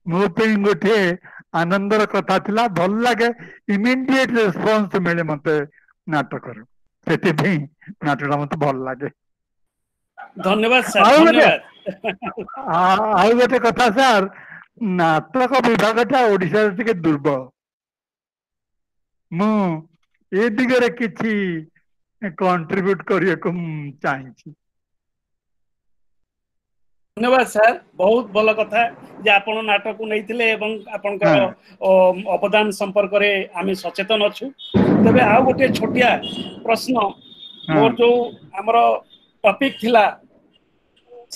ମୋ ପାଇଁ ଗୋଟିଏ ଆନନ୍ଦର କଥା ଥିଲା। ଭଲ ଲାଗେ, ଇମିଡିଏଟ ରେସ୍ପନ୍ସ ମିଳେ ମତେ ନାଟକରୁ, ସେଥିପାଇଁ ନାଟକଟା ମତେ ଭଲ ଲାଗେ। ଧନ୍ୟବାଦ ସାର୍, ଆଉ ଗୋଟେ ଧନ୍ୟବାଦ। ଆଉ ଗୋଟେ କଥା ସାର୍, ନାଟକ ବିଭାଗଟା ଓଡିଶାରେ ଟିକେ ଦୁର୍ବଳ। ମୁଁ ଏ ଦିଗରେ କିଛି କଣ୍ଟ୍ରିବ୍ୟୁଟ କରିବାକୁ ମୁଁ ଚାହିଁଛି। ଧନ୍ୟବାଦ ସାର୍, ବହୁତ ଭଲ କଥା ଯେ ଆପଣ ନାଟକକୁ ନେଇଥିଲେ ଏବଂ ଆପଣଙ୍କର ଅବଦାନ ସମ୍ପର୍କରେ ଆମେ ସଚେତନ ଅଛୁ। ତେବେ ଆଉ ଗୋଟିଏ ଛୋଟିଆ ପ୍ରଶ୍ନ, ମୋର ଯୋଉ ଆମର ଟପିକ ଥିଲା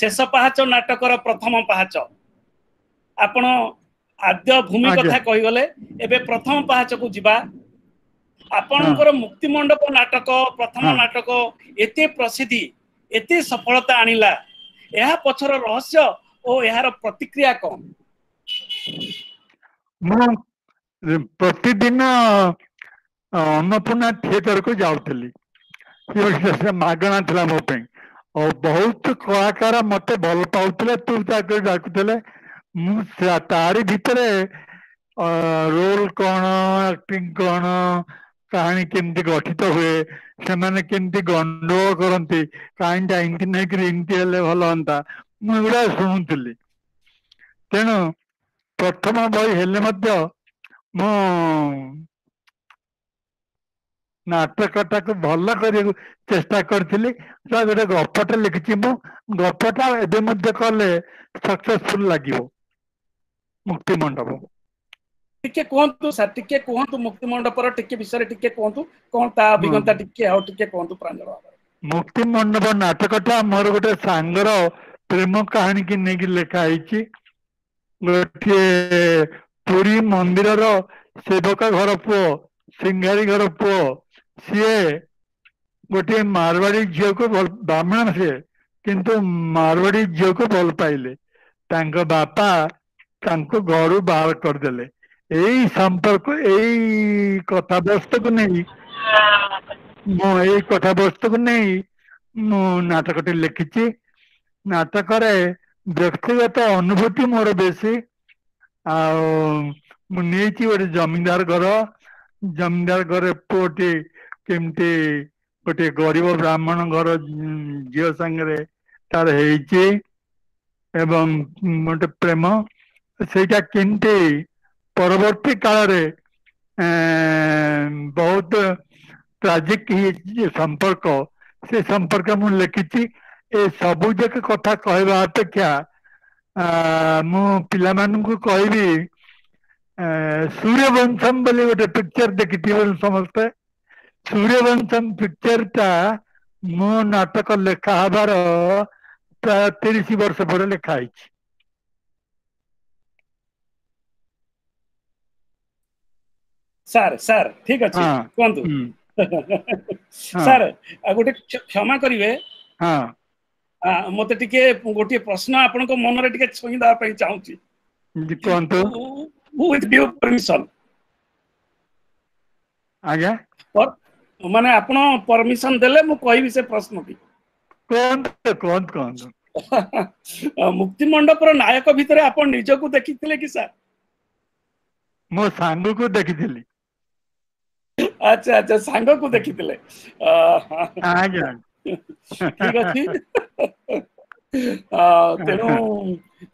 ଶେଷ ପାହାଚ ନାଟକର ପ୍ରଥମ ପାହାଚ, ଆପଣ ଆଦ୍ୟ ଭୂମି କଥା କହିଗଲେ, ଏବେ ପ୍ରଥମ ପାହାଚକୁ ଯିବା। ଆପଣଙ୍କର ମୁକ୍ତିମଣ୍ଡପ ନାଟକ, ପ୍ରଥମ ନାଟକ ଏତେ ପ୍ରସିଦ୍ଧି, ଏତେ ସଫଳତା ଆଣିଲା, ଏହା ପଛର ରହସ୍ୟ ଓ ଏହାର ପ୍ରତିକ୍ରିୟା କଣ? ମୁଁ ପ୍ରତିଦିନ ଅନ୍ନପୂର୍ଣ୍ଣା ଥିଏଟରକୁ ଯାଉଥିଲି, ସେ ମାଗଣା ଥିଲା ମୋ ପାଇଁ। ଆଉ ବହୁତ କଳାକାର ମତେ ଭଲ ପାଉଥିଲେ, ତୁ ତାକୁ ଡାକୁଥିଲେ। ମୁଁ ତାରି ଭିତରେ ରୋଲ କଣ, ଆକ୍ଟିଂ କଣ, କାହାଣୀ କେମିତି ଗଠିତ ହୁଏ, ସେମାନେ କେମିତି ଗଣ୍ଡଗୋଳ କରନ୍ତି, କାହାଣୀଟା ଏମିତି ନେଇକରି ଏମିତି ହେଲେ ଭଲ ହୁଅନ୍ତା, ମୁଁ ଏଗୁଡା ଶୁଣୁଥିଲି। ତେଣୁ ପ୍ରଥମ ବହି ହେଲେ ମଧ୍ୟ ମୁଁ ନାଟକଟାକୁ ଭଲ କରିବାକୁ ଚେଷ୍ଟା କରିଥିଲି। ଗୋଟେ ଗପଟା ଲେଖିଛି ମୁଁ, ଗପଟା ଏବେ ମଧ୍ୟ କଲେ ସକ୍ସେସଫୁଲ ଲାଗିବ। ମୁକ୍ତିମଣ୍ଡପ ଟିକେ କୁହନ୍ତୁ ସାର୍, ଟିକେ କୁହନ୍ତୁ ମୁକ୍ତିମଣ୍ଡପର ଟିକେ ବିଷୟରେ ଟିକେ କୁହନ୍ତୁ, କଣ ତା ଅଭିଜ୍ଞତା ଟିକେ ଆଉ ଟିକେ କୁହନ୍ତୁ ପ୍ରାଞ୍ଜଳ ଭାବରେ। ମୁକ୍ତିମଣ୍ଡପ ନାଟକଟା ମୋର ଗୋଟେ ସାଙ୍ଗର ପ୍ରେମ କାହାଣୀକି ନେଇକି ଲେଖା ହେଇଛି। ଗୋଟିଏ ପୁରୀ ମନ୍ଦିରର ସେବକ ଘର ପୁଅ, ସିଂହାରୀ ଘର ପୁଅ, ସିଏ ଗୋଟିଏ ମାରୱାଡି ଝିଅକୁ ଭଲ, ବ୍ରାହ୍ମଣ ସିଏ, କିନ୍ତୁ ମାରୱାଡି ଝିଅକୁ ଭଲ ପାଇଲେ। ତାଙ୍କ ବାପା ତାଙ୍କୁ ଘରୁ ବାହାର କରିଦେଲେ। ଏଇ ସମ୍ପର୍କ, ଏଇ କଥାବସ୍ତୁକୁ ନେଇ ମୁଁ ଏଇ କଥାବସ୍ତୁକୁ ନେଇ ମୁଁ ନାଟକଟି ଲେଖିଛି। ନାଟକରେ ବ୍ୟକ୍ତିଗତ ଅନୁଭୂତି ମୋର ବେଶୀ। ଆଉ ମୁଁ ନେଇଛି ଗୋଟେ ଜମିଦାର ଘର, ଜମିଦାର ଘରେ ପୁଅଟି କେମିତି ଗୋଟେ ଗରିବ ବ୍ରାହ୍ମଣ ଘର ଝିଅ ସାଙ୍ଗରେ ତାର ହେଇଛି ଏବଂ ଗୋଟେ ପ୍ରେମ, ସେଇଟା କେମିତି ପରବର୍ତ୍ତୀ କାଳରେ ବହୁତ ଟ୍ରାଜିକ ହେଇଛି ସମ୍ପର୍କ, ସେ ସମ୍ପର୍କ ମୁଁ ଲେଖିଛି। ଏ ସବୁ ଯାକ କଥା କହିବା ଅପେକ୍ଷା ମୁଁ ପିଲାମାନଙ୍କୁ କହିବି, ସୂର୍ଯ୍ୟବଂଶମ ବୋଲି ଗୋଟେ ପିକ୍ଚର ଦେଖିଥିବେ ସମସ୍ତେ। ସୂର୍ଯ୍ୟବଂଶମ ପିକ୍ଚରଟା ମୋ ନାଟକ ଲେଖା ହବାର ପ୍ରାୟ 30 ବର୍ଷ ପରେ ଲେଖା ହେଇଛି। ସାର୍, ସାର୍ ଠିକ ଅଛି, କୁହନ୍ତୁ ସାର୍। ଆଉ ଗୋଟେ କ୍ଷମା କରିବେ, ମତେ ଟିକେ ଗୋଟିଏ ପ୍ରଶ୍ନ ଆପଣଙ୍କ ମନରେ ଟିକେ ଛୁଇଁ ଦେବା ପାଇଁ ଚାହୁଁଛି। କୁହନ୍ତୁ। With due permission. ଆଜ୍ଞା। ମାନେ ଆପଣ ପରମିଶନ ଦେଲେ ମୁଁ କହିବି ସେ ପ୍ରଶ୍ନଟି। କୁହନ୍ତୁ, କୁହନ୍ତୁ, କୁହନ୍ତୁ। ମୁକ୍ତିମଣ୍ଡପର ନାୟକ ଭିତରେ ଆପଣ ନିଜକୁ ଦେଖିଥିଲେ କି ସାର୍? ମୋ ସାଙ୍ଗକୁ ଦେଖିଥିଲି। ଆଚ୍ଛା, ଆଚ୍ଛା, ସାଙ୍ଗକୁ ଦେଖିଥିଲେ। ଆଜ୍ଞା। ଠିକ ଅଛି। ତେଣୁ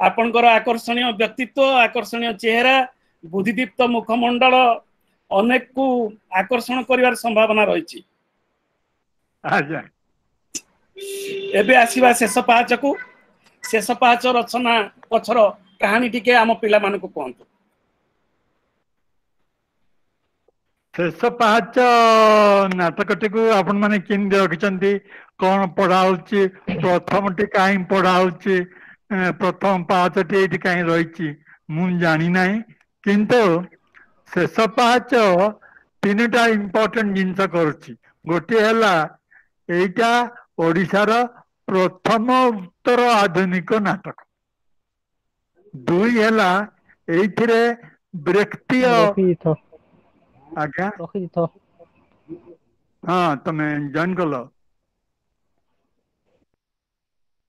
ଆପଣଙ୍କର ଆକର୍ଷଣୀୟ ବ୍ୟକ୍ତିତ୍ୱ, ଆକର୍ଷଣୀୟ ଚେହେରା, ବୁଦ୍ଧିଦୀପ୍ତ ମୁଖମଣ୍ଡଳ ଅନେକକୁ ଆକର୍ଷଣ କରିବାର ସମ୍ଭାବନା ରହିଛି। ଆଜ୍ଞା। ଏବେ ଆସିବା ଶେଷ ପାହାଚକୁ। ଶେଷ ପାହାଚ ରଚନା ପଛର କାହାଣୀ ଟିକେ ଆମ ପିଲାମାନଙ୍କୁ କୁହନ୍ତୁ। ଶେଷ ପାହାଚ ନାଟକଟିକୁ ଆପଣ ମାନେ କେମିତି ରଖିଛନ୍ତି, କଣ ପଢା ହଉଛି, ପ୍ରଥମଟି କାହିଁ ପଢା ହଉଛି, ପ୍ରଥମ ପାହାଚଟି ଏଇଠି କାହିଁ ରହିଛି ମୁଁ ଜାଣିନାହିଁ। କିନ୍ତୁ ଶେଷ ପାହାଚ ତିନିଟା ଇମ୍ପୋର୍ଟାଣ୍ଟ ଜିନିଷ କରୁଛି। ଗୋଟିଏ ହେଲା ଏଇଟା ଓଡ଼ିଶାର ପ୍ରଥମ ଉତ୍ତର ଆଧୁନିକ ନାଟକ। ଦୁଇ ହେଲା ଏଇଥିରେ ବ୍ରେକ୍ତିୟ ରଖିଦେଇଥ। ଆଜ୍ଞା। ରଖିଦେଇଥ। ହଁ, ତମେ ଜଏନ୍ କଲ,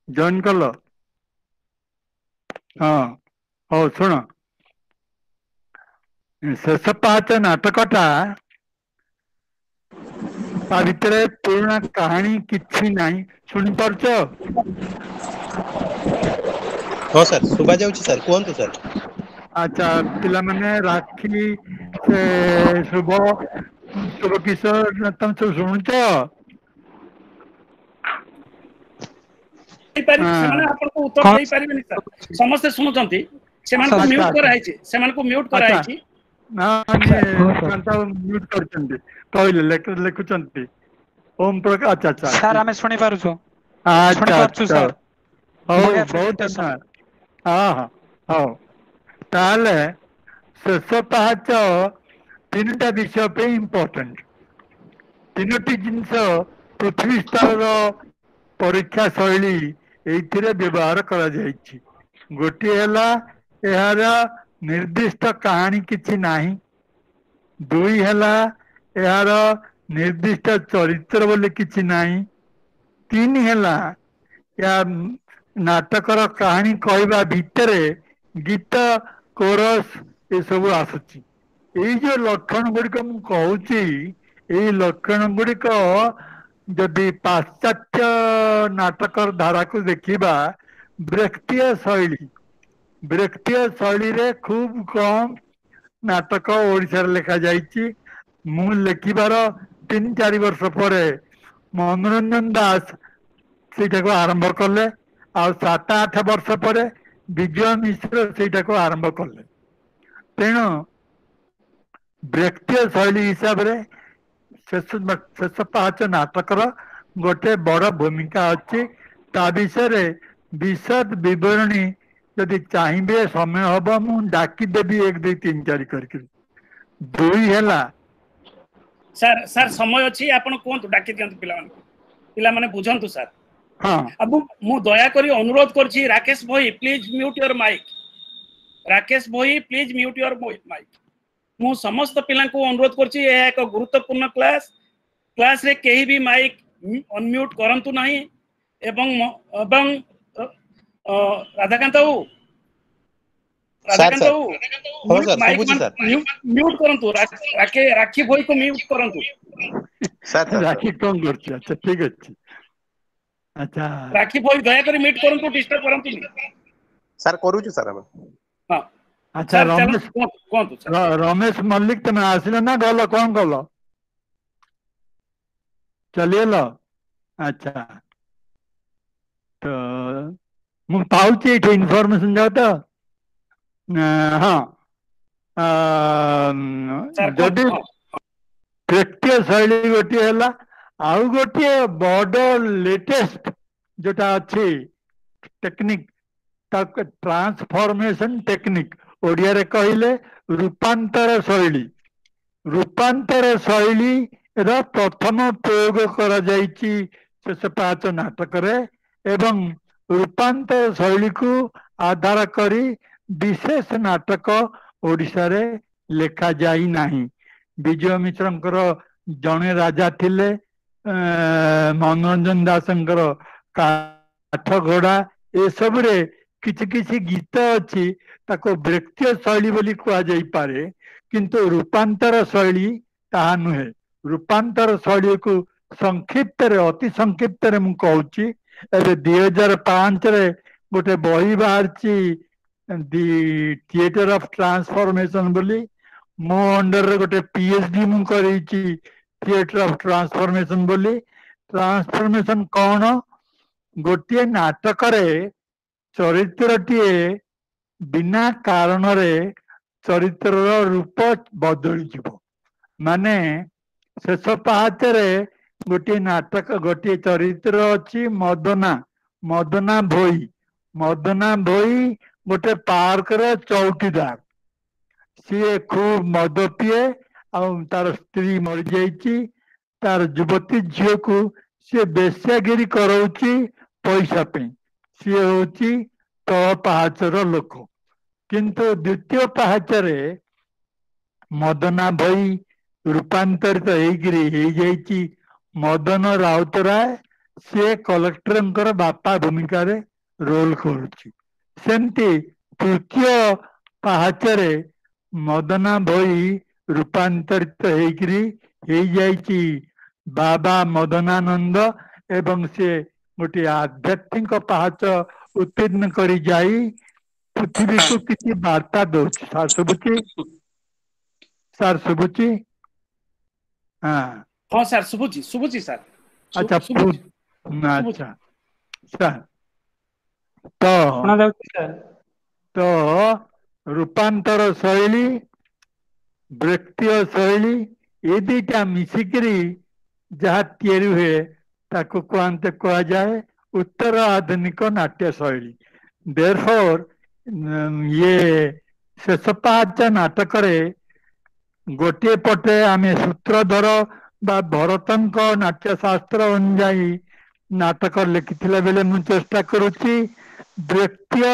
ଜଏନ୍ କଲ, ହଁ ହଉ ଶୁଣ। ଶେଷ ପାହାଚ ନାଟକଟା, ତା ଭିତରେ ପୁରୁଣା କାହାଣୀ କିଛି ନାହିଁ। ଶୁଣିପାରୁଛ? ହଁ ସାର୍, ଶୁଭା ଯାଉଛି ସାର୍, କୁହନ୍ତୁ ସାର୍। ଆଚ୍ଛା ପିଲାମାନେ, ରାକ୍ଷୀ, ସେ ଶୁଭ, ଶୁଭ କିଶୋର, ତମେ ସବୁ ଶୁଣୁଛ? ସେମାନେ ଆପଣଙ୍କୁ ଉତ୍ତର ଦେଇପାରିବେନି ସାର୍। ସମସ୍ତେ ଶୁଣୁଛନ୍ତି, ସେମାନଙ୍କୁ ମ୍ୟୁଟ୍ କରାହେଇଛି, ସେମାନଙ୍କୁ ମ୍ୟୁଟ୍ କରାହେଇଛି। ମ୍ୟୁଟ୍ କରିଛନ୍ତି କହିଲେ, ଲେଖୁଛନ୍ତି ଓମ ପ୍ରକାଶ। ଆଚ୍ଛା ଆଚ୍ଛା ସାର୍, ଆମେ ଶୁଣିପାରୁଛୁ। ଆଚ୍ଛା ଆଚ୍ଛା, ହଉ, ବହୁତ ଧନ୍ୟବାଦ। ହଁ ହଁ, ହଉ। ତାହେଲେ ଶେଷ ପାହାଚ ତିନିଟା ବିଷୟ ପାଇଁ ଇମ୍ପୋର୍ଟାଣ୍ଟ। ତିନୋଟି ଜିନିଷ ପୃଥିବୀ ସ୍ତରର ପରୀକ୍ଷା ଶୈଳୀ ଏଇଥିରେ ବ୍ୟବହାର କରାଯାଇଛି। ଗୋଟିଏ ହେଲା ଏହାର ନିର୍ଦ୍ଦିଷ୍ଟ କାହାଣୀ କିଛି ନାହିଁ, ଦୁଇ ହେଲା ଏହାର ନିର୍ଦ୍ଦିଷ୍ଟ ଚରିତ୍ର ବୋଲି କିଛି ନାହିଁ, ତିନି ହେଲା ଏହା ନାଟକର କାହାଣୀ କହିବା ଭିତରେ ଗୀତ, କୋରସ ଏସବୁ ଆସୁଛି। ଏଇ ଯୋଉ ଲକ୍ଷଣ ଗୁଡ଼ିକ ମୁଁ କହୁଛି, ଏଇ ଲକ୍ଷଣ ଗୁଡ଼ିକ ଯଦି ପାଶ୍ଚାତ୍ୟ ନାଟକର ଧାରାକୁ ଦେଖିବା, ବ୍ରେକ୍ତୀୟ ଶୈଳୀ, ବ୍ରେକ୍ତୀୟ ଶୈଳୀରେ ଖୁବ୍ କମ୍ ନାଟକ ଓଡ଼ିଶାରେ ଲେଖାଯାଇଛି। ମୁଁ ଲେଖିବାର 3-4 ବର୍ଷ ପରେ ମନୋରଞ୍ଜନ ଦାସ ସେଇଟାକୁ ଆରମ୍ଭ କଲେ, ଆଉ 7-8 ବର୍ଷ ପରେ ବିଜୟ ମିଶ୍ର ସେଇଟାକୁ ଆରମ୍ଭ କଲେ। ତେଣୁ ବ୍ରେକ୍ତୀୟ ଶୈଳୀ ହିସାବରେ ଶେଷ ପାହାଚ ନାଟକର ଗୋଟେ ବଡ଼ ଭୂମିକା ଅଛି। ତା ବିଷୟରେ ବିଶଦ ବିବରଣୀ ଯଦି ଚାହିଁବେ, ସମୟ ହବ, ମୁଁ ଡାକିଦେବି 1 2 3 4 କରିକି। ଦୁଇ ହେଲା ସାର୍, ସାର୍ ସମୟ ଅଛି, ଆପଣ କୁହନ୍ତୁ, ଡାକି ଦିଅନ୍ତୁ ପିଲାମାନଙ୍କୁ, ପିଲାମାନେ ବୁଝନ୍ତୁ ସାର୍। ହଁ, ମୁଁ ଦୟାକରି ଅନୁରୋଧ କରୁଛି, Rakesh Bhoi please mute your mic, Rakesh Bhoi please mute your mic. ମୁଁ ସମସ୍ତ ପିଲାଙ୍କୁ ଅନୁରୋଧ କରୁଛି, ଏହା ଏକ ଗୁରୁତ୍ୱପୂର୍ଣ୍ଣ କ୍ଲାସ, କ୍ଲାସରେ କେହି ବି ମାଇକ୍ ଅନମ୍ୟୁଟ୍ କରନ୍ତୁ ନାହିଁ। ଏବଂ ଏବଂ ରାଧାକାନ୍ତ ବାବୁ, ରାଧାକାନ୍ତ ବାବୁ ମ୍ୟୁଟ୍ କରନ୍ତୁ, ରାକ୍ଷୀ ଭୋଇକୁ ମ୍ୟୁଟ୍ କରନ୍ତୁ। ରାକ୍ଷୀ କଣ କରୁଛି? ଆଚ୍ଛା ଠିକ ଅଛି। ଆଚ୍ଛା ରାକ୍ଷୀ ଭୋଇ ଦୟାକରି ମ୍ୟୁଟ୍ କରନ୍ତୁ, ଡିଷ୍ଟର୍ବ କରନ୍ତୁନି। ସାର୍ କରୁଛୁ ସାର୍ ଆମେ। ହଁ ଆଚ୍ଛା, ରମେଶ କୁହନ୍ତୁ। ରମେଶ ମଲ୍ଲିକ, ତମେ ଆସିଲ ନା ଗଲ, କଣ କଲ, ଚାଲିଗଲ? ଆଚ୍ଛା, ତ ମୁଁ ପାଉଛି ଏଇଠି ଇନଫର୍ମେସନ ଯାଉ ତ। ହଁ, ଯଦି ବ୍ୟକ୍ତିୟ ଶୈଳୀ ଗୋଟିଏ ହେଲା, ଆଉ ଗୋଟିଏ ବଡ ଲେଟେଷ୍ଟ ଯୋଉଟା ଅଛି ଟେକ୍ନିକ, ତାକୁ ଟ୍ରାନ୍ସଫର୍ମେସନ ଟେକ୍ନିକ, ଓଡ଼ିଆରେ କହିଲେ ରୂପାନ୍ତର ଶୈଳୀ। ରୂପାନ୍ତର ଶୈଳୀର ପ୍ରଥମ ପ୍ରୟୋଗ କରାଯାଇଛି ଶେଷ ପାହାଚ ନାଟକରେ, ଏବଂ ରୂପାନ୍ତର ଶୈଳୀକୁ ଆଧାର କରି ବିଶେଷ ନାଟକ ଓଡ଼ିଶାରେ ଲେଖାଯାଇ ନାହିଁ। ବିଜୟ ମିଶ୍ରଙ୍କର ଜଣେ ରାଜା ଥିଲେ, ମନୋରଞ୍ଜନ ଦାସଙ୍କର କାଠ ଘୋଡ଼ା, ଏସବୁରେ କିଛି କିଛି ଗୀତ ଅଛି, ତାକୁ ବ୍ରେକ୍ତୀୟ ଶୈଳୀ ବୋଲି କୁହାଯାଇପାରେ, କିନ୍ତୁ ରୂପାନ୍ତର ଶୈଳୀ ତାହା ନୁହେଁ। ରୂପାନ୍ତର ଶୈଳୀକୁ ସଂକ୍ଷିପ୍ତରେ, ଅତି ସଂକ୍ଷିପ୍ତରେ ମୁଁ କହୁଛି। ଏବେ 2005ରେ ଗୋଟେ ବହି ବାହାରିଛି, ଦି ଥିଏଟର ଅଫ ଟ୍ରାନ୍ସଫର୍ମେସନ ବୋଲି। ମୋ ଅଣ୍ଡରରେ ଗୋଟେ PhD ମୁଁ କରେଇଛି ଥିଏଟର ଅଫ ଟ୍ରାନ୍ସଫର୍ମେସନ ବୋଲି। ଟ୍ରାନ୍ସଫର୍ମେସନ କଣ? ଗୋଟିଏ ନାଟକରେ ଚରିତ୍ରଟିଏ ବିନା କାରଣରେ ଚରିତ୍ରର ରୂପ ବଦଳିଯିବ। ମାନେ ଶେଷ ପାହାଚରେ ଗୋଟିଏ ନାଟକ, ଗୋଟିଏ ଚରିତ୍ର ଅଛି ମଦନା, ମଦନା ଭୋଇ। ମଦନା ଭୋଇ ଗୋଟେ ପାର୍କର ଚୌକିଦାର, ସିଏ ଖୁବ ମଦ ପିଏ, ଆଉ ତାର ସ୍ତ୍ରୀ ମରିଯାଇଛି, ତାର ଯୁବତୀ ଝିଅକୁ ସିଏ ବେଶ୍ୟାଗିରି କରଉଛି ପଇସା ପାଇଁ। ସିଏ ହଉଛି ତଳ ପାହାଚର ଲୋକ। କିନ୍ତୁ ଦ୍ୱିତୀୟ ପାହାଚରେ ମଦନା ଭୋଇ ରୂପାନ୍ତରିତ ହେଇକିରି ହେଇଯାଇଛି ମଦନ ରାଉତରାୟ, ସିଏ କଲେକ୍ଟରଙ୍କର ବାପା ଭୂମିକାରେ ରୋଲ କରୁଛି। ସେମିତି ତୃତୀୟ ପାହାଚରେ ମଦନା ଭୋଇ ରୂପାନ୍ତରିତ ହେଇକିରି ହେଇଯାଇଛି ବାବା ମଦନାନନ୍ଦ, ଏବଂ ସେ ଗୋଟିଏ ଆଧ୍ୟାତ୍ମିକ ପାହାଚ ଉତ୍ତୀର୍ଣ୍ଣ କରି ଯାଇ ପୃଥିବୀକୁ କିଛି ବାର୍ତ୍ତା ଦଉଛି। ସାର୍ ଶୁଭୁଛି? ସାର୍ ଶୁଭୁଛି? ହଁ ହଁ ସାର୍ ଶୁଭୁଛି, ଶୁଭୁଛି ସାର୍। ଆଚ୍ଛା ଆଚ୍ଛା ସାର୍, ତ ତ ରୂପାନ୍ତର ଶୈଳୀ, ବ୍ୟକ୍ତିୟ ଶୈଳୀ, ଏ ଦିଟା ମିଶିକିରି ଯାହା ତିଆରି ହୁଏ ତାକୁ କୁହନ୍ତେ କୁହାଯାଏ ଉତ୍ତର ଆଧୁନିକ ନାଟ୍ୟ ଶୈଳୀ। ଦେରଫୋର ଇଏ ଶେଷ ପାହାଚ ନାଟକରେ ଗୋଟିଏ ପଟେ ଆମେ ସୂତ୍ରଧର ବା ଭରତଙ୍କ ନାଟ୍ୟଶାସ୍ତ୍ର ଅନୁଯାୟୀ ନାଟକ ଲେଖିଥିଲା ବେଳେ ମୁଁ ଚେଷ୍ଟା କରୁଛି ବ୍ୟକ୍ତିୟ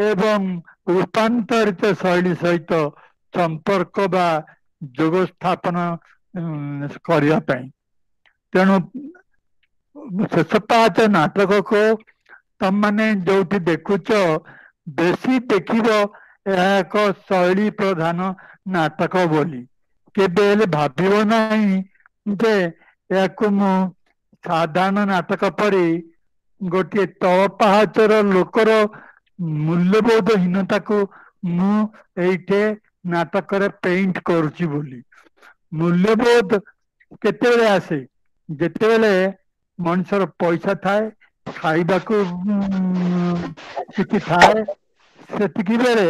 ଏବଂ ରୂପାନ୍ତରିତ ଶୈଳୀ ସହିତ ସମ୍ପର୍କ ବା ଯୋଗ ସ୍ଥାପନ କରିବା ପାଇଁ। ତେଣୁ ଶେଷ ପାହାଚ ନାଟକକୁ ତମମାନେ ଯୋଉଠି ଦେଖୁଛ ବେଶୀ ଦେଖିବ ଏହା ଏକ ଶୈଳୀ ପ୍ରଧାନ ନାଟକ ବୋଲି। କେବେ ହେଲେ ଭାବିବ ନାହିଁ ଯେ ଏହାକୁ ମୁଁ ସାଧାରଣ ନାଟକ ପରି ଗୋଟିଏ ତଳ ପାହାଚର ଲୋକର ମୂଲ୍ୟବୋଧହୀନତାକୁ ମୁଁ ଏଇଠି ନାଟକରେ ପେଣ୍ଟ କରୁଛି ବୋଲି। ମୂଲ୍ୟବୋଧ କେତେବେଳେ ଆସେ? ଯେତେବେଳେ ମଣିଷର ପଇସା ଥାଏ, ଖାଇବାକୁ କିଛି ଥାଏ, ସେତିକି ବେଳେ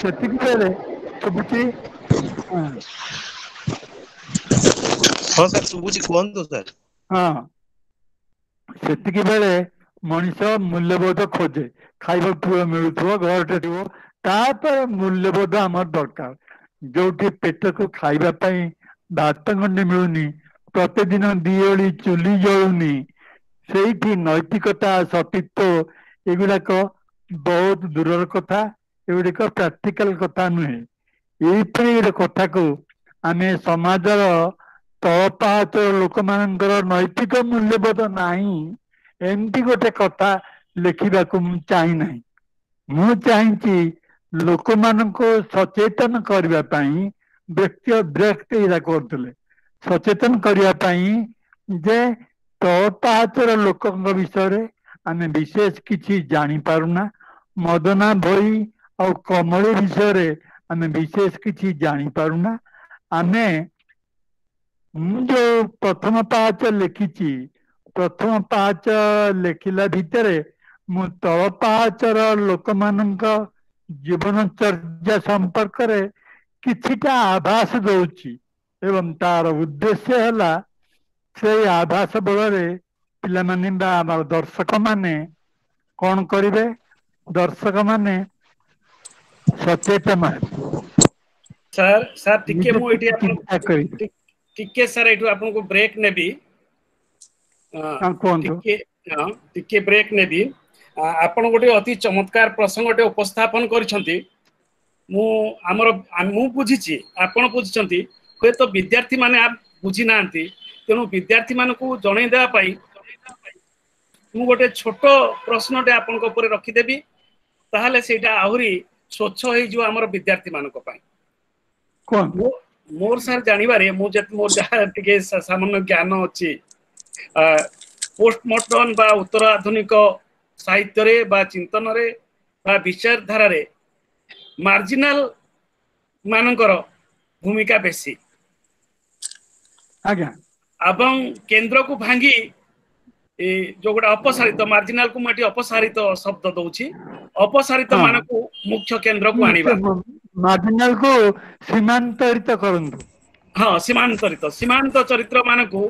ସେତିକି ବେଳେ ଶୁଭୁଛି? ହଁ ସାର୍ ଶୁଭୁଛି, କୁହନ୍ତୁ ସାର୍। ହଁ, ସେତିକି ବେଳେ ମଣିଷ ମୂଲ୍ୟବୋଧ ଖୋଜେ, ଖାଇବାକୁ ମିଳୁଥିବ, ଘରଟେ ଥିବ, ତାପରେ ମୂଲ୍ୟବୋଧ ଆମର ଦରକାର। ଯୋଉଠି ପେଟକୁ ଖାଇବା ପାଇଁ ଭାତ ଗଣ୍ଡେ ମିଳୁନି, ପ୍ରତିଦିନ ଦି ଓଳି ଚୁଲି ଜଳୁନି, ସେଇଠି ନୈତିକତା, ସତୀତ୍ୱ ଏଗୁଡାକ ବହୁତ ଦୂରର କଥା, ଏଗୁଡିକ ପ୍ରାକ୍ଟିକାଲ କଥା ନୁହେଁ। ଏଇପରି ଗୋଟେ କଥାକୁ ଆମେ ସମାଜର ତଳ ପାହାଚର ଲୋକମାନଙ୍କର ନୈତିକ ମୂଲ୍ୟବୋଧ ନାହିଁ ଏମିତି ଗୋଟେ କଥା ଲେଖିବାକୁ ମୁଁ ଚାହିଁନାହିଁ। ମୁଁ ଚାହିଁଛି ଲୋକମାନଙ୍କୁ ସଚେତନ କରିବା ପାଇଁ, ବ୍ୟକ୍ତି ବ୍ୟକ୍ତି ଏଇଟା କରୁଥିଲେ, ସଚେତନ କରିବା ପାଇଁ ଯେ ତଳ ପାହାଚର ଲୋକଙ୍କ ବିଷୟରେ ଆମେ ବିଶେଷ କିଛି ଜାଣିପାରୁନା, ମଦନା ଭୋଇ ଆଉ କମଳି ବିଷୟରେ ଆମେ ବିଶେଷ କିଛି ଜାଣିପାରୁନା। ଆମେ ମୁଁ ଯୋଉ ପ୍ରଥମ ପାହାଚ ଲେଖିଛି, ପ୍ରଥମ ପାହାଚ ଲେଖିଲା ଭିତରେ ମୁଁ ତଳ ପାହାଚର ଲୋକମାନଙ୍କ ଜୀବନଚର୍ଯ୍ୟା ସମ୍ପର୍କରେ କିଛିଟା ଆଭାସ ଦଉଛି, ଏବଂ ତାର ଉଦ୍ଦେଶ୍ୟ ହେଲା ସେଇ ଆଭାସ ବଳରେ ପିଲାମାନେ ବା ଆମର ଦର୍ଶକମାନେ କଣ କରିବେ, ଦର୍ଶକମାନେ ସଚେତନ ହେବେ। ସାର୍, ସାର୍ ଟିକେ ମୁଁ ଏଇଠି ଚିନ୍ତା କରିବେ। ଟିକେ ସାର୍ ଏଇଠୁ ଆପଣଙ୍କୁ ବ୍ରେକ୍ ନେବି। କୁହନ୍ତୁ। ଟିକେ ବ୍ରେକ୍ ନେବି। ଆପଣ ଗୋଟେ ଅତି ଚମତ୍କାର ପ୍ରସଙ୍ଗଟେ ଉପସ୍ଥାପନ କରିଛନ୍ତି। ମୁଁ ଆମର ମୁଁ ବୁଝିଛି, ଆପଣ ବୁଝିଛନ୍ତି, ହୁଏତ ବିଦ୍ୟାର୍ଥୀ ମାନେ ବୁଝି ନାହାନ୍ତି। ତେଣୁ ବିଦ୍ୟାର୍ଥୀ ମାନଙ୍କୁ ଜଣେଇ ଦେବା ପାଇଁ ମୁଁ ଗୋଟେ ଛୋଟ ପ୍ରଶ୍ନଟେ ଆପଣଙ୍କ ଉପରେ ରଖିଦେବି, ତାହେଲେ ସେଇଟା ଆହୁରି ସ୍ୱଚ୍ଛ ହେଇଯିବ ଆମର ବିଦ୍ୟାର୍ଥୀ ମାନଙ୍କ ପାଇଁ। ମୋର ସାର୍ ଜାଣିବାରେ, ମୁଁ ମୋର ଯାହା ଟିକେ ସାମାନ୍ୟ ଜ୍ଞାନ ଅଛି, ପୋଷ୍ଟମଡର୍ନ ବା ଉତ୍ତର ଆଧୁନିକ ସାହିତ୍ୟରେ ବା ଚିନ୍ତନରେ ବା ବିଚାରଧାରାରେ ମାର୍ଜିନାଲ ମାନଙ୍କର ଭୂମିକା ବେଶୀ। ଆଜ୍ଞା। ଏବଂ କେନ୍ଦ୍ରକୁ ଭାଙ୍ଗି ଯୋଉ ଗୋଟେ ଅପସାରିତ, ମାର୍ଜିନାଲକୁ ମୁଁ ଏଠି ଅପସାରିତ ଶବ୍ଦ ଦଉଛି, ଅପସାରିତ ମାନଙ୍କୁ ମୁଖ୍ୟ କେନ୍ଦ୍ରକୁ ଆଣିବା, ମାର୍ଜିନାଲକୁ ସୀମାନ୍ତରିତ କରନ୍ତୁ। ହଁ, ସୀମାନ୍ତରିତ, ସୀମାନ୍ତ ଚରିତ୍ର ମାନଙ୍କୁ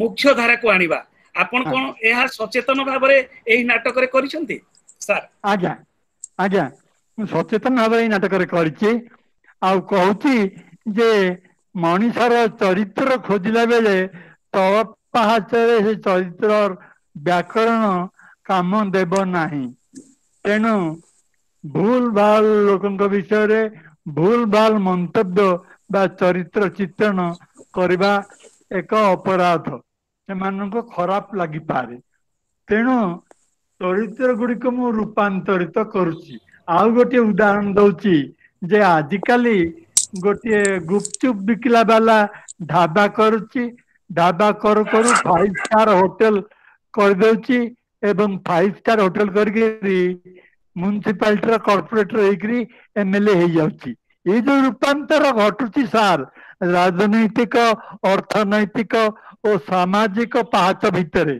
ମୁଖ୍ୟ ଧାରାକୁ ଆଣିବା। ଆପଣ କଣ ଏହା ସଚେତନ ଭାବରେ ଏଇ ନାଟକରେ କରିଛନ୍ତି ସାର୍? ଆଜ୍ଞା ଆଜ୍ଞା, ମୁଁ ସଚେତନ ଭାବରେ ଏଇ ନାଟକରେ କରିଛି। ଆଉ କହୁଛି ଯେ ମଣିଷର ଚରିତ୍ର ଖୋଜିଲା ବେଳେ ତଳ ପାହାଚରେ ସେ ଚରିତ୍ର ବ୍ୟାକରଣ କାମ ଦେବ ନାହିଁ। ତେଣୁ ଭୁଲ ଭାଲ ଲୋକଙ୍କ ବିଷୟରେ ଭୁଲ ଭାଲ ମନ୍ତବ୍ୟ ବା ଚରିତ୍ର ଚିତ୍ରଣ କରିବା ଏକ ଅପରାଧ, ସେମାନଙ୍କୁ ଖରାପ ଲାଗିପାରେ। ତେଣୁ ଚରିତ୍ର ଗୁଡ଼ିକୁ ମୁଁ ରୂପାନ୍ତରିତ କରୁଛି। ଆଉ ଗୋଟିଏ ଉଦାହରଣ ଦଉଛି ଯେ ଆଜିକାଲି ଗୋଟିଏ ଗୁପଚୁପ ବିକିଲା ବାଲା ଢାବା କରୁଛି, ଢାବା କରୁ କରୁ 5 ଷ୍ଟାର ହୋଟେଲ କରିଦଉଛି ଏବଂ 5 ଷ୍ଟାର ହୋଟେଲ କରିକି ମ୍ୟୁନିସିପାଲିଟିର କର୍ପୋରେଟର ହେଇକିରି ଏମଏଲଏ ହେଇଯାଉଛି। ଏଇ ଯୋଉ ରୂପାନ୍ତର ଘଟୁଛି ସାର୍, ରାଜନୈତିକ, ଅର୍ଥନୈତିକ ଓ ସାମାଜିକ ପାହାଚ ଭିତରେ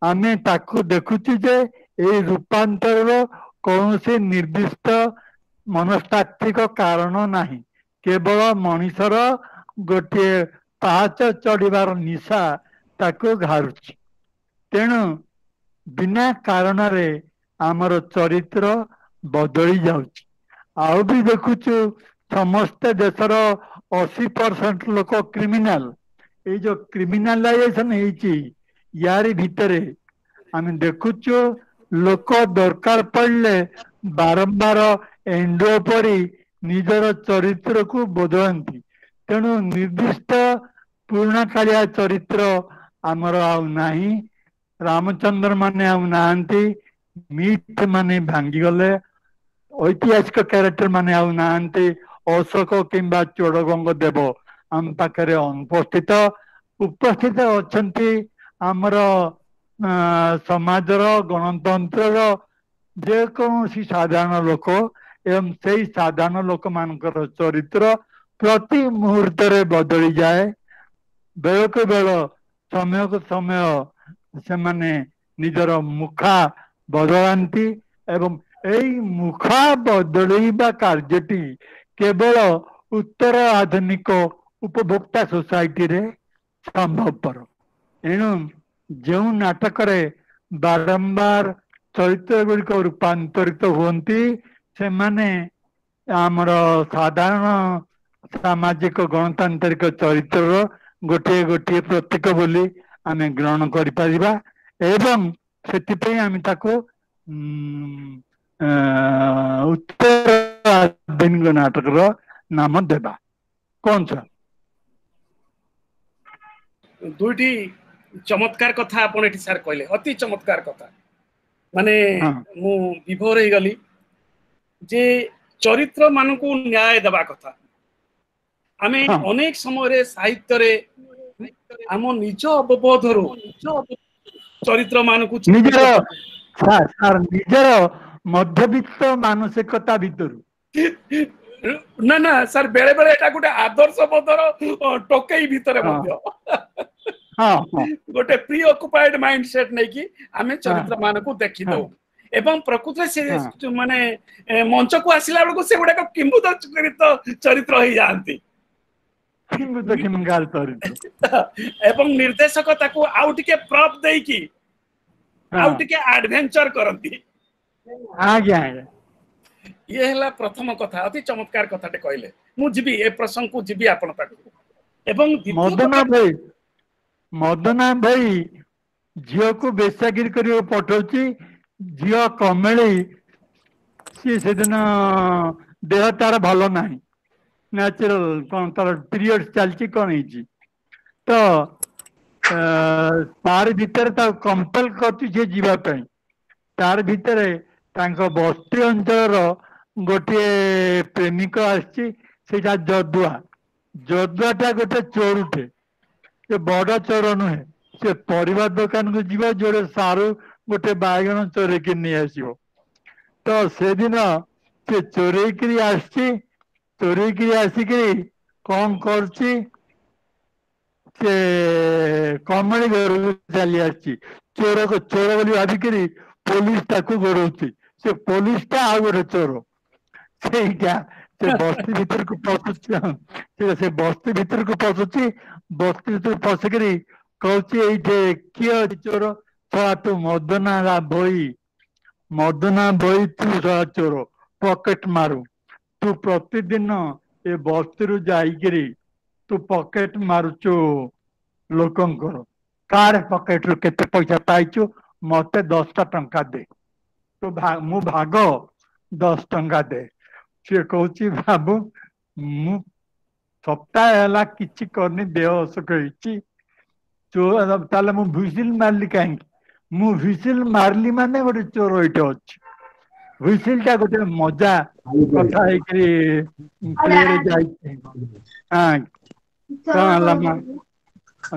ଆମେ ତାକୁ ଦେଖୁଛୁ ଯେ ଏଇ ରୂପାନ୍ତରର କୌଣସି ନିର୍ଦ୍ଦିଷ୍ଟ ମନସ୍ତାତ୍ତ୍ୱିକ କାରଣ ନାହିଁ, କେବଳ ମଣିଷର ଗୋଟିଏ ପାହାଚ ଚଢିବାର ନିଶା ତାକୁ ଘାରୁଛି। ତେଣୁ ବିନା କାରଣରେ ଆମର ଚରିତ୍ର ବଦଳି ଯାଉଛି। ଆଉ ବି ଦେଖୁଛୁ ସମସ୍ତେ ଦେଶର 80% ଲୋକ କ୍ରିମିନାଲ। ଏଇ ଯୋଉ କ୍ରିମିନାଲାଇଜେସନ ହେଇଛି ୟାରି ଭିତରେ ଆମେ ଦେଖୁଛୁ ଲୋକ ଦରକାର ପଡ଼ିଲେ ବାରମ୍ବାର ଏଣ୍ଡୁଅ ପରି ନିଜର ଚରିତ୍ରକୁ ବଦଳାନ୍ତି। ତେଣୁ ନିର୍ଦ୍ଦିଷ୍ଟ ପୁରୁଣା କାଳିଆ ଚରିତ୍ର ଆମର ଆଉ ନାହିଁ, ରାମଚନ୍ଦ୍ର ମାନେ ଆଉ ନାହାନ୍ତି, ମିଥ୍ ମାନେ ଭାଙ୍ଗିଗଲେ, ଐତିହାସିକ କ୍ୟାରେକ୍ଟର ମାନେ ଆଉ ନାହାନ୍ତି, ଅଶୋକ କିମ୍ବା ଚୋଡ଼ଗଙ୍ଗ ଦେବ ଆମ ପାଖରେ ଅନୁପସ୍ଥିତ। ଉପସ୍ଥିତ ଅଛନ୍ତି ଆମର ସମାଜର ଗଣତନ୍ତ୍ରର ଯେକୌଣସି ସାଧାରଣ ଲୋକ, ଏବଂ ସେଇ ସାଧାରଣ ଲୋକମାନଙ୍କର ଚରିତ୍ର ପ୍ରତି ମୁହୂର୍ତ୍ତରେ ବଦଳିଯାଏ। ବେଳକୁ ବେଳ, ସମୟକୁ ସମୟ ସେମାନେ ନିଜର ମୁଖା ବଦଳାନ୍ତି ଏବଂ ଏଇ ମୁଖା ବଦଳେଇବା କାର୍ଯ୍ୟଟି କେବଳ ଉତ୍ତର ଆଧୁନିକ ଉପଭୋକ୍ତା ସୋସାଇଟିରେ ସମ୍ଭବପର। ଏଣୁ ଯେଉଁ ନାଟକରେ ବାରମ୍ବାର ଚରିତ୍ର ଗୁଡ଼ିକ ରୂପାନ୍ତରିତ ହୁଅନ୍ତି, ସେମାନେ ଆମର ସାଧାରଣ ସାମାଜିକ ଗଣତାନ୍ତ୍ରିକ ଚରିତ୍ରର ଗୋଟିଏ ଗୋଟିଏ ପ୍ରତୀକ ବୋଲି ଆମେ ଗ୍ରହଣ କରିପାରିବା ଏବଂ ସେଥିପାଇଁ ଆମେ ତାକୁ ଉତ୍ତର ଆଧୁନିକ ନାଟକର ନାମ ଦେବା। କଣ ସାର୍? ଦୁଇଟି ଚମତ୍କାର କଥା ଆପଣ ଏଠି ସାର୍ କହିଲେ, ଅତି ଚମତ୍କାର କଥା। ମାନେ ମୁଁ ବିଭୋର ହେଇଗଲି ଯେ ଚରିତ୍ର ମାନଙ୍କୁ ନ୍ୟାୟ ଦେବା କଥା। ଆମେ ଅନେକ ସମୟରେ ସାହିତ୍ୟରେ ଆମ ନିଜ ଅବବୋଧରୁ ଚରିତ୍ର ମାନଙ୍କୁ ନିଜର ନିଜର ମଧ୍ୟବିତ୍ତ ମାନସିକତା ଭିତରୁ ନା ନା ସାର୍, ବେଳେ ବେଳେ ଏଟା ଗୋଟେ ଆଦର୍ଶ ବୋଧର ଟୋକେଇ ଭିତରେ ମଧ୍ୟ ଗୋଟେ ପ୍ରି ଅକୁପାଏଡ ମାଇଣ୍ଡ ସେଟ ନେଇକି ଆମେ ଚରିତ୍ର ମାନଙ୍କୁ ଦେଖିଦଉ ଏବଂ ପ୍ରକୃତରେ ସେ ମାନେ ମଞ୍ଚକୁ ଆସିଲା ବେଳକୁ ସେଗୁଡାକ କିମ୍ଭୂତ ଚରିତ୍ର ହେଇଯାଆନ୍ତି ଏବଂ ନିର୍ଦ୍ଦେଶକ ତାକୁ ଆଉ ଟିକେ ପ୍ରପ୍ ଦେଇକି ଆଉ ଟିକେ ଆଡଭେଞ୍ଚର କରନ୍ତି। ଆଜ୍ଞା ଆଜ୍ଞା, ଇଏ ହେଲା ପ୍ରଥମ କଥା। ଅତି ଚମତ୍କାର କଥାଟେ କହିଲେ। ମୁଁ ଯିବି ଏ ପ୍ରସଙ୍ଗକୁ ଯିବି ଆପଣ ପାଖକୁ। ଏବଂ ମଦନା ଭାଇ ଝିଅକୁ ବେଶ୍ୟାଗିରି କରିବାକୁ ପଠଉଛି। ଝିଅ କମେଳି, ସିଏ ସେଦିନ ଦେହ ତାର ଭଲ ନାହିଁ, ନ୍ୟାଚୁରାଲ କଣ ତାର ପିରିୟଡ ଚାଲିଛି କଣ ହେଇଛି, ତ ତାର ଭିତରେ ତାକୁ କମ୍ପେଲ କରୁଛି ସିଏ ଯିବା ପାଇଁ। ତାର ଭିତରେ ତାଙ୍କ ବସ୍ତି ଅଞ୍ଚଳର ଗୋଟିଏ ପ୍ରେମିକ ଆସିଛି, ସେଇଟା ଯଦୁଆ। ଯଦୁଆଟା ଗୋଟେ ଚୋରୁଟେ, ସେ ବଡ ଚୋର ନୁହେଁ, ସେ ପରିବା ଦୋକାନକୁ ଯିବ, ଯୋଉଟେ ସାରୁ ଗୋଟେ ବାଇଗଣ ଚୋରେଇକି ନେଇ ଆସିବ। ତ ସେଦିନ ସେ ଚୋରେଇକିରି ଆସିଛି, ଚୋରେଇକିରି ଆସିକିରି କଣ କରୁଛି, ସେ କମଳି ଘରକୁ ଚାଲି ଆସିଛି। ଚୋର ଚୋର ବୋଲି ଭାବିକିରି ପୋଲିସ ତାକୁ ଗୋଡଉଛି। ସେ ପୋଲିସ ଟା ଆଉ ଗୋଟେ ଚୋର। ସେଇଟା ସେ ବସ୍ତି ଭିତରକୁ ପଶୁଛି, ସେ ବସ୍ତି ଭିତରକୁ ପଶୁଛି, ବସ୍ତି ଭିତରକୁ ପଶିକିରି କହୁଛି ଏଇଠି କିଏ ଅଛି ଚୋର? ଶଳା ତୁ ମଦନା ଭୋଇ, ମଦନା ଭୋଇ ତୁ ଶଳା ଚୋର, ପକେଟ ମାରୁ ତୁ ପ୍ରତିଦିନ ଏ ବସ୍ତିରୁ ଯାଇକିରି ତୁ ପକେଟ ମାରୁଛୁ ଲୋକଙ୍କର, କାର ପକେଟରୁ କେତେ ପଇସା ପାଇଛୁ, ମତେ 10ଟା ଟଙ୍କା ଦେ, ତୁ ମୁଁ ଭାଗ 10 ଟଙ୍କା ଦେ। ସିଏ କହୁଛି ବାବୁ ମୁଁ ସପ୍ତାହ ହେଲା କିଛି କରିନି, ଦେହ ଅସୁଖ ହେଇଛି, ତାହେଲେ ମୁଁ ଭୁସିଲ ମାରିଲି କାହିଁକି? ମୁଁ ହ୍ୱିସିଲ ମାରିଲି ମାନେ ଗୋଟେ ଚୋର ଏଇଠି ଅଛି। ହ୍ୱିସିଲ ଟା ଗୋଟେ ମଜା କଥା ହେଇକିରି ପ୍ଲେରେ ଯାଇଛି। ହଁ, କଣ ହେଲା ମା?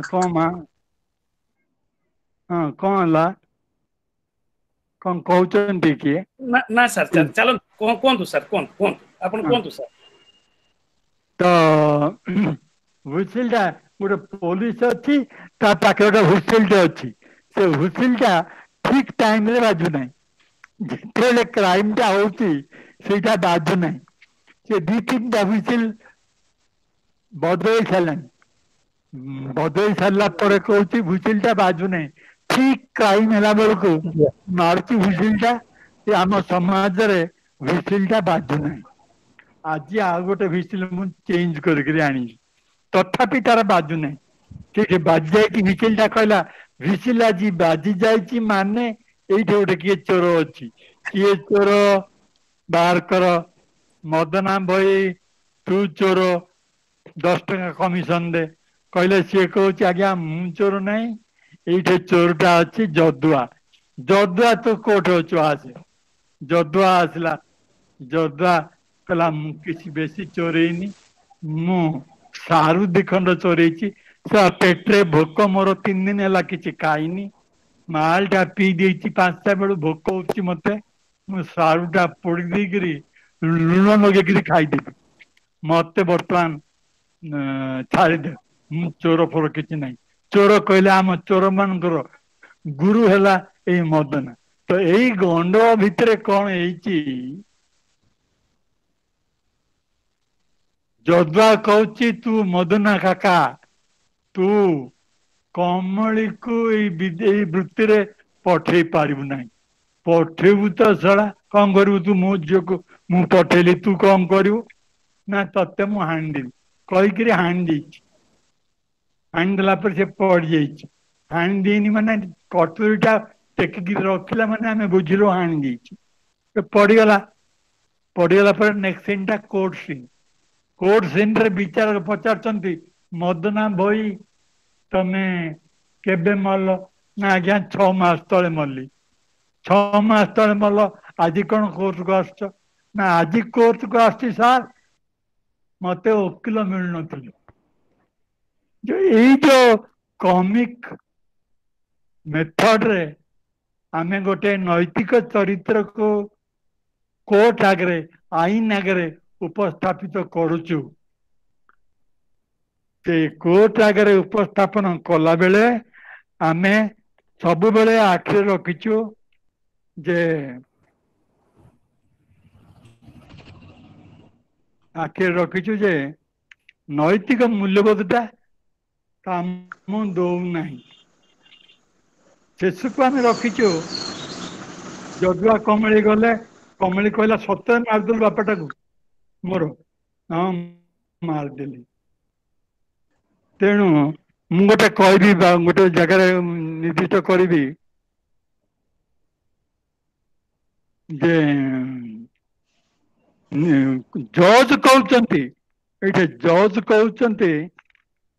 କଣ ମା? ହଁ, କଣ ହେଲା? କଣ କହୁଛନ୍ତି କିଏ? ନା ସାର୍, ଚାଲନ୍ତୁ, କୁହନ୍ତୁ ସାର୍, କୁହନ୍ତୁ, କୁହନ୍ତୁ ଆପଣ, କୁହନ୍ତୁ ସାର୍। ତ ହ୍ୱିସିଲ ଟା, ଗୋଟେ ପୋଲିସ ଅଛି, ତା ପାଖରେ ଗୋଟେ ହ୍ୱିସିଲଟେ ଅଛି। ସେ ହ୍ୱିସିଲ ଟା ଠିକ ଟାଇମରେ ବାଜୁନାହିଁ। ଯେତେବେଳେ କ୍ରାଇମ ଟା ହଉଛି ସେଇଟା ବାଜୁନାହିଁ। ସେ 2 3ଟା ହ୍ୱିସିଲ ବଦଳେଇ ସାରିଲାଣି। ବଦଳେଇ ସାରିଲା ପରେ କହୁଛି ହ୍ୱିସିଲ ଟା ବାଜୁନାହିଁ। ଠିକ କ୍ରାଇମ ହେଲା ବେଳକୁ ମାରୁଛି ହ୍ୱିସିଲ ଟା। ଆମ ସମାଜରେ ହ୍ୱିସିଲ ଟା ବାଜୁନାହିଁ। ଆଜି ଆଉ ଗୋଟେ ହ୍ୱିସିଲ ମୁଁ ଚେଞ୍ଜ କରିକିରି ଆଣିଲି, ତଥାପି ତାର ବାଜୁନାହିଁ। ଠିକ ବାଜି ଯାଇଛି ହ୍ୱିସିଲ ଟା। କହିଲା ହ୍ୱିସିଲ ଆଜି ବାଜି ଯାଇଛି ମାନେ ଏଇଠି ଗୋଟେ କିଏ ଚୋର ଅଛି। କିଏ ଚୋର ବାହାର କର। ମଦନା ଭଇ ତୁ ଚୋର, 10 ଟଙ୍କା କମିଶନ ଦେ। କହିଲେ ସିଏ କହୁଛି ଆଜ୍ଞା ମୁଁ ଚୋର ନାହିଁ, ଏଇଠି ଚୋରଟା ଅଛି ଯଦୁଆ। ଯଦୁଆ ତୁ କୋଉଠି ଅଛୁ ଆସେ। ଯଦୁଆ ଆସିଲା। ଯଦୁଆ କହିଲା ମୁଁ କିଛି ବେଶୀ ଚୋରେଇନି, ମୁଁ ସାରୁ 2 ଖଣ୍ଡ ଚୋରେଇଛି। ସେ ପେଟରେ ଭୋକ, ମୋର 3 ଦିନ ହେଲା କିଛି ଖାଇନି, ମାଲଟା ପିଇ ଦେଇଛି 5ଟା ବେଳୁ, ଭୋକ ହଉଛି ମତେ, ମୁଁ ସାରୁଟା ପୋଡି ଦେଇକିରି ଲୁଣ ଲଗେଇକିରି ଖାଇଦେବି, ମତେ ବର୍ତ୍ତମାନ ଛାଡ଼ିଦେ, ମୁଁ ଚୋର ଫୋର କିଛି ନାହିଁ। ଚୋର କହିଲେ ଆମ ଚୋର ମାନଙ୍କର ଗୁରୁ ହେଲା ଏଇ ମଦନା। ତ ଏଇ ଗଣ୍ଡଗୋଳ ଭିତରେ କଣ ହେଇଛି, ଯଦୁଆ କହୁଛି ତୁ ମଦନା କାକା, ତୁ କମଳିକୁ ଏଇ ବୃତ୍ତିରେ ପଠେଇ ପାରିବୁ ନାହିଁ। ପଠେଇବୁ ତ ଶଳା କଣ କରିବୁ ତୁ? ମୋ ଝିଅକୁ ମୁଁ ପଠେଇଲି, ତୁ କଣ କରିବୁ? ନା ତତେ ମୁଁ ହାଣିଦେବି କହିକିରି ହାଣି ଦେଇଛି। ହାଣି ଦେଲା ପରେ ସେ ପଡିଯାଇଛି। ହାଣି ଦେଇନି ମାନେ କଟୁରୀଟା ଟେକିକି ରଖିଲା ମାନେ ଆମେ ବୁଝିଲୁ ହାଣି ଦେଇଛି। ସେ ପଡିଗଲା। ପଡିଗଲା ପରେ ନେକ୍ସଟ ସିନ୍ ଟା କୋର୍ଟ ସିନ୍। କୋର୍ଟ ସିନ୍ ରେ ବିଚାରକ ପଚାରୁଛନ୍ତି ମଦନା ଭୋଇ ତମେ କେବେ ମଲ? ନା ଆଜ୍ଞା 6 ମାସ ତଳେ ମଲି। 6 ମାସ ତଳେ ମଲ, ଆଜି କଣ କୋର୍ଟକୁ ଆସୁଛ? ନା ଆଜି କୋର୍ଟକୁ ଆସୁଛି ସାର୍, ମତେ ଓକିଲ ମିଳୁନଥିଲେ। ଏଇ ଯୋଉ କମିକ ମେଥଡରେ ଆମେ ଗୋଟେ ନୈତିକ ଚରିତ୍ରକୁ କୋର୍ଟ ଆଗରେ, ଆଇନ ଆଗରେ ଉପସ୍ଥାପିତ କରୁଛୁ, ସେ କୋର୍ଟ ଆଗରେ ଉପସ୍ଥାପନ କଲା ବେଳେ ଆମେ ସବୁବେଳେ ଆଖିରେ ରଖିଛୁ ଯେ, ଆଖିରେ ରଖିଛୁ ଯେ ନୈତିକ ମୂଲ୍ୟବୋଧଟା କାମ ଦଉନାହିଁ। ଶେଷକୁ ଆମେ ରଖିଛୁ ଯଦୁଆ କମଳି ଗଲେ, କମଳି କହିଲା ସତରେ ମାରିଦେଲୁ ବାପାଟାକୁ ମୋର? ହଁ ମାରିଦେଲି। ତେଣୁ ମୁଁ ଗୋଟେ କହିବି ବା ଗୋଟେ ଜାଗାରେ ନିର୍ଦ୍ଦିଷ୍ଟ କରିବି ଯେ ଜଜ୍ କହୁଛନ୍ତି, ଏଇଠି ଜଜ୍ କହୁଛନ୍ତି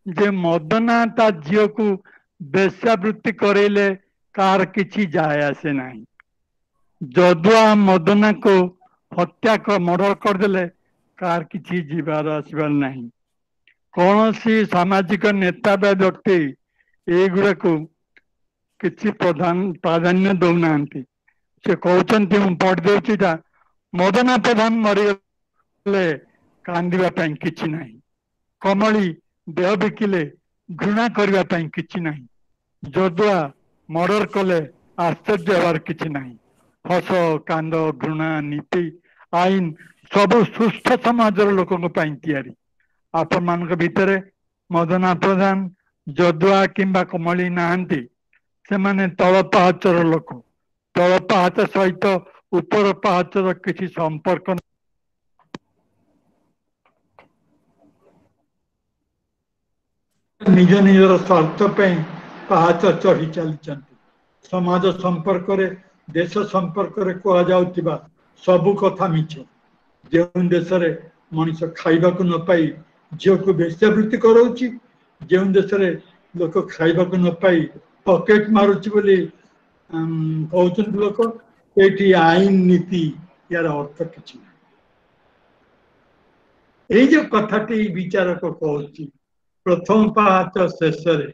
ଯେ ମଦନା ତା ଝିଅକୁ ବେଶ୍ୟାବୃତ୍ତି କରେଇଲେ କାହାର କିଛି ଯାଏ ଆସେ ନାହିଁ। ଯଦୁଆ ମଦନାକୁ ହତ୍ୟା ମର୍ଡର କରିଦେଲେ କାହାର କିଛି ଯିବାର ଆସିବାର ନାହିଁ। କୌଣସି ସାମାଜିକ ନେତା ବା ବ୍ୟକ୍ତି ଏଇଗୁଡାକୁ କିଛି ପ୍ରାଧାନ୍ୟ ଦଉନାହାନ୍ତି। ସେ କହୁଛନ୍ତି, ମୁଁ ପଢି ଦଉଛି ଏଇଟା, ମଦନା ପ୍ରଧାନ ମରିଗଲେ କାନ୍ଦିବା ପାଇଁ କିଛି ନାହିଁ, କମଳି ଦେହ ବିକିଲେ ଘୃଣା କରିବା ପାଇଁ କିଛି ନାହିଁ, ଯଦୁଆ ମର୍ଡର କଲେ ଆଶ୍ଚର୍ଯ୍ୟ ହେବାର କିଛି ନାହିଁ। ହସ, କାନ୍ଦ, ଘୃଣା, ନୀତି, ଆଇନ ସବୁ ସୁସ୍ଥ ସମାଜର ଲୋକଙ୍କ ପାଇଁ ତିଆରି। ଆପଣମାନଙ୍କ ଭିତରେ ମଦନା ପ୍ରଧାନ, ଯଦୁଆ କିମ୍ବା କମଳି ନାହାନ୍ତି। ସେମାନେ ତଳ ପାହାଚର ଲୋକ। ତଳ ପାହାଚ ସହିତ ଉପର ପାହାଚର କିଛି ସମ୍ପର୍କ ନିଜ ନିଜର ସ୍ୱାର୍ଥ ପାଇଁ ପାହାଚ ଚଢି ଚାଲିଛନ୍ତି। ସମାଜ ସମ୍ପର୍କରେ, ଦେଶ ସମ୍ପର୍କରେ କୁହାଯାଉଥିବା ସବୁ କଥା ମିଛ। ଯେଉଁ ଦେଶରେ ମଣିଷ ଖାଇବାକୁ ନ ପାଇ ଝିଅକୁ ବେଶ୍ୟାବୃତ୍ତି କରାଉଛି, ଯେଉଁ ଦେଶରେ ଲୋକ ଖାଇବାକୁ ନ ପାଇ ପକେଟ ମାରୁଛି ବୋଲି କହୁଛନ୍ତି ଲୋକ। ଏଇଠି ଆଇନ ନୀତି ୟାର ଅର୍ଥ କିଛି ନାହିଁ। ଏଇ ଯୋଉ କଥାଟି ବିଚାରକ କହୁଛି ପ୍ରଥମ ପାହାଚ ଶେଷରେ,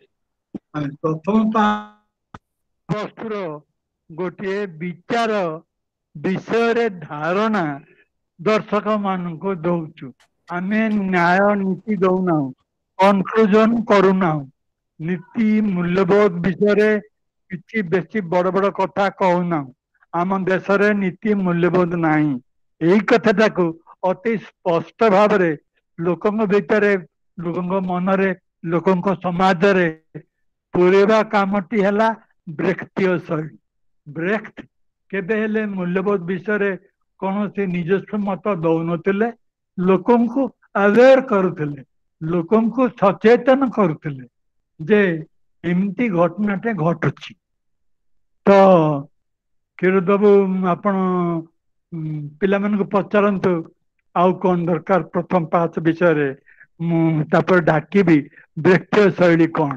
ମାନେ ପ୍ରଥମ ବସ୍ତୁର ଗୋଟିଏ ବିଚାର ବିଷୟରେ ଧାରଣା ଦର୍ଶକ ମାନଙ୍କୁ ଦଉଛୁ। ଆମେ ନ୍ୟାୟ ନୀତି ଦଉନାହୁଁ, କନକ୍ଲୁଜନ କରୁନାହୁଁ, ନୀତି ମୂଲ୍ୟବୋଧ ବିଷୟରେ କିଛି ବେଶୀ ବଡ ବଡ କଥା କହୁନାହୁଁ। ଆମ ଦେଶରେ ନୀତି ମୂଲ୍ୟବୋଧ ନାହିଁ। ଏଇ କଥାଟାକୁ ଅତି ସ୍ପଷ୍ଟ ଭାବରେ ଲୋକଙ୍କ ଭିତରେ, ଲୋକଙ୍କ ମନରେ, ଲୋକଙ୍କ ସମାଜରେ ପୁରେଇବା କାମଟି ହେଲା ବ୍ରେକ୍ତୀୟ ଶୈଳୀ। ବ୍ରେକ୍ଟ କେବେ ହେଲେ ମୂଲ୍ୟବୋଧ ବିଷୟରେ କୌଣସି ନିଜସ୍ୱ ମତ ଦଉନଥିଲେ, ଲୋକଙ୍କୁ ଆୱେର କରୁଥିଲେ, ଲୋକଙ୍କୁ ସଚେତନ କରୁଥିଲେ ଯେ ଏମିତି ଘଟଣାଟେ ଘଟୁଛି। ତ କ୍ଷୀରୋଦ ବାବୁ, ଆପଣ ପିଲାମାନଙ୍କୁ ପଚାରନ୍ତୁ ଆଉ କଣ ଦରକାର ପ୍ରଥମ ପାହାଚ ବିଷୟରେ, ମୁଁ ତାପରେ ଡାକିବି ବ୍ରେକ୍ତୀୟ ଶୈଳୀ କଣ।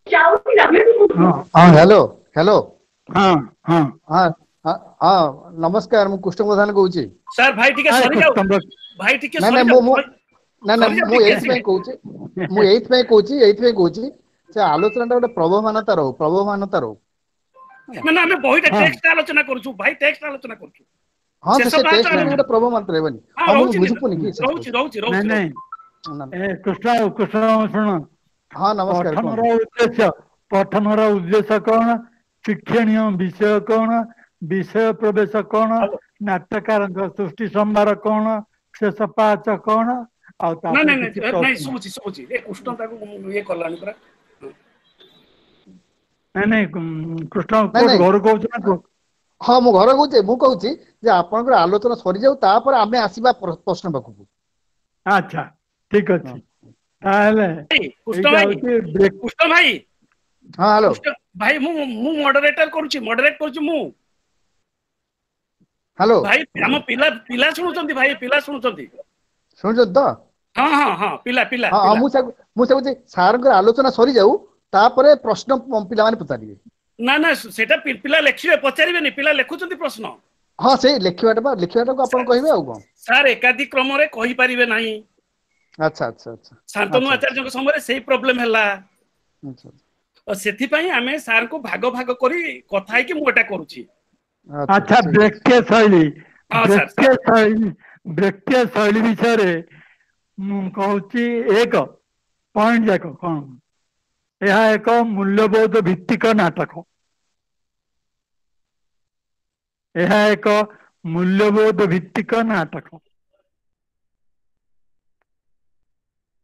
ହଁ, ହ୍ୟାଲୋ ହ୍ୟାଲୋ। ହଁ ହଁ ହଁ ହଁ, ନମସ୍କାର, ମୁଁ କୃଷ୍ଣ ପ୍ରଧାନ କହୁଛି। ସାର୍, ଭାଇ ଟିକେ ସରିଯାଉ, ଭାଇ ଟିକେ। ନାଇଁ ନାଇଁ, ମୁଁ ନାଇଁ ନାଇଁ, ମୁଁ ଏଇଥିପାଇଁ କହୁଛି, ମୁଁ ଏଇଥିପାଇଁ କହୁଛି, ଏଇଥିପାଇଁ କହୁଛି ସେ ଆଲୋଚନାଟା ଗୋଟେ ପ୍ରବହମାନତା ରହୁ, ପ୍ରବହମାନତା ରହୁ। ନା ନା, ଆମେ ବହିଟା ଟେକ୍ସଟ ଆଲୋଚନା କରୁଛୁ ଭାଇ, ଟେକ୍ସଟ ଆଲୋଚନା କରୁଛୁ। ହଁ, ସେ ଟେକ୍ସଟ ଗୋଟେ ପ୍ରବହମାନତା ରହିବନି? ହଁ, ମୁଁ ବୁଝିପାରୁନି କି। ରହୁଛି ରହୁଛି ରହୁଛି। ନାଇଁ, କୃଷ୍ଣ କୃଷ୍ଣ ଶୁଣ। ହଁ, ନମସ୍କାର। ପଠନର ଉଦ୍ଦେଶ୍ୟ, ପଠନର ଉଦ୍ଦେଶ୍ୟ କଣ? ଶିକ୍ଷଣୀୟ ବିଷୟ କଣ? ବିଷୟ ପ୍ରବେଶ କଣ? ନାଟ୍ୟକାରଙ୍କ ସୃଷ୍ଟି ସମ୍ଭାର କଣ? ଶେଷ ପାହାଚ କଣ? ଆଉ ନାଇଁ ନାଇଁ, ଶୁଭୁଛି ଶୁଭୁଛି। ଏ କୃଷ୍ଣ ତାକୁ ଇଏ କଲାଣି ପୁରା। ନାଇଁ ନାଇଁ, କୃଷ୍ଣ ଘରୁ କହୁଛୁ ନା? ହଁ, ମୁଁ ଘରେ କହୁଛି। ମୁଁ କହୁଛି ଯେ ଆପଣଙ୍କର ଆଲୋଚନା ସରିଯାଉ, ତାପରେ ଆମେ ଆସିବା ପ୍ରଶ୍ନ ପାଖକୁ। ଆଚ୍ଛା, ଠିକ ଅଛି। ତାହେଲେ କୃଷ୍ଣ ଭାଇ, କୃଷ୍ଣ ଭାଇ। ହଁ, ହ୍ୟାଲୋ ଭାଇ, ମୁଁ ମଡରେଟର କରୁଛି, ମଡରେଟ କରୁଛି ମୁଁ। ହ୍ୟାଲୋ ଭାଇ, ଆମ ପିଲା ପିଲା ଶୁଣୁଛନ୍ତି ଭାଇ, ପିଲା ଶୁଣୁଛନ୍ତି। ଶୁଣୁଛନ୍ତି ତ? ହଁ ହଁ ହଁ, ପିଲା ପିଲା। ହଁ, ମୁଁ ମୁଁ କହୁଛି ସାରଙ୍କର ଆଲୋଚନା ସରିଯାଉ, ତାପରେ ପ୍ରଶ୍ନ ପିଲାମାନେ ପଚାରିବେ। ନା ନା, ସେଟା ପିଲା ଲେଖିବେ, ପଚାରିବେନି, ପିଲା ଲେଖୁଛନ୍ତି ପ୍ରଶ୍ନ। ହଁ, ସେଇ ଲେଖିବାଟା ବା ଲେଖିବାଟାକୁ ଆପଣ କହିବେ ଆଉ କଣ? ସାର୍, ଏକାଧିକ କ୍ରମରେ କହିପାରିବେ ନାହିଁ। ଆଚ୍ଛା ଆଚ୍ଛା ଆଚ୍ଛା। ଶାନ୍ତନୁ ଆଚାର୍ଯ୍ୟଙ୍କ ସମୟରେ ସେଇ ପ୍ରୋବ୍ଲେମ ହେଲା, ସେଥିପାଇଁ ଆମେ ସାର୍ଙ୍କୁ ଭାଗ ଭାଗ କରି କଥା ହେଇକି ମୁଁ ଏଟା କରୁଛି। ଆଚ୍ଛା, ବ୍ରେକ୍ତୀୟ ଶୈଳୀ, ବ୍ରେକ୍ତୀୟ ଶୈଳୀ, ବ୍ରେକ୍ତୀୟ ଶୈଳୀ ବିଷୟରେ ମୁଁ କହୁଛି ଏକ ପଏଣ୍ଟ ଯାକ କଣ। ଏହା ଏକ ମୂଲ୍ୟବୋଧ ଭିତ୍ତିକ ନାଟକ। ଏହା ଏକ ମୂଲ୍ୟବୋଧ ଭିତ୍ତିକ ନାଟକ।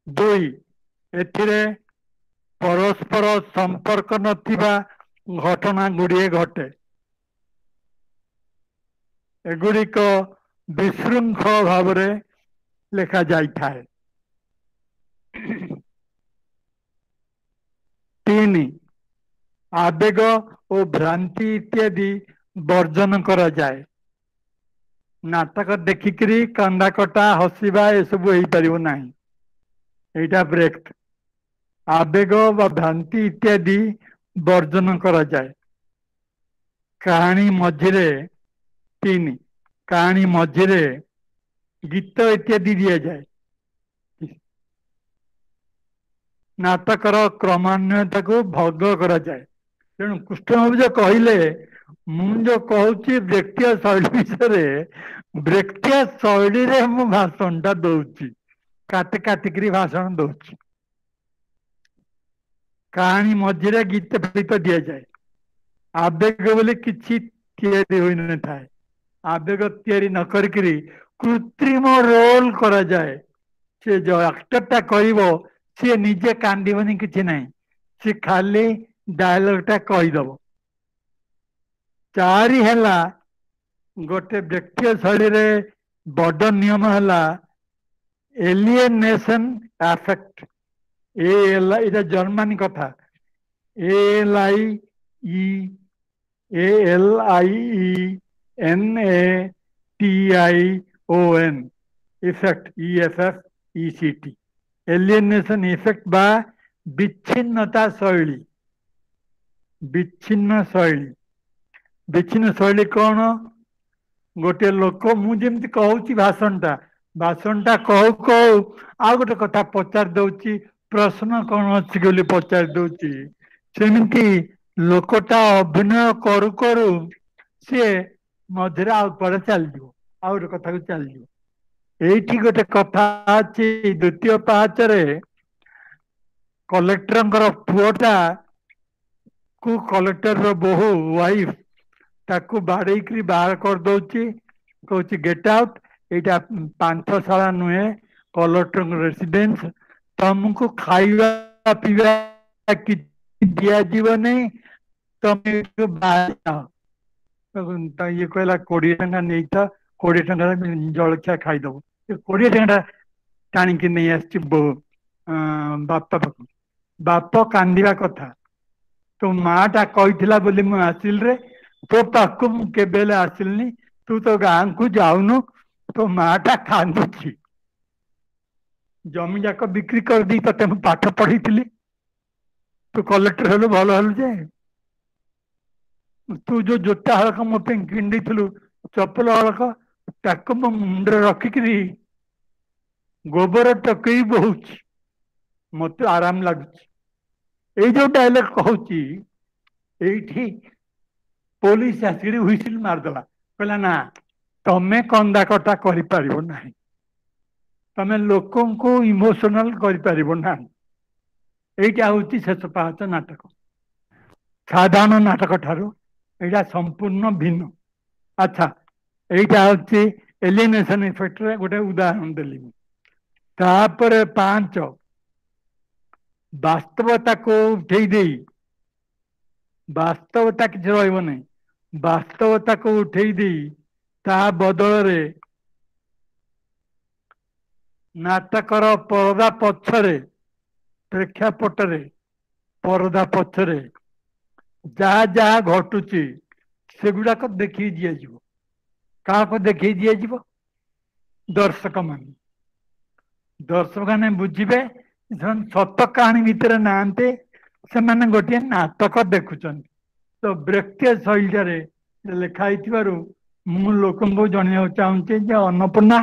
ଦୁଇ, ଏଥିରେ ପରସ୍ପର ସମ୍ପର୍କ ନଥିବା ଘଟଣା ଗୁଡ଼ିଏ ଘଟେ, ଏଗୁଡ଼ିକ ବିଶୃଙ୍ଖଳ ଭାବରେ ଲେଖାଯାଇଥାଏ। ତିନି, ଆବେଗ ଓ ଭ୍ରାନ୍ତି ଇତ୍ୟାଦି ବର୍ଜନ କରାଯାଏ। ନାଟକ ଦେଖିକିରି କାନ୍ଦା କଟା, ହସିବା ଏସବୁ ହେଇପାରିବ ନାହିଁ। ଏଇଟା ବ୍ରେକ୍ଟ। ଆବେଗ ବା ଭ୍ରାନ୍ତି ଇତ୍ୟାଦି ବର୍ଜନ କରାଯାଏ। କାହାଣୀ ମଝିରେ, ତିନି, କାହାଣୀ ମଝିରେ ଗୀତ ଇତ୍ୟାଦି ଦିଆଯାଏ। ନାଟକର କ୍ରମାନ୍ୱୟତାକୁ ଭଙ୍ଗ କରାଯାଏ। ତେଣୁ କୃଷ୍ଣବାବୁ ଯୋଉ କହିଲେ, ମୁଁ ଯୋଉ କହୁଛି ବ୍ରେକ୍ତୀୟ ଶୈଳୀ ବିଷୟରେ, ବ୍ରେକ୍ତୀୟ ଶୈଳୀରେ ମୁଁ ଭାଷଣଟା ଦଉଛି, କାଟି କାଟିକିରି ଭାଷଣ ଦଉଛି। କାହାଣୀ ମଝିରେ ଗୀତ ଫୀତ ଦିଆଯାଏ। ଆବେଗ ବୋଲି କିଛି ତିଆରି ହୋଇନଥାଏ। ଆବେଗ ତିଆରି ନ କରିକିରି କୃତ୍ରିମ ରୋଲ କରାଯାଏ। ସେ ଯୋଉ ଆକ୍ଟରଟା କରିବ, ସିଏ ନିଜେ କାନ୍ଦିବନି, କିଛି ନାହିଁ, ସେ ଖାଲି ଡାଇଲଗଟା କହିଦବ। ଚାରି ହେଲା, ଗୋଟେ ବ୍ୟକ୍ତିୟ ଶୈଳୀରେ ବଡ ନିୟମ ହେଲା ଏଲିଏନେସନ ଆଫେକ୍ଟ। ଏ ଏଇଟା ଜର୍ମାନୀ କଥା। L I E A L I E N A T I O N effect, E F F E C T, alienation effect ବା ବିଚ୍ଛିନ୍ନତା ଶୈଳୀ। ବିଚ୍ଛିନ୍ନ ଶୈଳୀ, ବିଚ୍ଛିନ୍ନ ଶୈଳୀ କଣ? ଗୋଟେ ଲୋକ, ମୁଁ ଯେମିତି କହୁଛି ଭାଷଣଟା, ଭାଷଣଟା କହୁ କହୁ ଆଉ ଗୋଟେ କଥା ପଚାରି ଦଉଛି, ପ୍ରଶ୍ନ କଣ ଅଛି ବୋଲି ପଚାରି ଦଉଛି। ସେମିତି ଲୋକଟା ଅଭିନୟ କରୁ କରୁ ସିଏ ମଝିରେ ଆଉ କୁଆଡେ ଚାଲିଯିବ, ଆଉ ଗୋଟେ କଥାକୁ ଚାଲିଯିବ। ଏଇଠି ଗୋଟେ କଥା ଅଛି, ଦ୍ୱିତୀୟ ପାହାଚରେ କଲେକ୍ଟରଙ୍କର ପୁଅଟା କୁ କଲେକ୍ଟରର ବୋହୂ ୱାଇଫ ତାକୁ ବାଡେଇକିରି ବାହାର କରିଦଉଛି, କହୁଛି ଗେଟ୍ ଆଉଟ୍, ଏଇଟା ପାନ୍ଥଶାଳା ନୁହେଁ, କଲେକ୍ଟରଙ୍କ ରେସିଡେନ୍ସ, ତମକୁ ଖାଇବା ପିଇବା କିଛି ଦିଆଯିବ ନାହିଁ, ତମେ ବାହାର। ଇଏ କହିଲା 20 ଟଙ୍କା ନେଇଥା, 20 ଟଙ୍କାରେ ଜଳଖିଆ ଖାଇଦବ। 20 ଟଙ୍କା ଟାଣିକି ନେଇ ଆସିଛି ବୋଉ ବାପା ପାଖକୁ। ବାପ କାନ୍ଦିବା କଥା, ତୋ ମା ଟା କହିଥିଲା ବୋଲି ମୁଁ ଆସିଲି ରେ, ତୋ ପାଖକୁ ମୁଁ କେବେ ହେଲେ ଆସିଲିନି, ତୁ ତ ଗାଁକୁ ଯାଉନୁ, ତୋ ମା ଟା କାନ୍ଦୁଛି, ଜମି ଯାକ ବିକ୍ରି କରିଦେଇ ତତେ ମୁଁ ପାଠ ପଢେଇଥିଲି, ତୁ କଲେକ୍ଟର ହେଲୁ ଭଲ ହେଲୁ ଯେ, ତୁ ଯୋଉ ଜୋତା ହଳକ ମୋ ପାଇଁ କିଣି ଦେଇଥିଲୁ, ଚପଲ ହଳକ, ତାକୁ ମୋ ମୁଣ୍ଡରେ ରଖିକିରି ଗୋବର ଟକେଇ ବହୁଛି, ମତେ ଆରାମ ଲାଗୁଛି। ଏଇ ଯୋଉ ଡାଇଲଗ କହୁଛି, ଏଇଠି ପୋଲିସ ଆସିକିରି ହୁଇସିଲ ମାରିଦେଲା, କହିଲା ନା ତମେ କନ୍ଦା କଟା କରିପାରିବ ନାହିଁ, ତମେ ଲୋକଙ୍କୁ ଇମୋସନାଲ କରିପାରିବ ନାହିଁ। ଏଇଟା ହଉଛି ଶେଷ ପାହାଚ ନାଟକ। ସାଧାରଣ ନାଟକ ଠାରୁ ଏଇଟା ସମ୍ପୂର୍ଣ୍ଣ ଭିନ୍ନ। ଆଚ୍ଛା, ଏଇଟା ହଉଛି ଏଲିନେସନ ଇଫେକ୍ଟରେ ଗୋଟେ ଉଦାହରଣ ଦେଲି ମୁଁ। ତାପରେ 5, ବାସ୍ତବତାକୁ ଉଠେଇ ଦେଇ, ବାସ୍ତବତା କିଛି ରହିବ ନାହିଁ, ବାସ୍ତବତାକୁ ଉଠେଇ ଦେଇ ତା ବଦଳରେ ନାଟକର ପରଦା ପଛରେ, ପ୍ରେକ୍ଷାପଟରେ ପରଦା ପଛରେ ଯାହା ଯାହା ଘଟୁଛି ସେଗୁଡାକ ଦେଖେଇ ଦିଆଯିବ। କାହାକୁ ଦେଖେଇ ଦିଆଯିବ? ଦର୍ଶକମାନେ। ଦର୍ଶକମାନେ ବୁଝିବେ ସେମାନେ ସତ କାହାଣୀ ଭିତରେ ନାହାନ୍ତି, ସେମାନେ ଗୋଟିଏ ନାଟକ ଦେଖୁଛନ୍ତି। ତ ବ୍ରେକ୍ଟିୟ ଶୈଳୀରେ ଲେଖା ହେଇଥିବାରୁ ମୁଁ ଲୋକଙ୍କୁ ଜଣେଇବାକୁ ଚାହୁଁଛି ଯେ ଅନ୍ନପୂର୍ଣ୍ଣା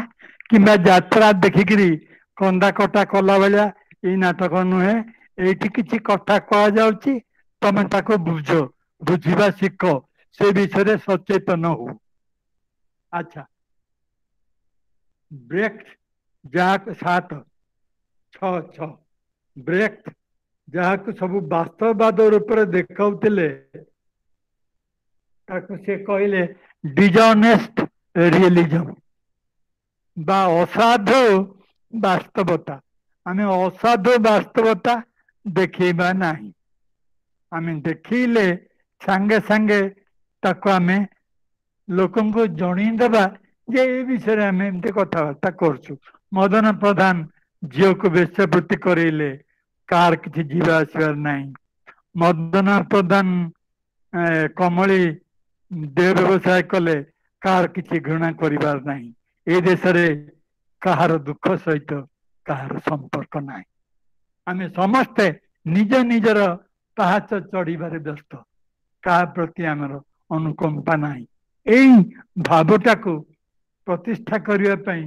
କିମ୍ବା ଯାତ୍ରା ଦେଖିକିରି କନ୍ଦା କଟା କଲା ଭଳିଆ ଏଇ ନାଟକ ନୁହେଁ। ଏଇଠି କିଛି କଥା କୁହାଯାଉଛି, ତମେ ତାକୁ ବୁଝ, ବୁଝିବା ଶିଖ, ସେ ବିଷୟରେ ସଚେତନ ହଉ। ଆଚ୍ଛା, ବ୍ରେକ୍ଟ ଯାହାକୁ 7 6 6 ବ୍ରେକ୍ଟ ଯାହାକୁ ସବୁ ବାସ୍ତବବାଦ ରୂପରେ ଦେଖାଉଥିଲେ, ତାକୁ ସେ କହିଲେ ଡିଜଅନେଷ୍ଟ ରିଏଲିଜମ ବା ଅସାଧୁ ବାସ୍ତବତା। ଆମେ ଅସାଧୁ ବାସ୍ତବତା ଦେଖେଇବା ନାହିଁ, ଆମେ ଦେଖେଇଲେ ସାଙ୍ଗେ ସାଙ୍ଗେ ତାକୁ ଆମେ ଲୋକଙ୍କୁ ଜଣେଇଦେବା ଯେ ଏ ବିଷୟରେ ଆମେ ଏମିତି କଥାବାର୍ତ୍ତା କରୁଛୁ। ମଦନ ପ୍ରଧାନ ଝିଅକୁ ବେଶ୍ୟାବୃତ୍ତି କରେଇଲେ, କାହାର କିଛି ଯିବା ଆସିବାର ନାହିଁ। ମଦନ ପ୍ରଧାନ କମଳି ଦେହ ବ୍ୟବସାୟ କଲେ, କାହାର କିଛି ଘୃଣା କରିବାର ନାହିଁ। ଏ ଦେଶରେ କାହାର ଦୁଃଖ ସହିତ କାହାର ସମ୍ପର୍କ ନାହିଁ। ଆମେ ସମସ୍ତେ ନିଜ ନିଜର ପାହାଚ ଚଢିବାରେ ବ୍ୟସ୍ତ, କାହା ପ୍ରତି ଆମର ଅନୁକମ୍ପା ନାହିଁ। ଏଇ ଭାବଟାକୁ ପ୍ରତିଷ୍ଠା କରିବା ପାଇଁ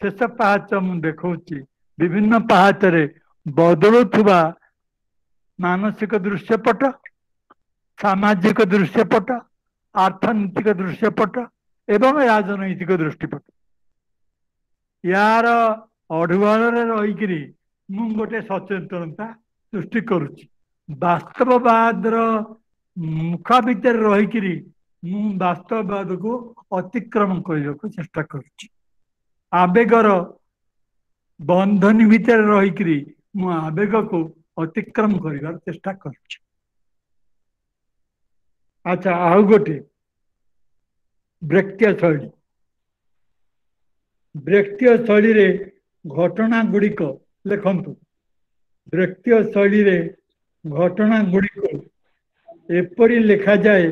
ଶେଷ ପାହାଚ ମୁଁ ଦେଖଉଛି। ବିଭିନ୍ନ ପାହାଚରେ ବଦଳୁଥିବା ମାନସିକ ଦୃଶ୍ୟପଟ, ସାମାଜିକ ଦୃଶ୍ୟପଟ, ଅର୍ଥନୈତିକ ଦୃଶ୍ୟପଟ ଏବଂ ରାଜନୈତିକ ଦୃଷ୍ଟିପଟ, ୟାର ଅଢୁଆଳରେ ରହିକିରି ମୁଁ ଗୋଟେ ସଚେତନତା ସୃଷ୍ଟି କରୁଛି। ବାସ୍ତବବାଦର ମୁଖା ଭିତରେ ରହିକିରି ମୁଁ ବାସ୍ତବବାଦକୁ ଅତିକ୍ରମ କରିବାକୁ ଚେଷ୍ଟା କରୁଛି। ଆବେଗର ବନ୍ଧନୀ ଭିତରେ ରହିକିରି ମୁଁ ଆବେଗକୁ ଅତିକ୍ରମ କରିବାର ଚେଷ୍ଟା କରୁଛି। ଆଚ୍ଛା, ଆଉ ଗୋଟେ ବ୍ରେକ୍ଟିୟ ଶୈଳୀ। ବ୍ରେକ୍ଟିୟ ଶୈଳୀରେ ଘଟଣା ଗୁଡ଼ିକ ଲେଖନ୍ତୁ। ବ୍ରେକ୍ଟିୟ ଶୈଳୀରେ ଘଟଣା ଗୁଡ଼ିକୁ ଏପରି ଲେଖାଯାଏ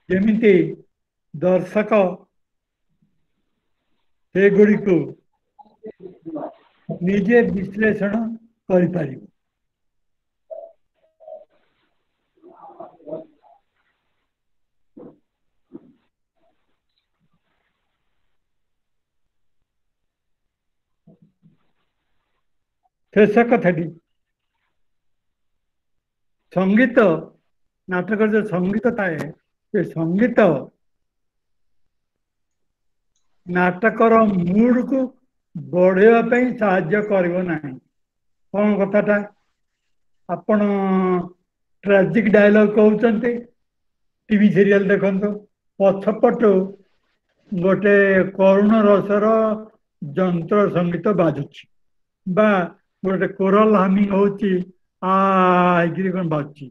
ଯେମିତି ଦର୍ଶକ ସେଗୁଡ଼ିକୁ ନିଜେ ବିଶ୍ଳେଷଣ କରିପାରିବ। ଶେଷ କଥାଟି, ସଙ୍ଗୀତ, ନାଟକର ଯୋଉ ସଙ୍ଗୀତ ଥାଏ, ସେ ସଙ୍ଗୀତ ନାଟକର ମୁଡକୁ ବଢେଇବା ପାଇଁ ସାହାଯ୍ୟ କରିବ ନାହିଁ। କଣ କଥାଟା? ଆପଣ ଟ୍ରାଜିକ ଡାଇଲଗ କହୁଛନ୍ତି, ଟିଭି ସିରିଏଲ ଦେଖନ୍ତୁ, ପଛପଟୁ ଗୋଟେ କରୁଣ ରସର ଯନ୍ତ୍ର ସଙ୍ଗୀତ ବାଜୁଛି ବା ଗୋଟେ କୋରାଲ ହାମିଂ ହଉଛି, ଆ ହେଇକିରି କଣ ବାଜୁଛି।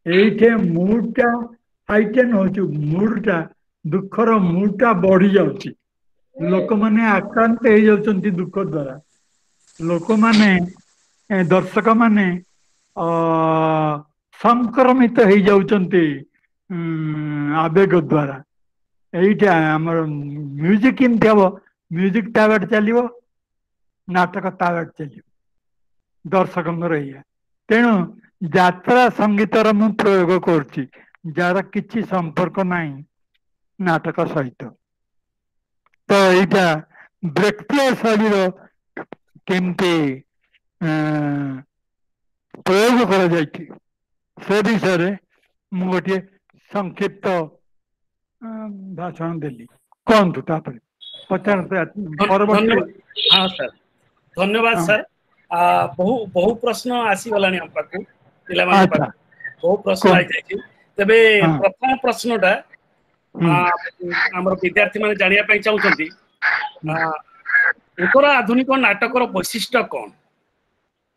ଏଇଠି ମୁଡଟା ହାଇଟେନ୍ ହଉଛି, ମୁଡଟା, ଦୁଃଖର ମୁଡଟା ବଢି ଯାଉଛି, ଲୋକମାନେ ଆକ୍ରାନ୍ତ ହେଇଯାଉଛନ୍ତି ଦୁଃଖ ଦ୍ଵାରା, ଲୋକମାନେ, ଦର୍ଶକ ମାନେ ସଂକ୍ରମିତ ହେଇଯାଉଛନ୍ତି ଆବେଗ ଦ୍ଵାରା। ଏଇଟା ଆମର ମ୍ୟୁଜିକ କେମିତି ହବ? ମ୍ୟୁଜିକ ତା ବାଟେ ଚାଲିବ, ନାଟକ ତା ବାଟେ ଚାଲିବ, ଦର୍ଶକଙ୍କର ଏଇଆ। ତେଣୁ ଯାତ୍ରା ସଙ୍ଗୀତର ମୁଁ ପ୍ରୟୋଗ କରୁଛି, ଯାହାର କିଛି ସମ୍ପର୍କ ନାହିଁ ନାଟକ ସହିତ। ତ ଏଇଟା ବ୍ରେକ୍ଟିୟ ଶୈଳୀର କେମିତି ପ୍ରୟୋଗ କରାଯାଇଛି ସେ ବିଷୟରେ ମୁଁ ଗୋଟିଏ ସଂକ୍ଷିପ୍ତ ଭାଷଣ ଦେଲି। କୁହନ୍ତୁ, ତାପରେ ପଚାରନ୍ତୁ ପରବର୍ତ୍ତୀ। ହଁ ସାର୍, ଧନ୍ୟବାଦ ସାର୍। ବହୁ ବହୁ ପ୍ରଶ୍ନ ଆସିଗଲାଣି ଆମ ପାଖକୁ, ପିଲାମାନଙ୍କ ପାଖକୁ ବହୁ ପ୍ରଶ୍ନ ଆସିଯାଇଛି। ତେବେ ପ୍ରଥମ ପ୍ରଶ୍ନଟା ଆମର ବିଦ୍ୟାର୍ଥୀ ମାନେ ଜାଣିବା ପାଇଁ ଚାହୁଁଛନ୍ତି, ଉତ୍ତର ଆଧୁନିକ ନାଟକର ବୈଶିଷ୍ଟ୍ୟ କଣ?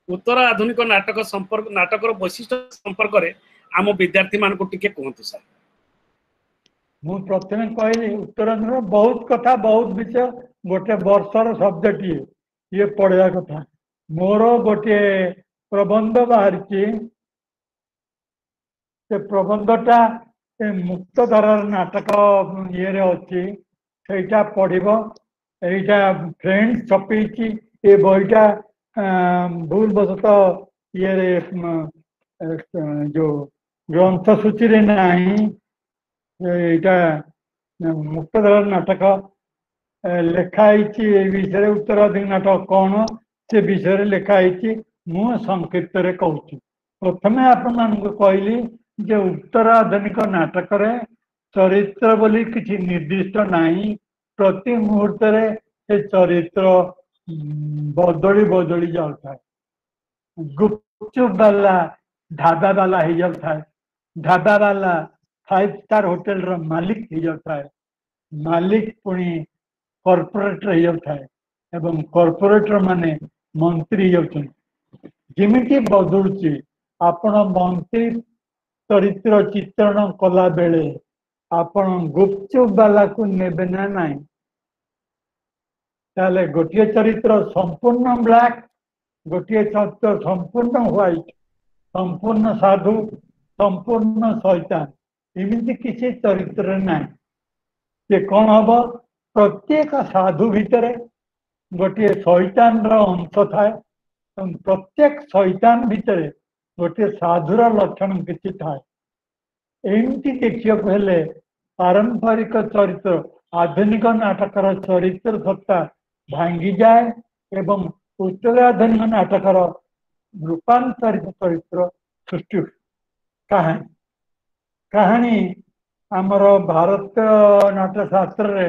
ଉତ୍ତର ଆଧୁନିକ ନାଟକ ସମ୍ପର୍କ, ନାଟକର ବୈଶିଷ୍ଟ୍ୟ ସମ୍ପର୍କରେ ଆମ ବିଦ୍ୟାର୍ଥୀ ମାନଙ୍କୁ ଟିକେ କୁହନ୍ତୁ ସାର୍। ମୁଁ ପ୍ରଥମେ କହିଲି ଉତ୍ତରାଧୁନିକ ବହୁତ କଥା, ବହୁତ ବିଷୟ, ଗୋଟେ ବର୍ଷର ସବଜେକ୍ଟ ଇଏ ପଢିବା କଥା। ମୋର ଗୋଟିଏ ପ୍ରବନ୍ଧ ବାହାରିଛି, ସେ ପ୍ରବନ୍ଧଟା ସେ ମୁକ୍ତ ଧାରାର ନାଟକ ଇଏରେ ଅଛି, ସେଇଟା ପଢିବ। ଏଇଟା ଫ୍ରେଣ୍ଡ ଛପେଇଛି ଏ ବହିଟା, ଭୁଲ ବଶତଃ ଇଏରେ ଯୋଉ ଗ୍ରନ୍ଥ ସୂଚୀରେ ନାହିଁ। ଏଇଟା ମୁକ୍ତଧାରାର ନାଟକ ଲେଖା ହେଇଛି, ଏ ବିଷୟରେ ଉତ୍ତରାଧୁନିକ ନାଟକ କଣ ସେ ବିଷୟରେ ଲେଖା ହେଇଛି। ମୁଁ ସଂକ୍ଷିପ୍ତରେ କହୁଛି। ପ୍ରଥମେ ଆପଣମାନଙ୍କୁ କହିଲି ଯେ ଉତ୍ତରାଧୁନିକ ନାଟକରେ ଚରିତ୍ର ବୋଲି କିଛି ନିର୍ଦ୍ଦିଷ୍ଟ ନାହିଁ, ପ୍ରତି ମୁହୂର୍ତ୍ତରେ ସେ ଚରିତ୍ର ବଦଳି ବଦଳି ଯାଉଥାଏ। ଗୁପଚୁପ ବାଲା ଢାବା ବାଲା ହେଇଯାଉଥାଏ, ଢାବା ବାଲା 5 ଷ୍ଟାର ହୋଟେଲର ମାଲିକ ହେଇଯାଉଥାଏ, ମାଲିକ ପୁଣି କର୍ପୋରେଟର ହେଇଯାଉଥାଏ, ଏବଂ କର୍ପୋରେଟର ମାନେ ମନ୍ତ୍ରୀ ହେଇଯାଉଛନ୍ତି। ଯେମିତି ବଦଳୁଛି, ଆପଣ ମନ୍ତ୍ରୀ ଚରିତ୍ର ଚିତ୍ରଣ କଲା ବେଳେ ଆପଣ ଗୁପଚୁପ ବାଲାକୁ ନେବେ ନା ନାହିଁ? ତାହେଲେ ଗୋଟିଏ ଚରିତ୍ର ସମ୍ପୂର୍ଣ୍ଣ ବ୍ଲାକ୍, ଗୋଟିଏ ଚରିତ୍ର ସମ୍ପୂର୍ଣ୍ଣ ହ୍ୱାଇଟ୍, ସମ୍ପୂର୍ଣ୍ଣ ସାଧୁ, ସମ୍ପୂର୍ଣ୍ଣ ଶୈତାନ, ଏମିତି କିଛି ଚରିତ୍ର ନାହିଁ। ସେ କଣ ହବ? ପ୍ରତ୍ୟେକ ସାଧୁ ଭିତରେ ଗୋଟିଏ ଶୈତାନର ଅଂଶ ଥାଏ, ଏବଂ ପ୍ରତ୍ୟେକ ଶୈତାନ ଭିତରେ ଗୋଟିଏ ସାଧୁର ଲକ୍ଷଣ କିଛି ଥାଏ। ଏମିତି ଦେଖିବାକୁ ହେଲେ ପାରମ୍ପରିକ ଚରିତ୍ର, ଆଧୁନିକ ନାଟକର ଚରିତ୍ର ସତ୍ତା ଭାଙ୍ଗିଯାଏ ଏବଂ ଉତ୍ତରାଧୁନିକ ନାଟକର ରୂପାନ୍ତରିତ ଚରିତ୍ର ସୃଷ୍ଟି ହୁଏ। କାହାଣୀ, କାହାଣୀ ଆମର ଭାରତୀୟ ନାଟ୍ୟ ଶାସ୍ତ୍ରରେ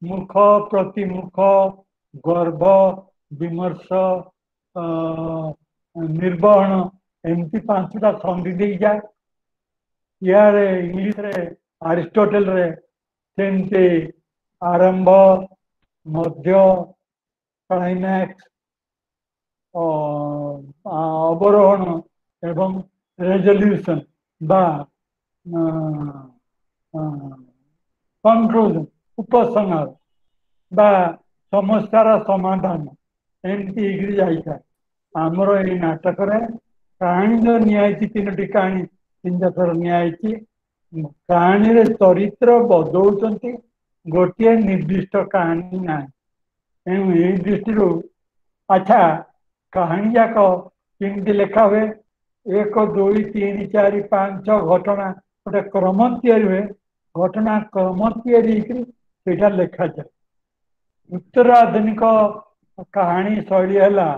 ମୁଖ, ପ୍ରତିମୁଖ, ଗର୍ଭ, ବିମର୍ଶ, ନିର୍ବହଣ, ଏମିତି 5ଟା ସନ୍ଧି ଦେଇଯାଏ। ଇଆଡ଼େ ଇଂଲିଶରେ ଆରିଷ୍ଟୋଟେଲରେ ସେମିତି ଆରମ୍ଭ, ମଧ୍ୟ, କ୍ଲାଇମ୍ୟାକ୍ସ, ଅବରୋହଣ ଏବଂ ରେଜଲ୍ୟୁସନ ବା କନକ୍ଲୁଜନ, ଉପସଂହାର ବା ସମସ୍ୟାର ସମାଧାନ, ଏମିତି ହେଇକିରି ଯାଇଥାଏ। ଆମର ଏଇ ନାଟକରେ କାହାଣୀ ଯୋଉ ନିଆହେଇଛି, 3ଟି କାହାଣୀ 3 ଥର ନିଆହେଇଛି। କାହାଣୀରେ ଚରିତ୍ର ବଦଳୁଛନ୍ତି, ଗୋଟିଏ ନିର୍ଦ୍ଦିଷ୍ଟ କାହାଣୀ ନାହିଁ। ତେଣୁ ଏଇ ଦୃଷ୍ଟିରୁ ଆଚ୍ଛା, କାହାଣୀ ଯାକ କେମିତି ଲେଖା ହୁଏ? 1 2 3 4 5 6 ଘଟଣା ଗୋଟେ କ୍ରମ ତିଆରି ହୁଏ, ଘଟଣା କ୍ରମ ତିଆରି ହେଇକରି ସେଇଟା ଲେଖାଯାଏ। ଉତ୍ତର ଆଧୁନିକ କାହାଣୀ ଶୈଳୀ ହେଲା,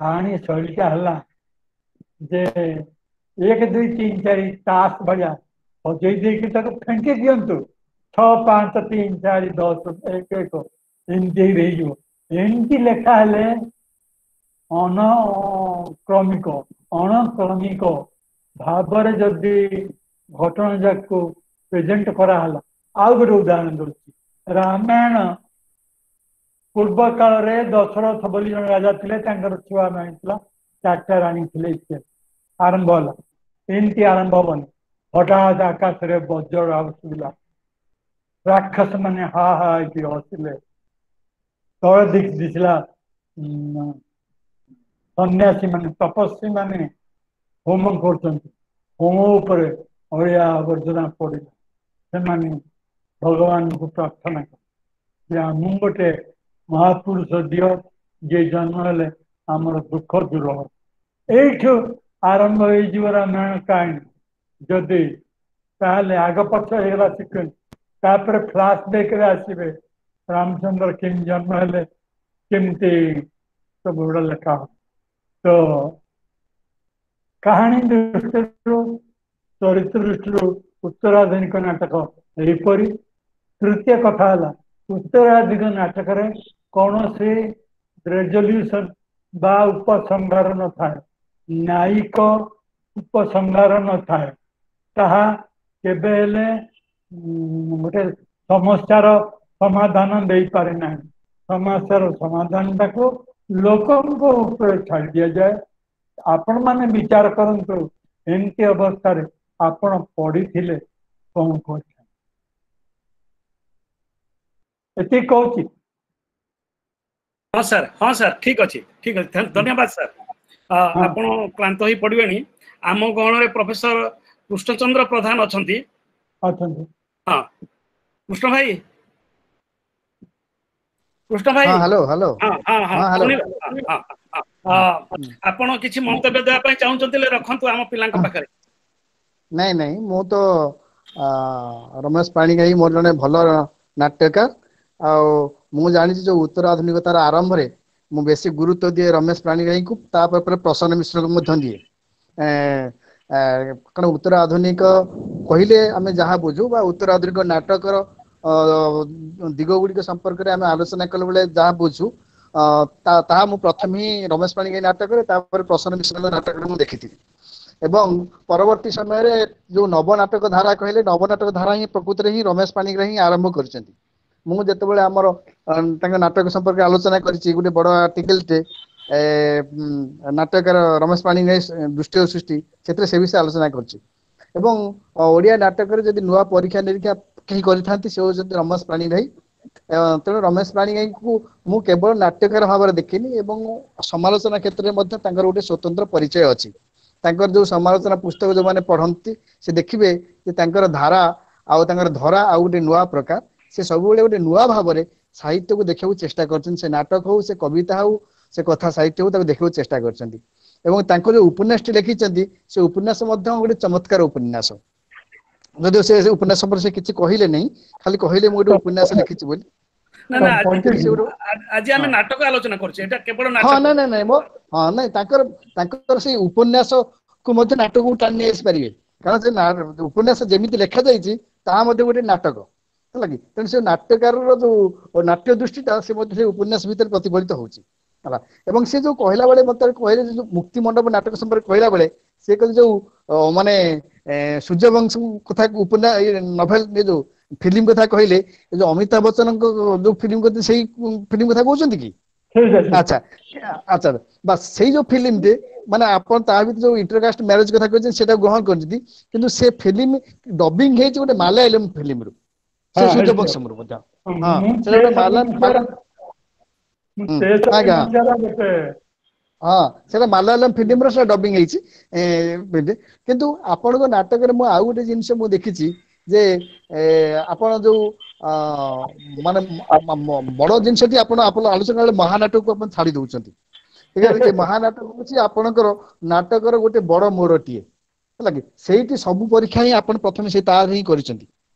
କାହାଣୀ ଶୈଳୀଟା ହେଲା ଯେ 1 2 3 4 ତାସ ଭଳିଆ ସଜେଇ ଦେଇକି ତାକୁ ଫେଙ୍କି ଦିଅନ୍ତୁ, 6 5 3 4 10 1 1 ଏମିତି ହେଇଯିବ। ଏମିତି ଲେଖା ହେଲେ ଅନକ୍ରମିକ ଅଣକ୍ରମିକ ଭାବରେ ଯଦି ଘଟଣା ଯାକୁ ପ୍ରେଜେଣ୍ଟ କରାହେଲା। ଆଉ ଗୋଟେ ଉଦାହରଣ ଦଉଛି, ରାମାୟଣ। ପୂର୍ବ କାଳରେ ଦଶରଥ ବୋଲି ଜଣେ ରାଜା ଥିଲେ, ତାଙ୍କର ଛୁଆ ଥିଲା, 4ଟା ରାଣୀ ଥିଲେ ଇତ୍ୟାଦି। ଆରମ୍ଭ ହେଲା, ଏମିତି ଆରମ୍ଭ ହବନି। ହଠାତ୍ ଆକାଶରେ ବଜ୍ର ଶୁଭିଲା, ରାକ୍ଷସ ମାନେ ହା ହା ହେଇକି ହସିଲେ, ତଳେ ଦିଶିଲା ସନ୍ନ୍ୟାସୀ ମାନେ ତପସ୍ୱୀ ମାନେ ହୋମ କରୁଛନ୍ତି, ହୋମ ଉପରେ ଅଳିଆ ଆବର୍ଜନା ପଡ଼ିଲା। ସେମାନେ ଭଗବାନଙ୍କୁ ପ୍ରାର୍ଥନା କଲେ ଯେ ଆମକୁ ଗୋଟେ ମହାପୁରୁଷ ଦିଅ, ଯିଏ ଜନ୍ମ ହେଲେ ଆମର ଦୁଃଖ ଦୂର ହବ। ଏଇଠୁ ଆରମ୍ଭ ହେଇଯିବ ରାମାୟଣ କାହାଣୀ। ଯଦି ତାହେଲେ ଆଗ ପଛ ହେଇଗଲା ସିକ୍ୱେନ୍ସ, ତାପରେ ଫ୍ଲାସ୍ ବ୍ୟାକରେ ଆସିବେ ରାମଚନ୍ଦ୍ର କେମିତି ଜନ୍ମ ହେଲେ, କେମିତି ସବୁ ଗୁଡ଼ା ଲେଖା ହବ। ତ କାହାଣୀ ଦୃଷ୍ଟିରୁ, ଚରିତ୍ର ଦୃଷ୍ଟିରୁ ଉତ୍ତରାଧୁନିକ ନାଟକ ଏହିପରି। ତୃତୀୟ କଥା ହେଲା, ଉତ୍ତରାଧୁନିକ ନାଟକରେ କୌଣସି ରେଜଲ୍ୟୁସନ ବା ଉପସଂହାର ନଥାଏ, ନ୍ୟାୟିକ ଉପସଂହାର ନଥାଏ। ତାହା କେବେ ହେଲେ ଗୋଟେ ସମସ୍ୟାର ସମାଧାନ ଦେଇପାରେ ନାହିଁ। ସମସ୍ୟାର ସମାଧାନଟାକୁ ଲୋକଙ୍କ ଉପରେ ଛାଡ଼ି ଦିଆଯାଏ। ଆପଣମାନେ ବିଚାର କରନ୍ତୁ, ଏମିତି ଅବସ୍ଥାରେ ଆପଣ ପଢିଥିଲେ କଣ କରିଛନ୍ତି? ଏତିକି କହୁଛି। ହଁ ସାର୍, ହଁ ସାର୍, ଠିକ ଅଛି, ଠିକ ଅଛି, ଧନ୍ୟବାଦ ସାର୍। ଆପଣ କ୍ଳାନ୍ତ ହେଇ ପଡିବେଣି। ଆମ ଗହଣରେ ପ୍ରଫେସର କୃଷ୍ଣଚନ୍ଦ୍ର ପ୍ରଧାନ ଅଛନ୍ତି। ଅଛନ୍ତି। ହଁ, କୃଷ୍ଣ ଭାଇ, କୃଷ୍ଣ ଭାଇ। Hello, hello. ହଁ ହଁ ହଁ, ଆପଣ କିଛି ମନ୍ତବ୍ୟ ଦେବା ପାଇଁ ଚାହୁଁଛନ୍ତି ରଖନ୍ତୁ ଆମ ପିଲାଙ୍କ ପାଖରେ। ନାଇଁ ନାଇଁ, ମୁଁ ତ ରମେଶ ପାଣିଗ୍ରାହୀ ମୋର ଜଣେ ଭଲ ନାଟ୍ୟକାର, ଆଉ ମୁଁ ଜାଣିଛି ଯୋଉ ଉତ୍ତର ଆଧୁନିକତାର ଆରମ୍ଭରେ ମୁଁ ବେଶୀ ଗୁରୁତ୍ୱ ଦିଏ ରମେଶ ପାଣିଗ୍ରାହୀଙ୍କୁ, ତାପରେ ପ୍ରସନ୍ନ ମିଶ୍ରଙ୍କୁ ମଧ୍ୟ ଦିଏ। କାରଣ ଉତ୍ତର ଆଧୁନିକ କହିଲେ ଆମେ ଯାହା ବୁଝୁ ବା ଉତ୍ତର ଆଧୁନିକ ନାଟକର ଦିଗ ଗୁଡ଼ିକ ସମ୍ପର୍କରେ ଆମେ ଆଲୋଚନା କଲା ବେଳେ ଯାହା ବୁଝୁ, ତାହା ମୁଁ ପ୍ରଥମେ ହିଁ ରମେଶ ପାଣିଗ୍ରାହୀ ନାଟକରେ, ତାପରେ ପ୍ରସନ୍ନ ମିଶ୍ରଙ୍କ ନାଟକରେ ମୁଁ ଦେଖିଥିଲି। ଏବଂ ପରବର୍ତ୍ତୀ ସମୟରେ ଯୋଉ ନବନାଟକ ଧାରା କହିଲେ, ନବନାଟକ ଧାରା ହିଁ ପ୍ରକୃତରେ ହିଁ ରମେଶ ପାଣିଗ୍ରାହୀ ହିଁ ଆରମ୍ଭ କରିଛନ୍ତି। ମୁଁ ଯେତେବେଳେ ଆମର ତାଙ୍କ ନାଟକ ସମ୍ପର୍କରେ ଆଲୋଚନା କରିଛି ଗୋଟେ ବଡ ଆର୍ଟିକଲଟେ, ନାଟକର ରମେଶ ପାଣିଗ୍ରାହୀ ଦୃଷ୍ଟି ଓ ସୃଷ୍ଟି, ସେଥିରେ ସେ ବିଷୟରେ ଆଲୋଚନା କରିଛି। ଏବଂ ଓଡ଼ିଆ ନାଟକରେ ଯଦି ନୂଆ ପରୀକ୍ଷା ନିରୀକ୍ଷା କେହି କରିଥାନ୍ତି, ସେ ହଉଛନ୍ତି ରମେଶ ପାଣିଗ୍ରାହୀ। ତେଣୁ ରମେଶ ପାଣିଗ୍ରାହୀଙ୍କୁ ମୁଁ କେବଳ ନାଟ୍ୟକାର ଭାବରେ ଦେଖିନି, ଏବଂ ସମାଲୋଚନା କ୍ଷେତ୍ରରେ ମଧ୍ୟ ତାଙ୍କର ଗୋଟେ ସ୍ୱତନ୍ତ୍ର ପରିଚୟ ଅଛି। ତାଙ୍କର ଯୋଉ ସମାଲୋଚନା ପୁସ୍ତକ ଯୋଉମାନେ ପଢନ୍ତି, ସେ ଦେଖିବେ ଯେ ତାଙ୍କର ଧାରା ଆଉ ତାଙ୍କର ଧରା ଆଉ ଗୋଟେ ନୂଆ ପ୍ରକାର। ସେ ସବୁବେଳେ ଗୋଟେ ନୂଆ ଭାବରେ ସାହିତ୍ୟକୁ ଦେଖିବାକୁ ଚେଷ୍ଟା କରିଛନ୍ତି। ସେ ନାଟକ ହଉ, ସେ କବିତା ହଉ, ସେ କଥା ସାହିତ୍ୟ ହଉ, ତାକୁ ଦେଖିବାକୁ ଚେଷ୍ଟା କରିଛନ୍ତି। ଏବଂ ତାଙ୍କ ଯୋଉ ଉପନ୍ୟାସଟି ଲେଖିଛନ୍ତି, ସେ ଉପନ୍ୟାସ ମଧ୍ୟ ଗୋଟେ ଚମତ୍କାର ଉପନ୍ୟାସ। ଯଦିଓ ସେ ଉପନ୍ୟାସ ସମ୍ପର୍କରେ ସେ କିଛି କହିଲେ ନାହିଁ, ଖାଲି କହିଲେ ମୁଁ ଗୋଟେ ଉପନ୍ୟାସ ଲେଖିଛି ବୋଲି। ଆଜି ଆମେ ନାଟକ ଆଲୋଚନା କରୁଛେ, ଏଇଟା କେବଳ। ହଁ, ନାଇଁ ନାଇଁ ନାଇଁ, ମୋ ହଁ ନାଇଁ, ତାଙ୍କର ତାଙ୍କର ସେଇ ଉପନ୍ୟାସକୁ ମଧ୍ୟ ନାଟକକୁ ଟାଣି ନେଇ ଆସିପାରିବେ, କାରଣ ସେ ଉପନ୍ୟାସ ଯେମିତି ଲେଖାଯାଇଛି ତାହା ମଧ୍ୟ ଗୋଟେ ନାଟକ ହେଲା କି। ତେଣୁ ସେ ନାଟ୍ୟକାରର ଯୋଉ ନାଟ୍ୟ ଦୃଷ୍ଟିଟା, ସେ ମଧ୍ୟ ସେ ଉପନ୍ୟାସ ଭିତରେ ପ୍ରତିଫଳିତ ହଉଛି ହେଲା। ଏବଂ ସେ ଯୋଉ କହିଲା ବେଳେ ମତେ କହିଲେ, ଯୋଉ ମୁକ୍ତି ମଣ୍ଡପ ନାଟକ ସମ୍ପର୍କରେ କହିଲା ବେଳେ ସେ କହିଲେ ଯୋଉ ମାନେ ସୂର୍ଯ୍ୟବଂଶ କଥା, ଉପନ୍ୟାସ ନଭେଲ ଯୋଉ ଫିଲ୍ମ କଥା କହିଲେ, ଯୋଉ ଅମିତାଭ ବଚ୍ଚନଙ୍କ ଯୋଉ ଫିଲ୍ମ କଥା, ସେଇ ଫିଲ୍ମ କଥା କହୁଛନ୍ତି କି? ଆଚ୍ଛା ଆଚ୍ଛା, ବାସ୍ ସେଇ ଯୋଉ ଫିଲ୍ମଟେ, ମାନେ ଆପଣ ତା ଭିତରେ ଯୋଉ ଇଣ୍ଟରକାଷ୍ଟ ମ୍ୟାରେଜ କଥା କହିଛନ୍ତି ସେଇଟା ଗ୍ରହଣ କରିଛନ୍ତି, କିନ୍ତୁ ସେ ଫିଲ୍ମ ଡବିଂ ହେଇଛି ଗୋଟେ ମାଲାୟାଲମ ଫିଲ୍ମରୁ, ସେ ସୂର୍ଯ୍ୟବଂଶମରୁ ମଧ୍ୟ। ହଁ, ସେଟା ଗୋଟେ ଆଜ୍ଞା, ହଁ, ସେଟା ମାଲାୟାଲମ ଫିଲ୍ମର ସେଟା ଡବିଂ ହେଇଛି। କିନ୍ତୁ ଆପଣଙ୍କ ନାଟକରେ ମୁଁ ଆଉ ଗୋଟେ ଜିନିଷ ମୁଁ ଦେଖିଛି ଯେ ଆପଣ ଯୋଉ ମାନେ ବଡ ଜିନିଷଟି ଆପଣ ଆପଣ ଆଲୋଚନା ବେଳେ ମହାନାଟକକୁ ଆପଣ ଛାଡି ଦଉଛନ୍ତି। ଏ ମହାନାଟକ ହଉଛି ଆପଣଙ୍କର ନାଟକର ଗୋଟେ ବଡ ମୋଡଟିଏ, ହେଲା କି? ସେଇଠି ସବୁ ପରୀକ୍ଷା ହିଁ ଆପଣ ପ୍ରଥମେ ସେଇ ତାର ହିଁ କରିଛନ୍ତି।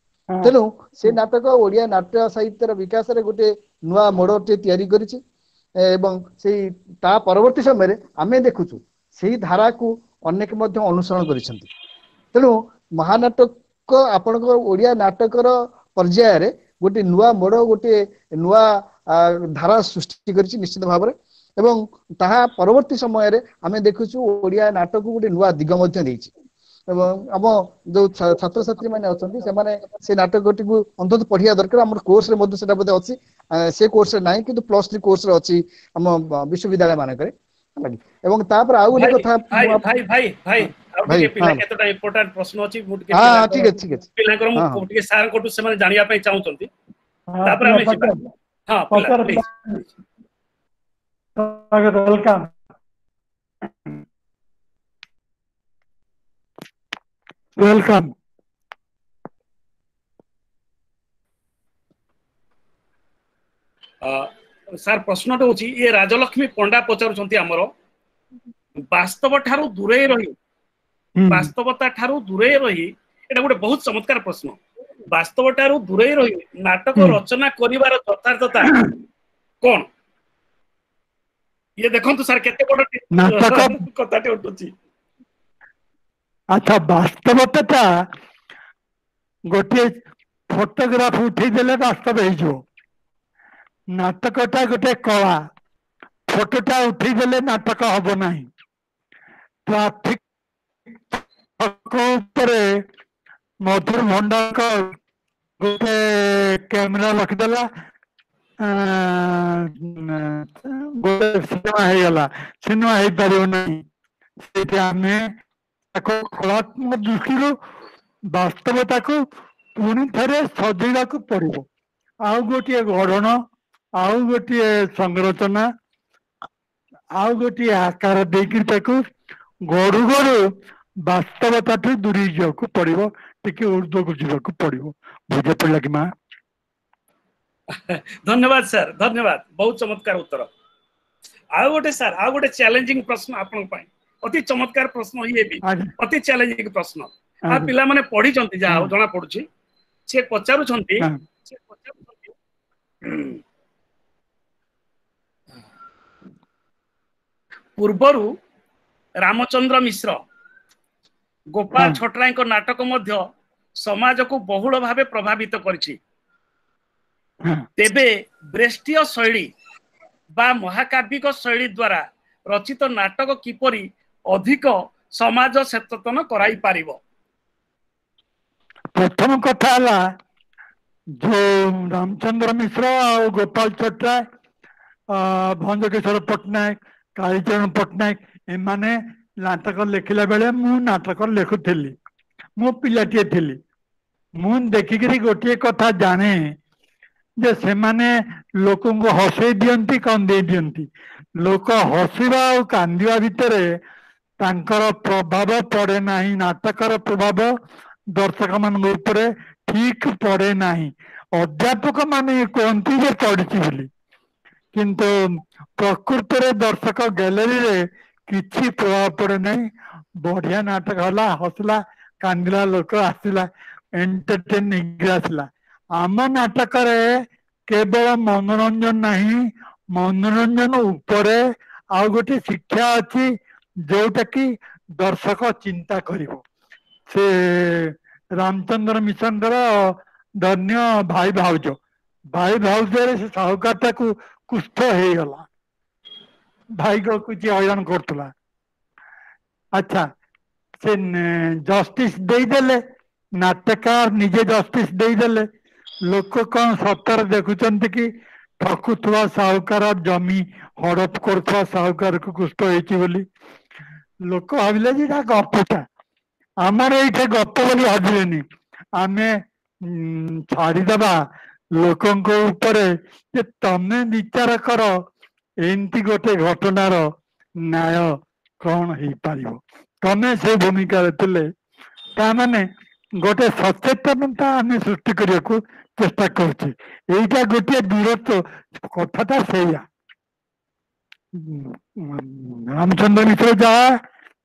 ତେଣୁ ସେ ନାଟକ ଓଡିଆ ନାଟ୍ୟ ସାହିତ୍ୟର ବିକାଶରେ ଗୋଟେ ନୂଆ ମୋଡଟିଏ ତିଆରି କରିଛି, ଏବଂ ସେଇ ତା ପରବର୍ତ୍ତୀ ସମୟରେ ଆମେ ଦେଖୁଛୁ ସେଇ ଧାରାକୁ ଅନେକ ମଧ୍ୟ ଅନୁସରଣ କରିଛନ୍ତି। ତେଣୁ ମହାନାଟକ ଆପଣଙ୍କ ଓଡିଆ ନାଟକର ପର୍ଯ୍ୟାୟରେ ଗୋଟେ ନୂଆ ମୋଡ, ଗୋଟେ ନୂଆ ଧାରା ସୃଷ୍ଟି କରିଛି ନିଶ୍ଚିତ ଭାବରେ, ଏବଂ ତାହା ପରବର୍ତ୍ତୀ ସମୟରେ ଆମେ ଦେଖୁଛୁ ଓଡିଆ ନାଟକକୁ ଗୋଟେ ନୂଆ ଦିଗ ମଧ୍ୟ ଦେଇଛି। ଏବଂ ଆମ ଯୋଉ ଛାତ୍ରଛାତ୍ରୀ ମାନେ ଅଛନ୍ତି ସେମାନେ ସେ ନାଟକଟିକୁ ଅନ୍ତତଃ ପଢିବା ଦରକାର। ଆମର କୋର୍ସରେ ମଧ୍ୟ ସେଟା ବୋଧେ ଅଛି, ସେ କୋର୍ସରେ ନାହିଁ କିନ୍ତୁ +3 କୋର୍ସରେ ଅଛି ଆମ ବିଶ୍ୱବିଦ୍ୟାଳୟ ମାନଙ୍କରେ। ଏବଂ ତାପରେ ଆଉ ଗୋଟେ କଥା, ଭାଇ ଭାଇ ଭାଇ ଆଉ ଟିକେ ପିଲା କେତେଟା ଇମ୍ପୋର୍ଟାଣ୍ଟ ପ୍ରଶ୍ନ ଅଛି, ମୁଁ ଟିକେ ଠିକ ଅଛି ଠିକ ଅଛି ପିଲାଙ୍କର ମୁଁ ଟିକେ ସାରଙ୍କଠୁ ସେମାନେ ଜାଣିବା ପାଇଁ ଚାହୁଁଛନ୍ତି, ତାପରେ ଆମେ ଯିବା। ହଁ ପିଲା ପ୍ଲିଜ। Welcome welcome. Sir ପ୍ରଶ୍ନଟା ହଉଛି, ଇଏ ରାଜଲକ୍ଷ୍ମୀ ପଣ୍ଡା ପଚାରୁଛନ୍ତି, ଆମର ବାସ୍ତବ ଠାରୁ ଦୂରେଇ ରହି, ବାସ୍ତବତା ଠାରୁ ଦୂରେଇ ରହି, ଏଇଟା ଗୋଟେ ବହୁତ ଚମତ୍କାର ପ୍ରଶ୍ନ, ବାସ୍ତବ ଠାରୁ ଦୂରେଇ ରହି ନାଟକ ରଚନା କରିବାର ଯଥାର୍ଥତା କଣ? ଇଏ ଦେଖନ୍ତୁ ସାର୍ କେତେ ବଡ କଥାଟେ ଉଠୁଛି। ଆଚ୍ଛା, ବାସ୍ତବତାଟା ଗୋଟିଏ ଫଟୋଗ୍ରାଫ ଉଠେଇଦେଲେ ବାସ୍ତବ ହେଇଯିବ। ନାଟକଟା ଗୋଟେ କଳା, ଫଟୋଟା ଉଠେଇଦେଲେ ନାଟକ ହବ ନାହିଁ। ଟ୍ରାଫିକ ଉପରେ ମଧୁର ଭଣ୍ଡାରକର ଗୋଟେ କ୍ୟାମେରା ରଖିଦେଲା, ଗୋଟେ ସିନେମା ହେଇଗଲା। ସିନେମା ହେଇପାରିବ ନାହିଁ। ସେଇଠି ଆମେ ତାକୁ କଳାତ୍ମକ ଦୃଷ୍ଟିରୁ ବାସ୍ତବତାକୁ ପୁଣି ଥରେ ସଜେଇବାକୁ ପଡିବ। ଆଉ ଗୋଟିଏ ଗଢଣ, ଆଉ ଗୋଟିଏ ସଂରଚନା, ଆଉ ଗୋଟିଏ ଆକାର ଦେଇକରି ତାକୁ ଗଢୁ ଗଢୁ ବାସ୍ତବତାଠୁ ଦୂରେଇ ଯିବାକୁ ପଡିବ, ଟିକେ ଉର୍ଦ୍ଧ୍ୱକୁ ଯିବାକୁ ପଡିବ। ବୁଝା ପଡିଲା କି ମା? ଧନ୍ୟବାଦ ସାର୍, ଧନ୍ୟବାଦ, ବହୁତ ଚମତ୍କାର ଉତ୍ତର। ଆଉ ଗୋଟେ ସାର୍, ଆଉ ଗୋଟେ ଚ୍ୟାଲେଞ୍ଜିଂ ପ୍ରଶ୍ନ ଆପଣଙ୍କ ପାଇଁ, ଅତି ଚମତ୍କାର ପ୍ରଶ୍ନ, ଇଏ ବି ଅତି ଚ୍ୟାଲେଞ୍ଜିଂ ପ୍ରଶ୍ନ। ଆଉ ପିଲାମାନେ ପଢିଛନ୍ତି ଯାହା ହଉ ଜଣା ପଡୁଛି। ସେ ପଚାରୁଛନ୍ତି, ପୂର୍ବରୁ ରାମଚନ୍ଦ୍ର ମିଶ୍ର, ଗୋପାଳ ଛୋଟରାୟଙ୍କ ନାଟକ ମଧ୍ୟ ସମାଜକୁ ବହୁଳ ଭାବେ ପ୍ରଭାବିତ କରିଛି, ତେବେ ବ୍ରେଷ୍ଟିୟ ଶୈଳୀ ବା ମହାକାବ୍ୟିକ ଶୈଳୀ ଦ୍ୱାରା ରଚିତ ନାଟକ କିପରି ଅଧିକ ସମାଜ ସଚେତନ କରାଇ ପାରିବ? ପ୍ରଥମ କଥା ହେଲା, ଯୋଉ ରାମଚନ୍ଦ୍ର ମିଶ୍ର ଆଉ ଗୋପାଳ ଛୋଟରାୟ, ଭଞ୍ଜକିଶୋର ପଟ୍ଟନାୟକ, କାଳୀଚରଣ ପଟ୍ଟନାୟକ, ଏମାନେ ନାଟକ ଲେଖିଲା ବେଳେ ମୁଁ ନାଟକ ଲେଖୁଥିଲି, ମୁଁ ପିଲାଟିଏ ଥିଲି। ମୁଁ ଦେଖିକିରି ଗୋଟିଏ କଥା ଜାଣେ ଯେ ସେମାନେ ଲୋକଙ୍କୁ ହସେଇ ଦିଅନ୍ତି, କନ୍ଦେଇ ଦିଅନ୍ତି। ଲୋକ ହସିବା ଆଉ କାନ୍ଦିବା ଭିତରେ ତାଙ୍କର ପ୍ରଭାବ ପଡେ ନାହିଁ, ନାଟକର ପ୍ରଭାବ ଦର୍ଶକ ମାନଙ୍କ ଉପରେ ଠିକ ପଡେ ନାହିଁ। ଅଧ୍ୟାପକ ମାନେ କୁହନ୍ତି ଯେ ପଡିଛି ବୋଲି, କିନ୍ତୁ ପ୍ରକୃତରେ ଦର୍ଶକ ଗ୍ୟାଲେରୀରେ କିଛି ପ୍ରଭାବ ପଡେ ନାହିଁ। ବଢିଆ ନାଟକ ହେଲା, ହସିଲା, କାନ୍ଦିଲା, ଲୋକ ଆସିଲା, ଏଣ୍ଟରଟେନ ହେଇକି ଆସିଲା। ଆମ ନାଟକରେ କେବଳ ମନୋରଞ୍ଜନ ନାହିଁ, ମନୋରଞ୍ଜନ ଉପରେ ଆଉ ଗୋଟେ ଶିକ୍ଷା ଅଛି ଯୋଉଟା କି ଦର୍ଶକ ଚିନ୍ତା କରିବ। ସେ ରାମଚନ୍ଦ୍ର ମିଶ୍ରଙ୍କର ଧନ୍ୟ ଭାଇ ଭାଉଜ, ଭାଇ ଭାଉଜରେ ସେ ସାହୁକାରଟାକୁ କୁଷ୍ଠ ହେଇଗଲା, ଭାଇକୁ କିଛି ହଇରାଣ କରୁଥିଲା। ଆଚ୍ଛା, ସେ ଜଷ୍ଟିସ ଦେଇଦେଲେ, ନାଟକାର ନିଜେ ଜଷ୍ଟିସ ଦେଇଦେଲେ। ଲୋକ କଣ ସତରେ ଦେଖୁଛନ୍ତି କି ଠକୁଥିବା ସାହୁକାର, ଜମି ହଡପ କରୁଥିବା ସାହୁକାରକୁ କୁଷ୍ଠ ହେଇଛି ବୋଲି? ଲୋକ ଭାବିଲେ ଯେ ଏଇଟା ଗପଟା, ଆମର ଏଇଟା ଗପ ବୋଲି ଭାବିଲେନି। ଆମେ ଛାଡିଦବା ଲୋକଙ୍କ ଉପରେ ଯେ ତମେ ବିଚାର କର ଏମିତି ଗୋଟେ ଘଟଣାର ନ୍ୟାୟ କଣ ହେଇପାରିବ, ତମେ ସେ ଭୂମିକାରେ ଥିଲେ। ତା ମାନେ ଗୋଟେ ସଚେତନତା ଆମେ ସୃଷ୍ଟି କରିବାକୁ ଚେଷ୍ଟା କରୁଛେ। ଏଇଟା ଗୋଟିଏ ଦୂରତ୍ୱ, କଥାଟା ସେଇଆ। ରାମଚନ୍ଦ୍ର ମିଶ୍ର ଯାହା,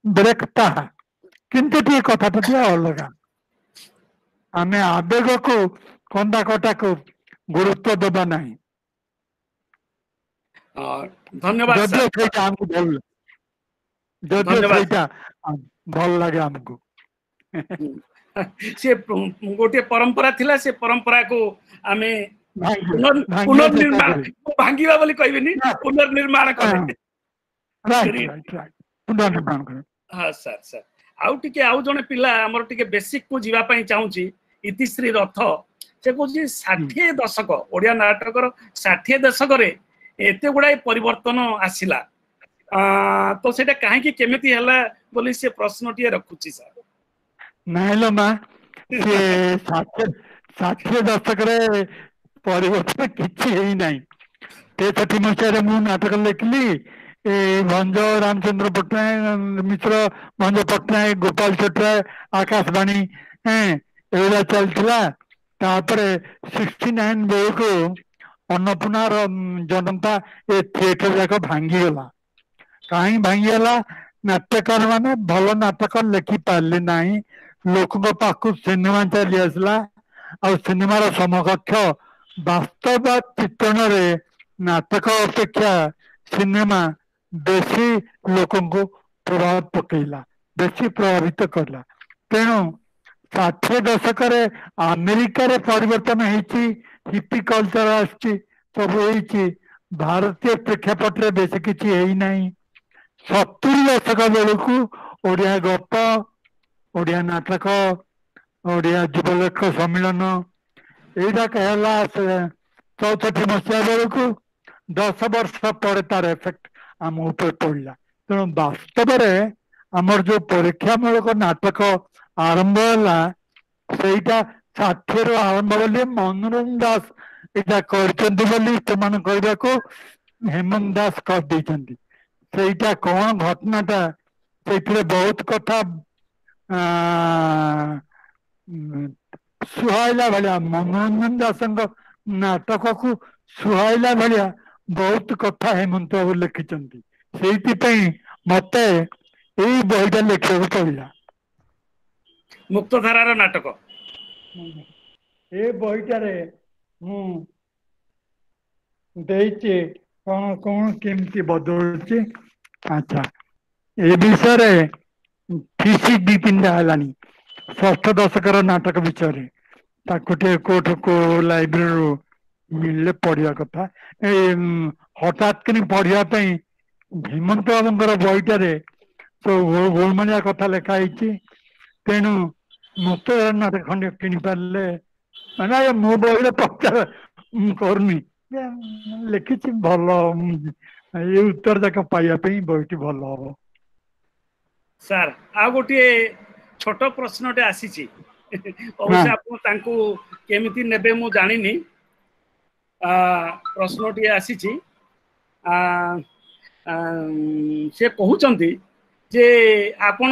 ବ୍ରେକ୍ ତାହା, କିନ୍ତୁ ଟିକେ କଥାଟା ଟିକେ ଅଲଗା। ଆମେ ଆବେଗକୁ, କନ୍ଦା କଟାକୁ ଗୁରୁତ୍ୱ ଦେବା ନାହିଁ। ଧନ୍ୟବାଦ। ଯଦିଓ ସେଇଟା ଆମକୁ ଭଲ, ଯଦିଓ ସେଇଟା ଭଲ ଲାଗେ ଆମକୁ। ସେ ଗୋଟିଏ ପରମ୍ପରା ଥିଲା, ସେ ପରମ୍ପରାକୁ ଆମେ ପୁନର୍ନିର୍ମାଣ, ଭାଙ୍ଗିବା ବୋଲି କହିବିନି, ପୁନର୍ନିର୍ମାଣ କଲେ। ହଁ ସାର୍। ସାର୍, ଆଉ ଟିକେ ଆଉ ଜଣେ ପିଲା ଆମର ଟିକେ ବେସିକ କୁ ଯିବା ପାଇଁ ଚାହୁଁଛି, ଇତିଶ୍ରୀ ରଥ। ସେ କହୁଛି 60 ଦଶକ, ଓଡିଆ ନାଟକର 60 ଦଶକରେ ଏତେ ଗୁଡାଏ ପରିବର୍ତ୍ତନ ଆସିଲା, ତ ସେଇଟା କାହିଁକି କେମିତି ହେଲା ବୋଲି ସେ ପ୍ରଶ୍ନଟିଏ ରଖୁଛି ସାର୍। ନାଇଁ ଲୋ ମା, ସେ 60 ଦଶକରେ ପରିବର୍ତ୍ତନ କିଛି ହେଇନାହିଁ। 63 ମସିହାରେ ମୁଁ ନାଟକ ଲେଖିଲି। ଏ ଭଞ୍ଜ, ରାମଚନ୍ଦ୍ର ପଟ୍ଟନାୟକ, ମିଶ୍ର, ଭଞ୍ଜ ପଟ୍ଟନାୟକ, ଗୋପାଳ ଛୋଟରାୟ, ଆକାଶବାଣୀ, ଏଇଗୁଡ଼ା ଚାଲିଥିଲା। ତାପରେ 69 ବେଳକୁ ଅନ୍ନପୂର୍ଣ୍ଣାର ଜନତା, ଏ ଥିଏଟର ଯାକ ଭାଙ୍ଗିଗଲା। କାହିଁ ଭାଙ୍ଗିଗଲା? ନାଟ୍ୟକାର ମାନେ ଭଲ ନାଟକ ଲେଖି ପାରିଲେ ନାହିଁ। ଲୋକଙ୍କ ପାଖକୁ ସିନେମା ଚାଲି ଆସିଲା, ଆଉ ସିନେମାର ସମକକ୍ଷ ବାସ୍ତବ ଚିତ୍ରଣରେ ନାଟକ ଅପେକ୍ଷା ସିନେମା ବେଶୀ ଲୋକଙ୍କୁ ପ୍ରଭାବ ପକେଇଲା, ବେଶୀ ପ୍ରଭାବିତ କଲା। ତେଣୁ 60 ଦଶକରେ ଆମେରିକାରେ ପରିବର୍ତ୍ତନ ହେଇଛି, ହିପି କଲଚର ଆସିଛି, ସବୁ ହେଇଛି। ଭାରତୀୟ ପ୍ରେକ୍ଷାପଟରେ ବେଶୀ କିଛି ହେଇନାହିଁ। 70 ଦଶକ ବେଳକୁ ଓଡ଼ିଆ ଗପ, ଓଡ଼ିଆ ନାଟକ, ଓଡ଼ିଆ ଯୁବଲେଖ ସମ୍ମିଳନ ଏଇଟା ହେଲା 64 ମସିହା ବେଳକୁ। 10 ବର୍ଷ ପରେ ତାର ଏଫେକ୍ଟ ଆମ ଉପରେ ପଡ଼ିଲା। ତେଣୁ ବାସ୍ତବରେ ଆମର ଯୋଉ ପରୀକ୍ଷାମୂଳକ ନାଟକ ଆରମ୍ଭ ହେଲା, ସେଇଟା 60ରୁ ଆରମ୍ଭ ବୋଲି ମନୋରଞ୍ଜନ ଦାସ ଏଇଟା କରିଛନ୍ତି ବୋଲି ସେମାନେ କହିବାକୁ ହେମନ୍ତ ଦାସ କରିଦେଇଛନ୍ତି। ସେଇଟା କଣ ଘଟଣାଟା, ସେଇଥିରେ ବହୁତ କଥା ସୁହାଇଲା ଭଳିଆ, ମନୋରଞ୍ଜନ ଦାସଙ୍କ ନାଟକକୁ ସୁହାଇଲା ଭଳିଆ ବହୁତ କଥା ହେମନ୍ତ ବାବୁ ଲେଖିଛନ୍ତି। ସେଇଥିପାଇଁ ମତେ ଏଇ ବହିଟା ଲେଖିବାକୁ ପଡିଲା, ମୁକ୍ତଧାରାର ନାଟକ। ଏ ବହିଟାରେ ମୁଁ ଦେଇଛି କଣ କଣ କେମିତି ବଦଳୁଛି। ଆଚ୍ଛା, ଏ ବିଷୟରେ ଥିସିସ୍ 2 3ଟା ହେଲାଣି ଷଷ୍ଠ ଦଶକର ନାଟକ ବିଷୟରେ। ତାକୁ ଟିକେ କୋଉଠୁ କୋଉ ଲାଇବ୍ରେରୀରୁ ମିଳିଲେ ପଢିବା କଥା। ଏ ହଠାତ୍ କିନି ପଢିବା ପାଇଁ ହେମନ୍ତ ବାବୁଙ୍କର ବହିଟାରେ ସବୁ ଗୋଳମାଳିଆ କଥା ଲେଖା ହେଇଛି। ତେଣୁ ମୁକ୍ତ ନାଟକ ଖଣ୍ଡେ କିଣି ପାରିଲେ, ମାନେ ମୋ ବହିରେ ପ୍ରଚାର ମୁଁ କରୁନି, ଲେଖିଛି ଭଲ, ଏଇ ଉତ୍ତର ଯାକ ପାଇବା ପାଇଁ ବହିଟି ଭଲ ହବ। ସାର୍, ଆଉ ଗୋଟିଏ ଛୋଟ ପ୍ରଶ୍ନଟେ ଆସିଛି, ଅବଶ୍ୟ ଆପଣ ତାଙ୍କୁ କେମିତି ନେବେ ମୁଁ ଜାଣିନି। ପ୍ରଶ୍ନଟିଏ ଆସିଛି, ସେ କହୁଛନ୍ତି ଯେ ଆପଣ,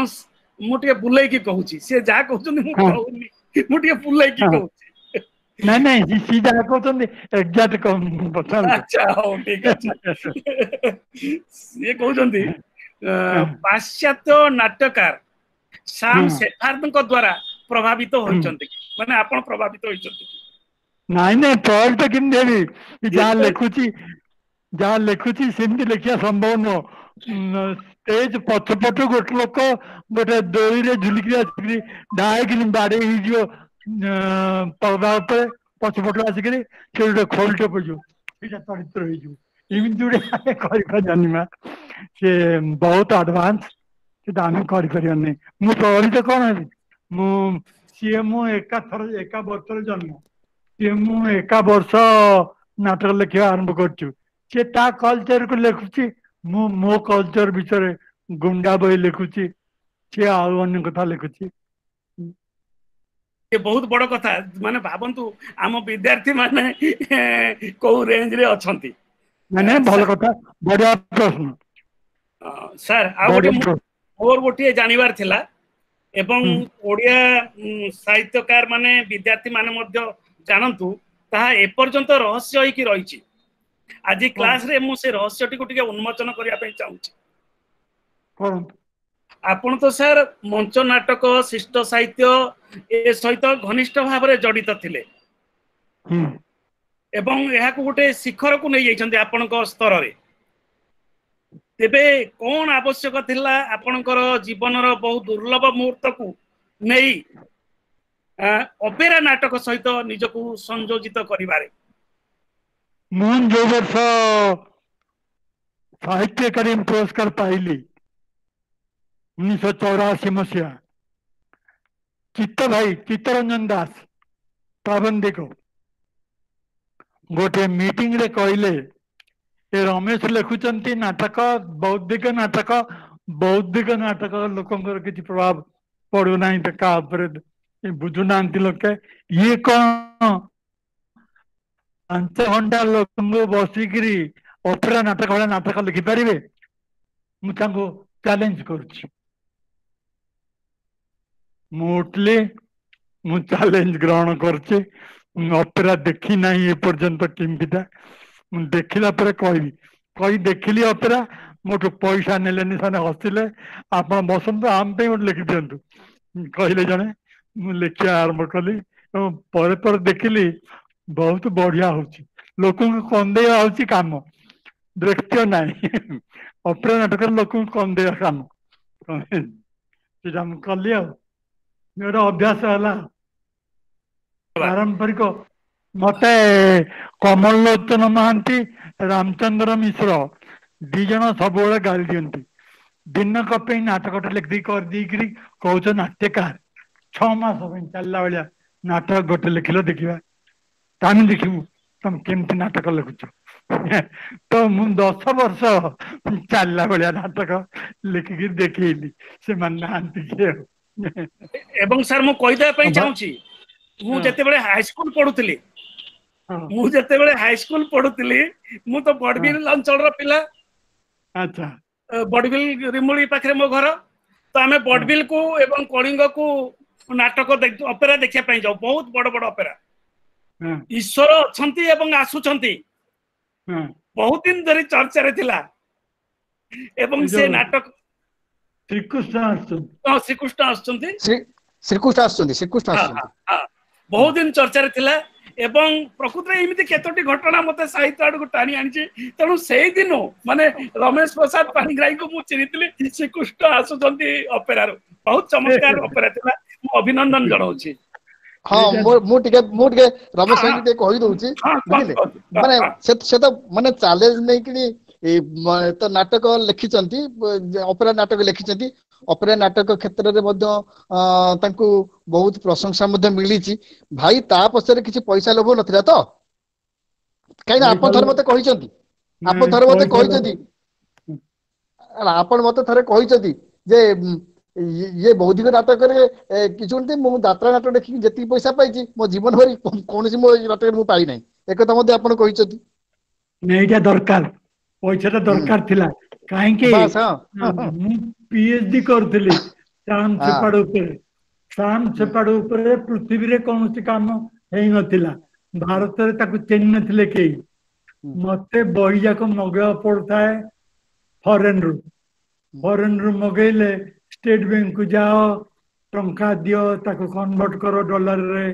ମୁଁ ଟିକେ ବୁଲେଇକି କହୁଛି, ସେ ଯାହା କହୁଛନ୍ତି ମୁଁ କହୁନି, ମୁଁ ଟିକେ ବୁଲେଇକି କହୁଛି। ନାଇଁ ନାଇଁ, ସିଏ ଯାହା କହୁଛନ୍ତି ଏକ୍ଜାକ୍ଟ। ଆଚ୍ଛା, ହଉ ଠିକ ଅଛି। ସିଏ କହୁଛନ୍ତି ପାଶ୍ଚାତ୍ୟ ନାଟ୍ୟକାର ସାମ ସେଫାର୍ଡଙ୍କ ଦ୍ଵାରା ପ୍ରଭାବିତ ହୋଇଛନ୍ତି, ମାନେ ଆପଣ ପ୍ରଭାବିତ ହୋଇଛନ୍ତି? ନାଇଁ ନାଇଁ, ପ୍ରଭାବିତ କେମିତି ହେବି? ଯାହା ଲେଖୁଛି, ଯାହା ଲେଖୁଛି ସେମିତି ଲେଖିବା ସମ୍ଭବ ନୁହଁ। ଷ୍ଟେଜ ପଛପଟୁ ଗୋଟେ ଲୋକ ଗୋଟେ ଦୋଳିରେ ଝୁଲିକିରି ଆସିକିରି ଢାଇକିନି ବାଡେଇ ହେଇଯିବ ପରଦା ଉପରେ, ପଛପଟୁ ଆସିକିରି ସେ ଗୋଟେ ଖୋଲଟେ ପଡ଼ିଯିବ, ସେଇଟା ଚରିତ୍ର ହେଇଯିବ। ଏମିତି ଗୋଟେ ଆମେ କରିପାରିବାନି ମା, ସେ ବହୁତ ଆଡଭାନ୍ସ, ସେଟା ଆମେ କରିପାରିବାନି। ମୁଁ ପ୍ରଭାବିତ କଣ ହେବି? ମୁଁ ସିଏ ମୁଁ ଏକାଥର ଏକା ବର୍ଷରେ ଜନ୍ମ, ସିଏ ମୁଁ ଏକା ବର୍ଷ ନାଟକ ଲେଖିବା ଆରମ୍ଭ କରିଛୁ। ସେ ତା କଲଚରକୁ ଲେଖୁଛି, ମୁଁ ମୋ କଲଚର ବିଷୟରେ ଗୁଣ୍ଡା ବହି ଲେଖୁଛି, ସିଏ ଆଉ ଅନ୍ୟ କଥା ଲେଖୁଛି। ବହୁତ ବଡ କଥା, ମାନେ ଭାବନ୍ତୁ ଆମ ବିଦ୍ୟାର୍ଥୀ ମାନେ କୋଉ ରେଞ୍ଜରେ ଅଛନ୍ତି। ନାଇଁ ନାଇଁ, ଭଲ କଥା, ବଢିଆ ପ୍ରଶ୍ନ ସାର୍। ଆଉ ଗୋଟେ ମୋର ଗୋଟିଏ ଜାଣିବାର ଥିଲା, ଏବଂ ଓଡ଼ିଆ ସାହିତ୍ୟକାର ମାନେ ବିଦ୍ୟାର୍ଥୀ ମାନେ ମଧ୍ୟ ଜାଣନ୍ତୁ, ତାହା ଏପର୍ଯ୍ୟନ୍ତ ରହସ୍ୟ ହେଇକି ରହିଛି। ଆଜି କ୍ଲାସରେ ମୁଁ ସେ ରହସ୍ୟଟିକୁ ଟିକେ ଉନ୍ମୋଚନ କରିବା ପାଇଁ ଚାହୁଁଛି। ଆପଣ ତ ସାର୍ ମଞ୍ଚ ନାଟକ, ଶିଷ୍ଟ ସାହିତ୍ୟ ଏ ସହିତ ଘନିଷ୍ଠ ଭାବରେ ଜଡ଼ିତ ଥିଲେ ଏବଂ ଏହାକୁ ଗୋଟେ ଶିଖରକୁ ନେଇଯାଇଛନ୍ତି ଆପଣଙ୍କ ସ୍ତରରେ। ତେବେ କଣ ଆବଶ୍ୟକ ଥିଲା ଆପଣଙ୍କର ଜୀବନର ବହୁ ଦୁର୍ଲଭ ମୁହୂର୍ତ୍ତକୁ ନେଇ ଅପେରା ନାଟକ ସହିତ ନିଜକୁ ସଂଯୋଜିତ କରିବାରେ? ମୁଁ ଯୋଉ ବର୍ଷ ସାହିତ୍ୟ ଏକାଡେମୀ ପୁରସ୍କାର ପାଇଲି 1984 ମସିହା, ଚିତ୍ତ ଭାଇ ଚିତ୍ତରଞ୍ଜନ ଦାସ ପ୍ରାବନ୍ଧିକ ଗୋଟେ ମିଟିଂରେ କହିଲେ, ଏ ରମେଶ ଲେଖୁଛନ୍ତି ନାଟକ, ବୌଦ୍ଧିକ ନାଟକ, ବୌଦ୍ଧିକ ନାଟକ ଲୋକଙ୍କର କିଛି ପ୍ରଭାବ ପଡୁନାହିଁ କାହା ଉପରେ, ବୁଝୁନାହାନ୍ତି ଲୋକେ, ଇଏ କଣ 5 ଘଣ୍ଟା ଲୋକଙ୍କୁ ବସିକିରି ଅପେରା ନାଟକ ଭଳିଆ ନାଟକ ଲେଖିପାରିବେ? ମୁଁ ତାଙ୍କୁ ଚ୍ୟାଲେଞ୍ଜ କରୁଛି। ମୁଁ ଉଠିଲି, ମୁଁ ଚ୍ୟାଲେଞ୍ଜ ଗ୍ରହଣ କରୁଛି। ମୁଁ ଅପେରା ଦେଖି ନାହିଁ ଏପର୍ଯ୍ୟନ୍ତ କେମିତିଟା, ମୁଁ ଦେଖିଲା ପରେ କହିବି। କହି ଦେଖିଲି ଅପେରା, ମୋଠୁ ପଇସା ନେଲେନି, ସେମାନେ ହସିଲେ। ଆପଣ ବସନ୍ତୁ, ଆମ ପାଇଁ ଗୋଟେ ଲେଖିଦିଅନ୍ତୁ କହିଲେ ଜଣେ। ମୁଁ ଲେଖିବା ଆରମ୍ଭ କଲି ଏବଂ ପରେ ପରେ ଦେଖିଲି ବହୁତ ବଢିଆ ହଉଛି। ଲୋକଙ୍କୁ କନ୍ଦେଇବା ହଉଛି କାମ, ଦୃଶ୍ୟ ନାହିଁ। ଅପେରା ନାଟକରେ ଲୋକଙ୍କୁ କନ୍ଦେଇବା କାମ, ସେଇଟା ମୁଁ କଲି। ଆଉ ଗୋଟେ ଅଭ୍ୟାସ ହେଲା ପାରମ୍ପରିକ। ମତେ କମଲଲୋଚନ ମହାନ୍ତି, ରାମଚନ୍ଦ୍ର ମିଶ୍ର ଦି ଜଣ ସବୁବେଳେ ଗାଳି ଦିଅନ୍ତି, ଦିନକ ପାଇଁ ନାଟକଟା ଲେଖିଦେଇ କରିଦେଇକିରି କହୁଛ ନାଟ୍ୟକାର, 6 ମାସ ପାଇଁ ଚାଲିଲା ଭଳିଆ ନାଟକ ଗୋଟେ ଲେଖିଲ, ଦେଖିବା ଆମେ ଦେଖିବୁ ତମେ କେମିତି ନାଟକ ଲେଖୁଛ। ତ ମୁଁ 10 ବର୍ଷ ଚାଲିଲା ଭଳିଆ ନାଟକ ଲେଖିକି ଦେଖେଇଲି, ସେମାନେ ନାହାନ୍ତି କିଏ। ଏବଂ ସାର୍ ମୁଁ କହିଦେବା ପାଇଁ ଚାହୁଁଛି, ମୁଁ ଯେତେବେଳେ ହାଇସ୍କୁଲ ପଢୁଥିଲି, ମୁଁ ଯେତେବେଳେ ହାଇସ୍କୁଲ ପଢୁଥିଲି, ମୁଁ ତ ବଡବିଲ ଅଞ୍ଚଳର ପିଲା। ଆଚ୍ଛା। ବଡବିଲ ରିମୁଳି ପାଖରେ ମୋ ଘର। ତ ଆମେ ବଡବିଲକୁ ଏବଂ କଳିଙ୍ଗକୁ ନାଟକ ଅପେରା ଦେଖିବା ପାଇଁ ଯାଉ, ବହୁତ ବଡ ବଡ ଅପେରା। ଈଶ୍ୱର ଅଛନ୍ତି ଏବଂ ଆସୁଛନ୍ତି ବହୁତ ଦିନ ଧରି ଚର୍ଚ୍ଚାରେ ଥିଲା। ଏବଂ ସେ ନାଟକ ଶ୍ରୀକୃଷ୍ଣ ଆସୁଛନ୍ତି, ଶ୍ରୀକୃଷ୍ଣ ଆସୁଛନ୍ତି, ଶ୍ରୀକୃଷ୍ଣ ଆସୁଛନ୍ତି, ଶ୍ରୀକୃଷ୍ଣ ଆସୁଛନ୍ତି, ବହୁତ ଦିନ ଚର୍ଚ୍ଚାରେ ଥିଲା। ଏବଂ ପ୍ରକୃତରେ ଏମିତି କେତୋଟି ଘଟଣା ମତେ ସାହିତ୍ୟ ଆଡକୁ ଟାଣି ଆଣିଛି। ତେଣୁ ସେଇଦିନୁ ମାନେ ରମେଶ ପ୍ରସାଦ ପାଣିଗ୍ରାହୀଙ୍କୁ ମୁଁ ଚିହ୍ନିଥିଲି ଶ୍ରୀକୃଷ୍ଣ ଆସୁଛନ୍ତି ଅପେରାରୁ। ବହୁତ ଚମତ୍କାର ଅପେରା ଥିଲା, ମୁଁ ଅଭିନନ୍ଦନ ଜଣାଉଛି। ହଁ, ମୁଁ ଟିକେ ରମେଶ ଭାଇକି ଟିକେ କହିଦଉଛି, ବୁଝିଲେ? ମାନେ ସେ ତ ମାନେ ଚ୍ୟାଲେଞ୍ଜ ନେଇକିରି ତ ନାଟକ ଲେଖିଛନ୍ତି, ଅପେରା ନାଟକ ଲେଖିଛନ୍ତି। ଅପେରା ନାଟକ କ୍ଷେତ୍ରରେ ମଧ୍ୟ ତାଙ୍କୁ ବହୁତ ପ୍ରଶଂସା ମଧ୍ୟ ମିଳିଛି। ଭାଇ ତା ପଛରେ କିଛି ପଇସା ଲୋଭ ନଥିଲା ତ? କାହିଁକି ନା ଆପଣ ଥରେ ମତେ କହିଛନ୍ତି, ଆପଣ ଥରେ ମତେ କହିଛନ୍ତି, ଆପଣ ମତେ ଥରେ କହିଛନ୍ତି ଯେ ଇଏ ବୌଦ୍ଧିକ ନାଟକରେ କିଛି ନୁହନ୍ତି, ମୁଁ ଯାତ୍ରା ନାଟକ ଦେଖିକି ଯେତିକି ପଇସା ପାଇଛି ମୋ ଜୀବନ ଭରି କୌଣସି ମୋ ନାଟକରେ ମୁଁ ପାଇନାହିଁ। ଏକଥା ମଧ୍ୟ ଆପଣ କହିଛନ୍ତି। ଏଇଟା ଦରକାର, ପଇସାଟା ଦରକାର ଥିଲା। କାହିଁକି ମୁଁ ପିଏଚଡି କରୁଥିଲି ଶ୍ୟାମ ସେପାଡ ଉପରେ। ଶ୍ୟାମ ସେପାଡ ଉପରେ ପୃଥିବୀରେ କୌଣସି କାମ ହେଇନଥିଲା, ଭାରତରେ ତାକୁ ଚିହ୍ନି ନଥିଲେ କେହି। ମତେ ବହି ଯାକ ମଗେଇବାକୁ ପଡୁଥାଏ ଫରେନରୁ। ଫରେନରୁ ମଗେଇଲେ ଷ୍ଟେଟ ବ୍ୟାଙ୍କକୁ ଯାଅ, ଟଙ୍କା ଦିଅ, ତାକୁ କନଭର୍ଟ କର ଡଲାରରେ,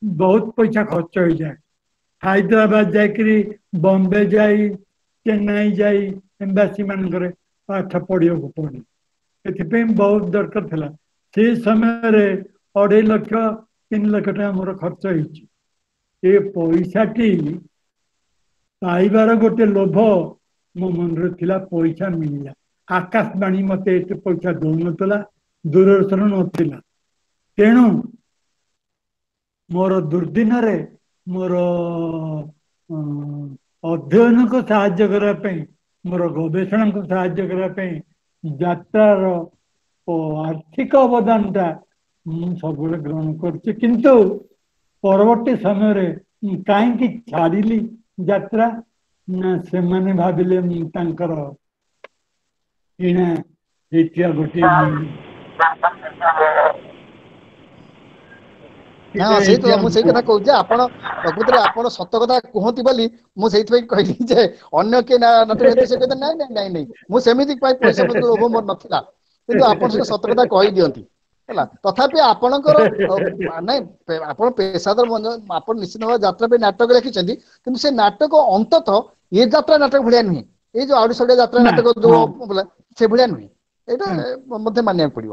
ବହୁତ ପଇସା ଖର୍ଚ୍ଚ ହେଇଯାଏ। ହାଇଦ୍ରାବାଦ ଯାଇକିରି, ବମ୍ବେ ଯାଇ, ଚେନ୍ନାଇ ଯାଇ ଏମ୍ବାସି ମାନଙ୍କରେ ପାଠ ପଢିବାକୁ ପଡେ। ଏଥିପାଇଁ ବହୁତ ଦରକାର ଥିଲା। ସେ ସମୟରେ 2.5 ଲକ୍ଷ 3 ଲକ୍ଷ ଟଙ୍କା ମୋର ଖର୍ଚ୍ଚ ହେଇଛି। ଏ ପଇସାଟି ପାଇବାର ଗୋଟେ ଲୋଭ ମୋ ମନରେ ଥିଲା, ପଇସା ମିଳିଲା। ଆକାଶବାଣୀ ମତେ ଏତେ ପଇସା ଦଉନଥିଲା, ଦୂରଦର୍ଶନ ନଥିଲା। ତେଣୁ ମୋର ଦୁର୍ଦିନରେ ମୋର ଅଧ୍ୟୟନକୁ ସାହାଯ୍ୟ କରିବା ପାଇଁ, ମୋର ଗବେଷଣାକୁ ସାହାଯ୍ୟ କରିବା ପାଇଁ ଯାତ୍ରାର ଆର୍ଥିକ ଅବଦାନଟା ମୁଁ ସବୁବେଳେ ଗ୍ରହଣ କରୁଛି। କିନ୍ତୁ ପରବର୍ତ୍ତୀ ସମୟରେ ମୁଁ କାହିଁକି ଛାଡ଼ିଲି ଯାତ୍ରା ନା, ସେମାନେ ଭାବିଲେ ମୁଁ ତାଙ୍କର କିଣା ହେଇଥିବା ଗୋଟିଏ ହଁ, ସେଇ ତ ମୁଁ ସେଇ କଥା କହୁଛି, ଆପଣ ପ୍ରକୃତରେ ଆପଣ ସତ କଥା କୁହନ୍ତି ବୋଲି ମୁଁ ସେଇଥିପାଇଁ କହିଲି ଯେ ଅନ୍ୟ କିଏ ନାଟକ, ସେ କହିଲେ ନାଇଁ ନାଇଁ ନାଇଁ ନାଇଁ, ମୁଁ ସେମିତି ପାଇଁ ପଇସା ପତ୍ର ଲୋଭ ମୋର ନଥିଲା, କିନ୍ତୁ ଆପଣ ସେଟା ସତ କଥା କହିଦିଅନ୍ତି। ହେଲା, ତଥାପି ଆପଣଙ୍କର ନାଇଁ, ଆପଣ ପେସାଦାର, ଆପଣ ନିଶ୍ଚିତ ଭାବେ ଯାତ୍ରା ପାଇଁ ନାଟକ ଲେଖିଛନ୍ତି, କିନ୍ତୁ ସେ ନାଟକ ଅନ୍ତତଃ ଏ ଯାତ୍ରା ନାଟକ ଭଳିଆ ନୁହେଁ। ଏଇ ଯୋଉ ଆଡୁ ସାଡୁଆ ଯାତ୍ରା ନାଟକ ଯୋଉ ସେ ଭଳିଆ ନୁହେଁ, ଏଇଟା ମଧ୍ୟ ମାନିବାକୁ ପଡିବ।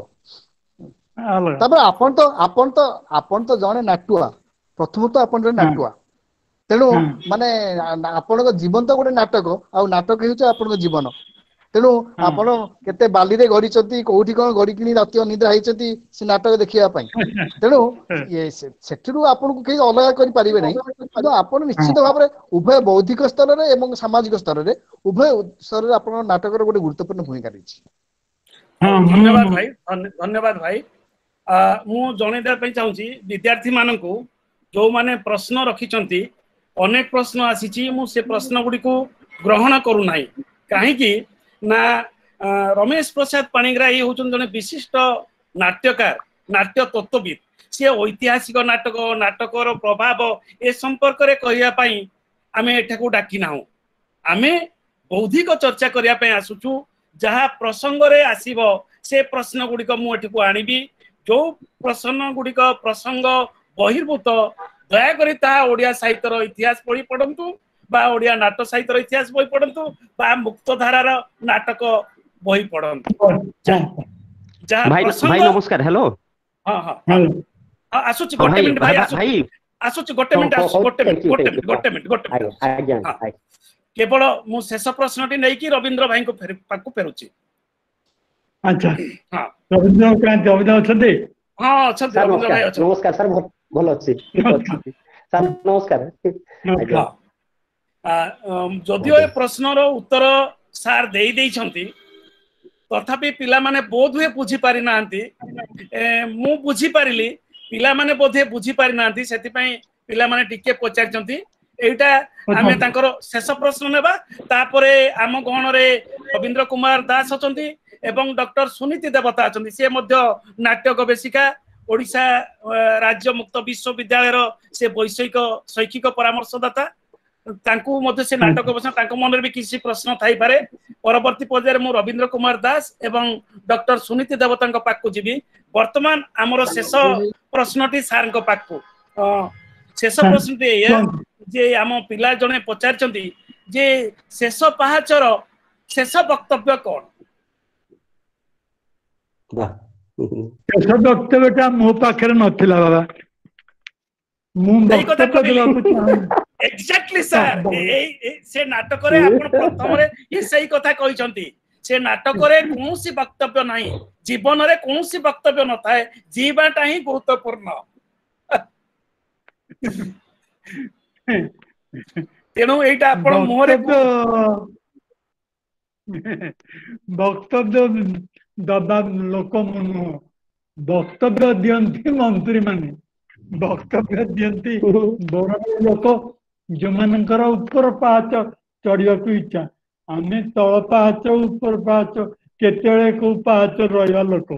ତାପରେ ଆପଣ ତ ଜଣେ ନାଟୁଆ, ପ୍ରଥମତଃ ଆପଣ ଜଣେ ନାଟୁଆ, ତେଣୁ ମାନେ ଆପଣଙ୍କ ଜୀବନ ତ ଗୋଟେ ନାଟକ, ଆଉ ନାଟକ ହେଉଛି ଆପଣଙ୍କ ଜୀବନ। ତେଣୁ ଆପଣ କେତେ ବାଲିରେ ଗଡିଛନ୍ତି, କୋଉଠି କଣ ଗଡିକିଣି ରାତି ଅନିଦ୍ରା ହେଇଛନ୍ତି ସେ ନାଟକ ଦେଖିବା ପାଇଁ। ତେଣୁ ସେଥିରୁ ଆପଣଙ୍କୁ କେହି ଅଲଗା କରିପାରିବେ ନାହିଁ। କିନ୍ତୁ ଆପଣ ନିଶ୍ଚିତ ଭାବରେ ଉଭୟ ବୌଦ୍ଧିକ ସ୍ତରରେ ଏବଂ ସାମାଜିକ ସ୍ତରରେ, ଉଭୟ ସ୍ତରରେ ଆପଣଙ୍କ ନାଟକର ଗୋଟେ ଗୁରୁତ୍ୱପୂର୍ଣ୍ଣ ଭୂମିକା ରହିଛି। ଧନ୍ୟବାଦ ଭାଇ, ଧନ୍ୟବାଦ ଭାଇ। ମୁଁ ଜଣେଇ ଦେବା ପାଇଁ ଚାହୁଁଛି ବିଦ୍ୟାର୍ଥୀ ମାନଙ୍କୁ, ଯୋଉମାନେ ପ୍ରଶ୍ନ ରଖିଛନ୍ତି, ଅନେକ ପ୍ରଶ୍ନ ଆସିଛି, ମୁଁ ସେ ପ୍ରଶ୍ନ ଗୁଡ଼ିକୁ ଗ୍ରହଣ କରୁନାହିଁ। କାହିଁକି ନା ରମେଶ ପ୍ରସାଦ ପାଣିଗ୍ରାହୀ ହଉଛନ୍ତି ଜଣେ ବିଶିଷ୍ଟ ନାଟ୍ୟକାର, ନାଟ୍ୟ ତତ୍ତ୍ୱବିତ୍। ସିଏ ଐତିହାସିକ ନାଟକ, ନାଟକର ପ୍ରଭାବ ଏ ସମ୍ପର୍କରେ କହିବା ପାଇଁ ଆମେ ଏଠାକୁ ଡାକି ନାହୁଁ। ଆମେ ବୌଦ୍ଧିକ ଚର୍ଚ୍ଚା କରିବା ପାଇଁ ଆସୁଛୁ। ଯାହା ପ୍ରସଙ୍ଗରେ ଆସିବ ସେ ପ୍ରଶ୍ନ ଗୁଡ଼ିକ ମୁଁ ଏଠିକୁ ଆଣିବି। ଯୋଉ ପ୍ରଶ୍ନ ଗୁଡ଼ିକ ପ୍ରସଙ୍ଗ ବହିର୍ଭୂତ, ଦୟାକରି ତାହା ଓଡ଼ିଆ ସାହିତ୍ୟର ଇତିହାସ ବହି ପଢନ୍ତୁ ବା ଓଡ଼ିଆ ନାଟ ସାହିତ୍ୟର ଇତିହାସ ବହି ପଢନ୍ତୁ ବା ମୁକ୍ତଧାରାର ନାଟକ ବହି ପଢନ୍ତୁ। ଯାହା ଭାଇ ନମସ୍କାର। ହ୍ୟାଲୋ। ହଁ ହଁ, ଆସୁଛି, ଗୋଟେ ମିନିଟ ଭାଇ, ଆସୁଛି, ଗୋଟେ ମିନିଟ ଆସୁଛି, ଗୋଟେ ମିନିଟ, ଗୋଟେ ମିନିଟ, ଗୋଟେ ମିନିଟ, ଗୋଟେ ମିନିଟ। କେବଳ ମୁଁ ଶେଷ ପ୍ରଶ୍ନଟି ନେଇକି ରବୀନ୍ଦ୍ର ଭାଇଙ୍କ ପାଖକୁ ଫେରୁଛି। ଆଚ୍ଛା, ରବୀନ୍ଦ୍ର ରବୀନ୍ଦ୍ର ଅଛନ୍ତି? ହଁ, ଅଛନ୍ତି, ରବୀନ୍ଦ୍ର ଭାଇ ଅଛନ୍ତି। ନମସ୍କାର ସାର୍, ଭଲ ଅଛି ସାର୍, ନମସ୍କାର। ଯଦିଓ ଏ ପ୍ରଶ୍ନର ଉତ୍ତର ସାର୍ ଦେଇ ଦେଇଛନ୍ତି, ତଥାପି ପିଲାମାନେ ବୋଧହୁଏ ବୁଝିପାରି ନାହାନ୍ତି। ମୁଁ ବୁଝିପାରିଲି, ପିଲାମାନେ ବୋଧେ ବୁଝିପାରି ନାହାନ୍ତି, ସେଥିପାଇଁ ପିଲାମାନେ ଟିକେ ପଚାରିଛନ୍ତି। ଏଇଟା ଆମେ ତାଙ୍କର ଶେଷ ପ୍ରଶ୍ନ ନେବା। ତାପରେ ଆମ ଗହଣରେ ରବୀନ୍ଦ୍ର କୁମାର ଦାସ ଅଛନ୍ତି ଏବଂ ଡକ୍ଟର ସୁନୀତି ଦେବତା ଅଛନ୍ତି। ସିଏ ମଧ୍ୟ ନାଟ୍ୟ ଗବେଷିକା, ଓଡ଼ିଶା ରାଜ୍ୟ ମୁକ୍ତ ବିଶ୍ୱବିଦ୍ୟାଳୟର ସେ ବୈଷୟିକ ଶୈକ୍ଷିକ ପରାମର୍ଶଦାତା। ତାଙ୍କୁ ମଧ୍ୟ ସେ ନାଟକ ଗବେଷଣା, ତାଙ୍କ ମନରେ ବି କିଛି ପ୍ରଶ୍ନ ଥାଇପାରେ। ପରବର୍ତ୍ତୀ ପର୍ଯ୍ୟାୟରେ ମୁଁ ରବୀନ୍ଦ୍ର କୁମାର ଦାସ ଏବଂ ଡକ୍ଟର ସୁନୀତି ଦେବତାଙ୍କ ପାଖକୁ ଯିବି। ବର୍ତ୍ତମାନ ଆମର ଶେଷ ପ୍ରଶ୍ନଟି ସାର୍ଙ୍କ ପାଖକୁ। ଶେଷ ପ୍ରଶ୍ନଟି ଏଇଆ ଯେ ଆମ ପିଲା ଜଣେ ପଚାରିଛନ୍ତି ଯେ ଶେଷ ପାହାଚର ଶେଷ ବକ୍ତବ୍ୟ କଣ? ଶେଷ ବକ୍ତବ୍ୟଟା ମୋ ପାଖରେ ନଥିଲା ବାବା। ମୁଁ ବକ୍ତବ୍ୟ ଦେବାକୁ ଚାହୁଁ। ଏକ୍ଜାକ୍ଟଲି ସାର୍, ଏଇ ସେ ନାଟକରେ ଆପଣ ପ୍ରଥମରେ ହିଁ ସେଇ କଥା କହିଛନ୍ତି। ସେ ନାଟକରେ କୌଣସି ବକ୍ତବ୍ୟ ନାହିଁ, ଜୀବନରେ କୌଣସି ବକ୍ତବ୍ୟ ନଥାଏ, ଜୀବାଟା ହିଁ ଗୁରୁତ୍ୱପୂର୍ଣ୍ଣ। ତେଣୁ ଏଇଟା ଆପଣ ମୁହଁରେ ବକ୍ତବ୍ୟ ଦବା ଲୋକ ମୁଁ ନୁହଁ। ବକ୍ତବ୍ୟ ଦିଅନ୍ତି ମନ୍ତ୍ରୀ ମାନେ, ବକ୍ତବ୍ୟ ଦିଅନ୍ତି ବଡ ବଡ ଲୋକ, ଯୋଉମାନଙ୍କର ଉପର ପାହାଚ ଚଢିବାକୁ ଇଚ୍ଛା। ଆମେ ତଳ ପାହାଚ ଉପର ପାହାଚ କେତେବେଳେ କୋଉ ପାହାଚ ରହିବା ଲୋକ।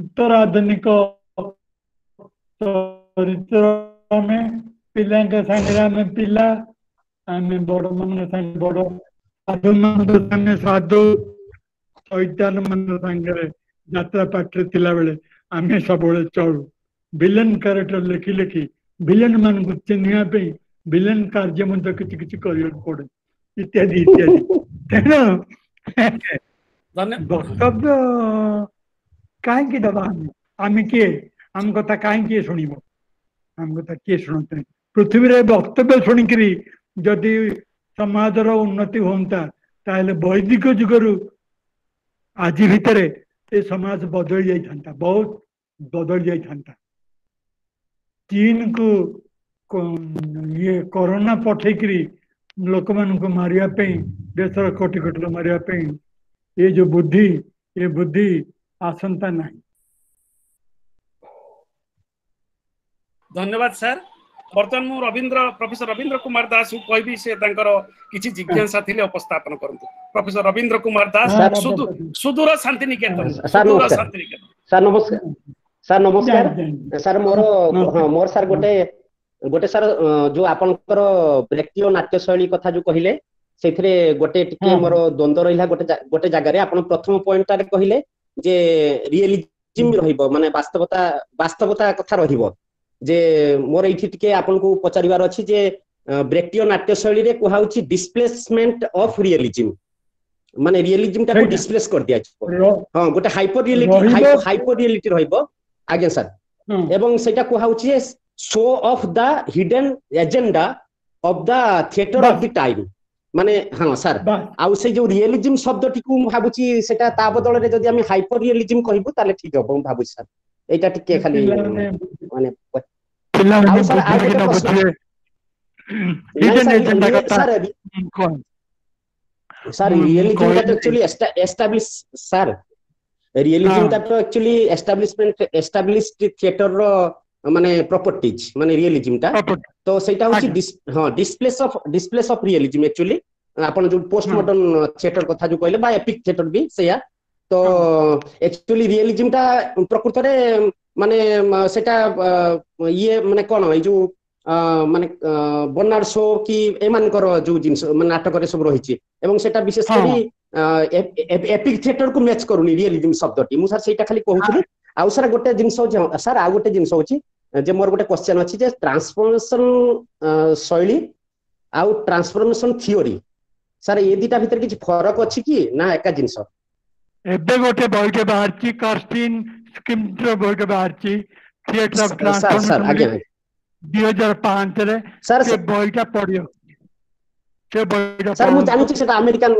ଉତ୍ତର ଆଧୁନିକ ଚରିତ୍ର, ଆମେ ପିଲାଙ୍କ ସାଙ୍ଗରେ ଆମେ ପିଲା, ଆମେ ବଡ ମାନଙ୍କ ସାଙ୍ଗେ ବଡ, ସାଧୁ ମାନଙ୍କ ସାଙ୍ଗେ ସାଧୁ, ଶୈତାନ ମାନଙ୍କ ସାଙ୍ଗରେ ଯାତ୍ରା ପାଠରେ ଥିଲାବେଳେ ଆମେ ସବୁବେଳେ ଚଳୁ। ଭିଲେନ କ୍ୟାରେକ୍ଟର ଲେଖି ଲେଖି ଭିଲେନ ମାନଙ୍କୁ ଚିହ୍ନିବା ପାଇଁ ଭିଲେନ କାର୍ଯ୍ୟ ମଧ୍ୟ କିଛି କିଛି କରିବାକୁ ପଡେ, ଇତ୍ୟାଦି ଇତ୍ୟାଦି। ତେଣୁ ବକ୍ତବ୍ୟ କାହିଁକି ଦବା? ଆମେ କିଏ? ଆମ କଥା କାହିଁକି କିଏ ଶୁଣିବ? ଆମ କଥା କିଏ ଶୁଣନ୍ତିନି ପୃଥିବୀରେ। ବକ୍ତବ୍ୟ ଶୁଣିକିରି ଯଦି ସମାଜର ଉନ୍ନତି ହୁଅନ୍ତା, ତାହେଲେ ବୈଦିକ ଯୁଗରୁ ଆଜି ଭିତରେ ଏ ସମାଜ ବଦଳି ଯାଇଥାନ୍ତା, ବହୁତ ବଦଳି ଯାଇଥାନ୍ତା। ଚୀନକୁ ଇଏ କରୋନା ପଠେଇକିରି ଲୋକମାନଙ୍କୁ ମାରିବା ପାଇଁ, ଦେଶର କୋଟି କୋଟି ମାରିବା ପାଇଁ ଏ ଯୋଉ ବୁଦ୍ଧି, ଏ ବୁଦ୍ଧି ଆସନ୍ତା ନାହିଁ। ଧନ୍ୟବାଦ ସାର୍। ବର୍ତ୍ତମାନ ମୁଁ ରବୀନ୍ଦ୍ର ପ୍ରଫେସର ରବୀନ୍ଦ୍ର କୁମାର ଦାସଙ୍କୁ କହିବି, ସେ ତାଙ୍କର କିଛି ଜିଜ୍ଞାସା ଥିଲେ ଉପସ୍ଥାପନ କରନ୍ତୁ। ପ୍ରଫେସର ରବୀନ୍ଦ୍ର କୁମାର ଦାସ, ସୁଦୂର ଶାନ୍ତିନିକେତନ। ସୁଦୂର ଶାନ୍ତିନିକେତନ। ସାର୍ ନମସ୍କାର। ସାର୍ ନମସ୍କାର। ଜାଣିଲି ଜାଣିଲି। ସାର୍ ମୋର, ନମସ୍କାର। ହଁ, ମୋର ସାର୍ ଗୋଟେ ଗୋଟେ ସାର୍, ଯୋଉ ଆପଣଙ୍କର ବ୍ରେକ୍ଟିୟ ନାଟ୍ୟ ଶୈଳୀ କଥା ଯୋଉ କହିଲେ, ସେଇଥିରେ ଗୋଟେ ଟିକେ ହଁ ମୋର ଦ୍ୱନ୍ଦ୍ୱ ରହିଲା। ଗୋଟେ ଜାଗାରେ ଆପଣ ପ୍ରଥମ ପଏଣ୍ଟଟାରେ କହିଲେ ଯେ ରିଏଲିଜିମ୍ ରହିବ, ମାନେ ବାସ୍ତବତା କଥା ରହିବ। ଯେ ମୋର ଏଇଠି ଟିକେ ଆପଣଙ୍କୁ ପଚାରିବାର ଅଛି ଯେ ବ୍ରେକ୍ଟିୟ ନାଟ୍ୟ ଶୈଳୀରେ କୁହାହଉଛି ଡିସପ୍ଲେସମେଣ୍ଟ ଅଫ ରିଏଲିଜିମ୍, ମାନେ ରିଏଲିଜିମ୍ ଟାକୁ ସେଇଟା ଡିସପ୍ଲେସ କରିଦିଆଯିବ। ର- ହଁ, ଗୋଟେ ହାଇପର ରିଏଲିଟି, ରହିବ। ହାଇପର ରିଏଲିଟି ରହିବ ଆଜ୍ଞା ସାର୍। ହଁ। ଏବଂ ସେଇଟା କୁହାହଉଛି show off the hidden agenda of the theatre of bus the time. ମାନେ ହଁ ସାର୍। ବାସ୍। ଆଉ ସେଇ ଯୋଉ ରିଏଲିଜିମ୍ ଶବ୍ଦଟିକୁ ମୁଁ ଭାବୁଛି ସେଟା ତା ବଦଳରେ ଯଦି ଆମେ ହାଇପର ରିଏଲିଜିମ୍ କହିବୁ ତାହେଲେ ଠିକ ହବ, ମୁଁ ଭାବୁଛି ସାର୍। ଏଇଟା ଟିକେ ଖାଲି ପିଲାମାନେ ମାନେ ଆଉ ପିଲାମାନେ ସାର୍ ଆଉ ବୁଝିବେ କି ଗୋଟେ ନ ପ୍ରଶ୍ନ। ବୁଝିବେ, ନାଇଁ ହିଡେନ୍ ସାର୍, ଏଜେଣ୍ଡା କଥା ସାର୍ କଣ ସାର୍, ମୁଁ ରିଏଲିଜିମ୍ ଟା ତ କହିଲି। ଆକ୍ଚୁଆଲି ଏଷ୍ଟାବ୍ଲିଶ ସାର୍, ହଁ ରିଏଲିଜିମ୍ ଟା ତ ଆକ୍ଚୁଆଲି ଏଷ୍ଟାବ୍ଲିଶମେଣ୍ଟ, ଏଷ୍ଟାବ୍ଲିଶଡ ଥିଏଟର ର ମାନେ ପ୍ରପର୍ଟିଜ, ମାନେ ରିଏଲିଜିମ୍ ଟା ପ୍ରପର୍ଟି। ତ ସେଇଟା ହଉଛି ଆଜ୍ଞା। ହଁ, displace of realism actually. ଆପଣ ଯୋଉ ପୋଷ୍ଟ ମଡର୍ନ ଥିଏଟର କଥା ଯୋଉ କହିଲେ ବା ଏପିକ ଥିଏଟର ବି ସେଇଆ ତ। ଆକ୍ଚୁଆଲି ରିଏଲିଜିମ୍ ଟା ପ୍ରକୃତରେ ମାନେ ସେଟା ଇଏ ମାନେ କଣ, ଏଇ ଯୋଉ ମାନେ ବର୍ନାଡ ଶୋ କି ଏମାନଙ୍କର ଯୋଉ ଜିନିଷ ମାନେ ନାଟକରେ ସବୁ ରହିଛି, ଏବଂ ସେଟା ବିଶେଷ କରି ଏପିକ ଥିଏଟର କୁ ମ୍ୟାଚ୍ କରୁନି ରିଏଲିଜିମ୍ ଶବ୍ଦଟି। ମୁଁ ସାର୍ ସେଇଟା ଖାଲି କହୁଥିଲି। ଆଉ ସାର୍ ଗୋଟେ ଜିନିଷ ହଉଛି, ସାର୍ ଆଉ ଗୋଟେ ଜିନିଷ ହଉଛି ଯେ ମୋର ଗୋଟେ କ୍ୱେଶ୍ଚନ ଅଛି ଯେ ଟ୍ରାନ୍ସଫର୍ମେସନ ଶୈଳୀ ଆଉ ଟ୍ରାନ୍ସଫର୍ମେସନ ଥିଓରି, ସାର୍ ଏ ଦିଟା ଭିତରେ କିଛି ଫରକ ଅଛି କି ନା ଏକା ଜିନିଷ? ଏବେ ଗୋଟେ ବହିଟେ ବାହାରିଛି, କର୍ଷ୍ଟିନ ସ୍କିମ୍ର ବହିଟେ ବାହାରିଛି, theatre of sir sir transformation, ଆଜ୍ଞା। 2005ରେ। ସାର୍ ସେ ବହିଟା ପଢିବ, ସେ ବହିଟା ସାର୍, ମୁଁ ପଢନ୍ତୁ। ଜାଣୁଛି ସେଟା ଆମେରିକାନ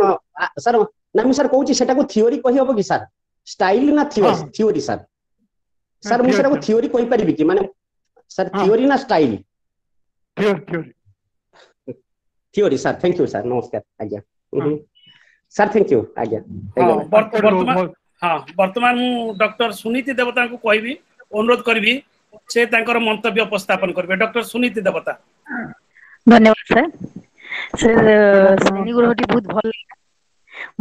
ସାର୍। ନା, ମୁଁ ସାର୍ କହୁଛି ସେଟାକୁ ଥିଓରି କହିହବ କି ସାର୍? ଷ୍ଟାଇଲ ନା ଥିଓରି ସାର୍? ସାର୍, ମୁଁ ସେଟାକୁ ଥିଓରି କହିପାରିବି କି? ମାନେ ସାର୍, ଥିଓରି ନା style? Theory, theory. Theory sir. Thank you sir, ନମସ୍କାର ଆଜ୍ଞା। ସାର୍, thank you ଆଜ୍ଞା। ବର୍ତ୍ତମାନ, ହଁ, ବର୍ତ୍ତମାନ ମୁଁ ଡକ୍ଟର ସୁନୀତି ଦେବତାଙ୍କୁ କହିବି, ଅନୁରୋଧ କରିବି, ସେ ତାଙ୍କର ମନ୍ତବ୍ୟ ଉପସ୍ଥାପନ କରିବେ। ଡକ୍ଟର ସୁନୀତି ଦେବତା। ଧନ୍ୟବାଦ ସାର୍। ସେ ଶ୍ରେଣୀ ଗୃହଟି ବହୁତ ଭଲ ଲାଗିଲା,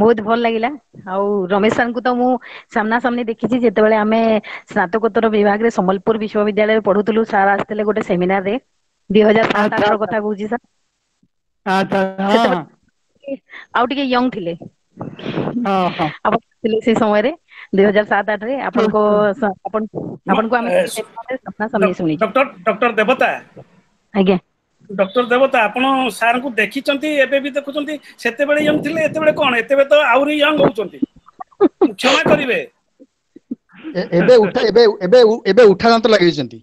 ବହୁତ ଭଲ ଲାଗିଲା। ଆଉ ରମେଶ ସାର୍ଙ୍କୁ ତ ମୁଁ ସାମ୍ନା ସାମ୍ନି ଦେଖିଛି, ଯେତେବେଳେ ଆମେ ସ୍ନାତକୋତ୍ତର ବିଭାଗରେ ସମ୍ବଲପୁର ବିଶ୍ୱବିଦ୍ୟାଳୟରେ ପଢୁଥିଲୁ, ସାର୍ ଆସିଥିଲେ ଗୋଟେ ସେମିନାରରେ, 2007 8ର କଥା କହୁଛି ସାର୍। ସେତେବେଳେ ଆଉ ଟିକେ ୟଙ୍ଗ ଥିଲେ ଆପଣ ଥିଲେ ସେ ସମୟରେ, 2007-8ରେ ଆପଣଙ୍କ ଆପଣଙ୍କୁ ଆମେ ସାମ୍ନା ସାମ୍ନି ଶୁଣିଛୁ। ଡକ୍ଟର ଦେବତା। ଆଜ୍ଞା। ଡକ୍ଟର ଦେବତା, ଆପଣ ସାର୍ଙ୍କୁ ଦେଖିଛନ୍ତି, ଏବେ ବି ଦେଖୁଛନ୍ତି। ସେତେବେଳେ ୟଙ୍ଗ ଥିଲେ, ଏତେବେଳେ କଣ? ଏତେବେଳେ ତ ଆହୁରି ୟଙ୍ଗ ହଉଛନ୍ତି, କ୍ଷମା କରିବେ। ଏବେ ଉଠା ଏବେ ଏବେ ଏବେ ଉଠା ଦାନ୍ତ ଲଗେଇଛନ୍ତି।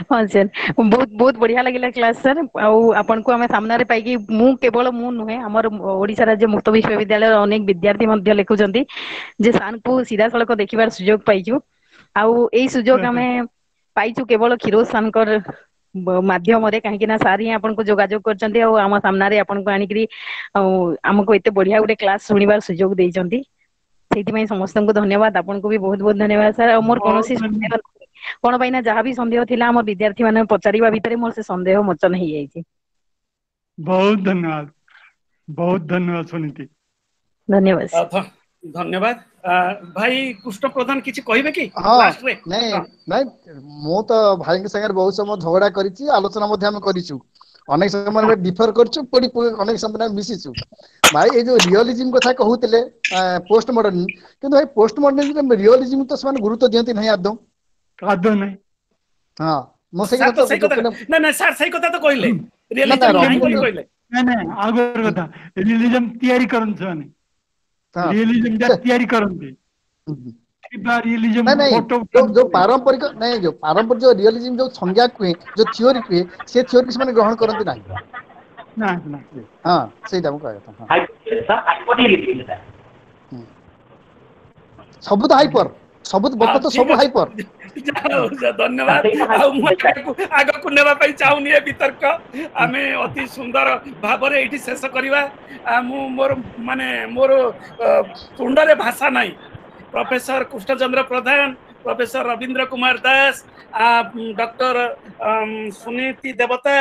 ହଁ ସାର୍, ବହୁତ ବହୁତ ବଢିଆ ଲାଗିଲା କ୍ଲାସ ସାର୍। ଆଉ ଆପଣଙ୍କୁ ଆମେ ସାମ୍ନାରେ ପାଇକି, ମୁଁ କେବଳ ମୁଁ ନୁହେଁ, ଆମର ଓଡିଶା ରାଜ୍ୟ ମୁକ୍ତ ବିଶ୍ୱବିଦ୍ୟାଳୟର ଅନେକ ବିଦ୍ୟାର୍ଥୀ ମଧ୍ୟ ଲେଖୁଛନ୍ତି ଯେ ସାର୍ଙ୍କୁ ସିଧାସଳଖ ଦେଖିବାର ସୁଯୋଗ ପାଇଛୁ। ଆଉ ଏଇ ସୁଯୋଗ ଆମେ ପାଇଛୁ କେବଳ କ୍ଷୀରୋଦ ସାର୍ଙ୍କର ମାଧ୍ୟମରେ, କାହିଁକି ନା ସାର୍ ହିଁ ଆପଣଙ୍କୁ ଯୋଗାଯୋଗ କରିଛନ୍ତି ଆଉ ଆମ ସାମ୍ନାରେ ଆପଣଙ୍କୁ ଆଣିକିରି ଆଉ ଆମକୁ ଏତେ ବଢିଆ ଗୋଟେ କ୍ଲାସ ଶୁଣିବାର ସୁଯୋଗ ଦେଇଛନ୍ତି। ସେଇଥିପାଇଁ ସମସ୍ତଙ୍କୁ ଧନ୍ୟବାଦ, ଆପଣଙ୍କୁ ବି ବହୁତ ବହୁତ ଧନ୍ୟବାଦ ସାର୍। ଆଉ ମୋର କୌଣସି ସନ୍ଦେହ, କଣ ପାଇଁ ନା ଯାହା ବି ସନ୍ଦେହ ଥିଲା ଆମ ବିଦ୍ୟାର୍ଥୀ ମାନେ ପଚାରିବା ଭିତରେ ମୋର ସେ ସନ୍ଦେହ ମୋଚନ ହେଇଯାଇଛି। ବହୁତ ଧନ୍ୟବାଦ, ବହୁତ ଧନ୍ୟବାଦ ସୁନୀତି। ଧନ୍ୟବାଦ। ଧନ୍ୟବାଦ। ଭାଇ କୃଷ୍ଣ ପ୍ରଧାନ କିଛି କହିବେ କି? ହଁ, ନାଇଁ ନାଇଁ, ମୁଁ ତ ଭାଇଙ୍କ ସାଙ୍ଗରେ ବହୁତ ସମୟ ଝଗଡା କରିଛି, ଆଲୋଚନା ମଧ୍ୟ ଆମେ କରିଛୁ, ଅନେକ ସମୟରେ ଡିଫର କରିଛୁ, ପୁଣି ଅନେକ ସମୟରେ ଆମେ ମିଶିଛୁ। ଭାଇ ଏଇ ଯୋଉ ରିଅଲିଜିମ କଥା କହୁଥିଲେ ପୋଷ୍ଟ ମଡର୍ନ, କିନ୍ତୁ ଭାଇ ପୋଷ୍ଟ ମଡର୍ନିଜମ ରିଅଲିଜିମ ତ ସେମାନେ ଗୁରୁତ୍ୱ ଦିଅନ୍ତି ନାହିଁ ଆଦୌ। ଆଦୌ ନାହିଁ। ହଁ, ମୁଁ ସେଇ କଥା ନା ନା ସାର୍, ସେଇ କଥା ତ କହିଲେ, ରିଅଲିଜିମ ନାହିଁ ବୋଲି କହିଲେ। ନାଇଁ ନାଇଁ, ଆଉ ଗୋଟେ କଥା, ରିଅଲିଜିମ ତିଆରି କରନ୍ତି ସେମାନେ, ରିଅଲିଜିମ ଟା ତିଆରି କରନ୍ତି। ଯୋଉ ପାରମ୍ପରିକ ନାଇଁ, ଯୋଉ ପାରମ୍ପରିକ ଯୋଉ ରିଅଲିଜିମ ଯୋଉ ସଂଜ୍ଞା କୁହେ, ଯୋଉ ଥିଓରି କୁହେ, ସେ ଥିଓରି ସେମାନେ ଗ୍ରହଣ କରନ୍ତି ନାହିଁ। ହଁ, ସେଇଟା ମୁଁ କହିବା କଥା। ସବୁ ତ ହାଇପର, ସବୁ ବର୍ତ୍ତମାନ ତ ସବୁ ହାଇପର। ଧନ୍ୟବାଦ। ଆଉ ମୁଁ ଆଗକୁ ନେବା ପାଇଁ ଚାହୁଁନି ଏ ବିତର୍କ। ଆମେ ଅତି ସୁନ୍ଦର ଭାବରେ ଏଇଠି ଶେଷ କରିବା। ମୁଁ ମୋର ମାନେ ମୋର ତୁଣ୍ଡରେ ଭାଷା ନାହିଁ। ପ୍ରଫେସର କୃଷ୍ଣଚନ୍ଦ୍ର ପ୍ରଧାନ, ପ୍ରଫେସର ରବୀନ୍ଦ୍ର କୁମାର ଦାସ, ଡକ୍ଟର ସୁନୀତି ଦେବତା,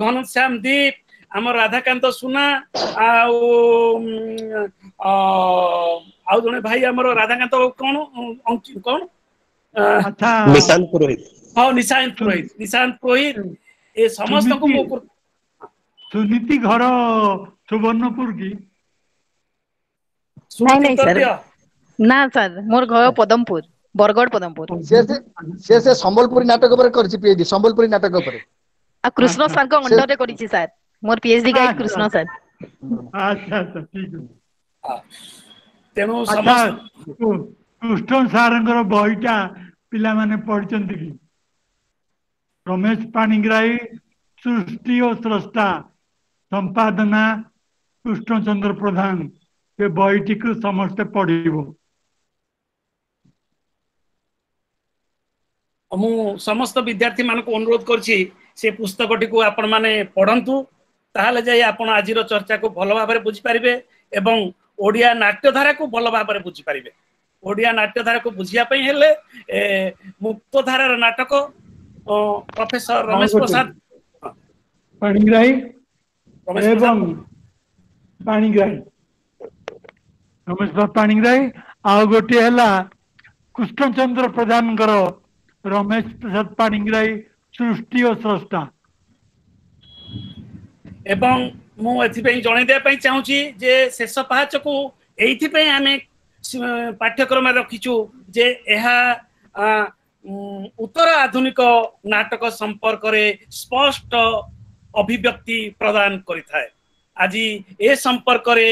ଘନଶ୍ୟାମ ଦୀପ, ଆମ ରାଧାକାନ୍ତ ସୁନା ଆଉ ଆଉ ଜଣେ ଭାଇ ଆମର ରାଧାକାନ୍ତ କଣ କଣ ନିଶାନ୍ତ ପୁରୋହିତ। ହଁ, ନିଶାନ୍ତ ପୁରୋହିତ, ନିଶାନ୍ତ ପୁରୋହିତ, ଏ ସମସ୍ତଙ୍କୁ ମୁଁ। ସୁନୀତି ଘର ସୁବର୍ଣ୍ଣପୁର କି? ନାଇଁ ନାଇଁ ସାର୍, ନା ସାର୍, ମୋର ଘର ପଦମପୁର, ବରଗଡ଼ ପଦମପୁର। ସେ ସମ୍ବଲପୁରୀ ନାଟକ ଉପରେ କରିଛି ପିଏଚଡି, ସମ୍ବଲପୁରୀ ନାଟକ ଉପରେ। ଆଉ କୃଷ୍ଣ ସାର୍ଙ୍କ ଅଣ୍ଡରରେ କରିଛି ସାର୍, ମୋର ପିଏଚଡି ଗାଇଡ କୃଷ୍ଣ ସାର୍। ଆଚ୍ଛା ଆଚ୍ଛା, ଠିକ ଅଛି। ତେଣୁ କୃଷ୍ଣ ସାରଙ୍କର ବହିଟା ପିଲାମାନେ ପଢିଛନ୍ତି କି? ରମେଶ ପାଣିଗ୍ରାହୀ ସୃଷ୍ଟି ଓ ସ୍ରଷ୍ଟା, ସମ୍ପାଦନା କୃଷ୍ଣଚନ୍ଦ୍ର ପ୍ରଧାନ। ସେ ବହିଟିକୁ ସମସ୍ତେ ପଢିବ। ମୁଁ ସମସ୍ତ ବିଦ୍ୟାର୍ଥୀ ମାନଙ୍କୁ ଅନୁରୋଧ କରୁଛି, ସେ ପୁସ୍ତକଟିକୁ ଆପଣମାନେ ପଢନ୍ତୁ, ତାହେଲେ ଯାଇ ଆପଣ ଆଜିର ଚର୍ଚ୍ଚାକୁ ଭଲ ଭାବରେ ବୁଝିପାରିବେ ଏବଂ ଓଡ଼ିଆ ନାଟ୍ୟଧାରାକୁ ଭଲ ଭାବରେ ବୁଝିପାରିବେ। ଓଡ଼ିଆ ନାଟ୍ୟଧାରାକୁ ବୁଝିବା ପାଇଁ ହେଲେ ମୁକ୍ତଧାରାର ନାଟକ ପ୍ରଫେସର ରମେଶ ପ୍ରସାଦ ପାଣିଗ୍ରାହୀ ଏବଂ ପାଣିଗ୍ରାହୀ, ରମେଶ ପ୍ରସାଦ ପାଣିଗ୍ରାହୀ, ଆଉ ଗୋଟିଏ ହେଲା କୃଷ୍ଣଚନ୍ଦ୍ର ପ୍ରଧାନଙ୍କର ରମେଶ ପ୍ରସାଦ ପାଣିଗ୍ରାହୀ ସୃଷ୍ଟି ଓ ସ୍ରଷ୍ଟା। ଏବଂ ମୁଁ ଏଥିପାଇଁ ଜଣେଇ ଦେବା ପାଇଁ ଚାହୁଁଛି ଯେ ଶେଷ ପାହାଚକୁ ଏଇଥିପାଇଁ ଆମେ ପାଠ୍ୟକ୍ରମରେ ରଖିଛୁ ଯେ ଏହା ଉତ୍ତର ଆଧୁନିକ ନାଟକ ସମ୍ପର୍କରେ ସ୍ପଷ୍ଟ ଅଭିବ୍ୟକ୍ତି ପ୍ରଦାନ କରିଥାଏ। ଆଜି ଏ ସମ୍ପର୍କରେ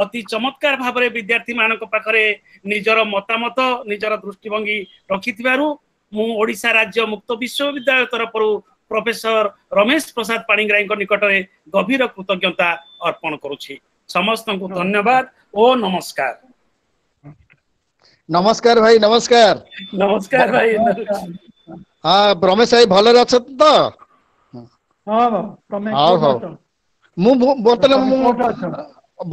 ଅତି ଚମତ୍କାର ଭାବରେ ବିଦ୍ୟାର୍ଥୀ ମାନଙ୍କ ପାଖରେ ନିଜର ମତାମତ, ନିଜର ଦୃଷ୍ଟିଭଙ୍ଗୀ ରଖିଥିବାରୁ ମୁଁ ଓଡ଼ିଶା ରାଜ୍ୟ ମୁକ୍ତ ବିଶ୍ୱବିଦ୍ୟାଳୟ ତରଫରୁ ପ୍ରଫେସର ରମେଶ ପ୍ରସାଦ ପାଣିଗ୍ରାହୀଙ୍କ ନିକଟରେ ଗଭୀର କୃତଜ୍ଞତା ଅର୍ପଣ କରୁଛି। ସମସ୍ତଙ୍କୁ ଧନ୍ୟବାଦ ଓ ନମସ୍କାର। ନମସ୍କାର ଭାଇ, ନମସ୍କାର। ନମସ୍କାର ଭାଇ। ହଁ ରମେଶ ଭାଇ, ଭଲରେ ଅଛନ୍ତି ତ? ହଁ, ହଉ। ମୁଁ ବର୍ତ୍ତମାନ, ମୁଁ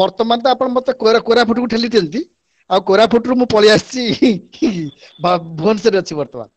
ବର୍ତ୍ତମାନ ତ ଆପଣ ମତେ କୋରାପୁଟକୁ ଠେଲି ଦିଅନ୍ତି, ଆଉ କୋରାପୁଟରୁ ମୁଁ ପଳେଇ ଆସିଛି, ଭୁବନେଶ୍ୱରରେ ଅଛି ବର୍ତ୍ତମାନ।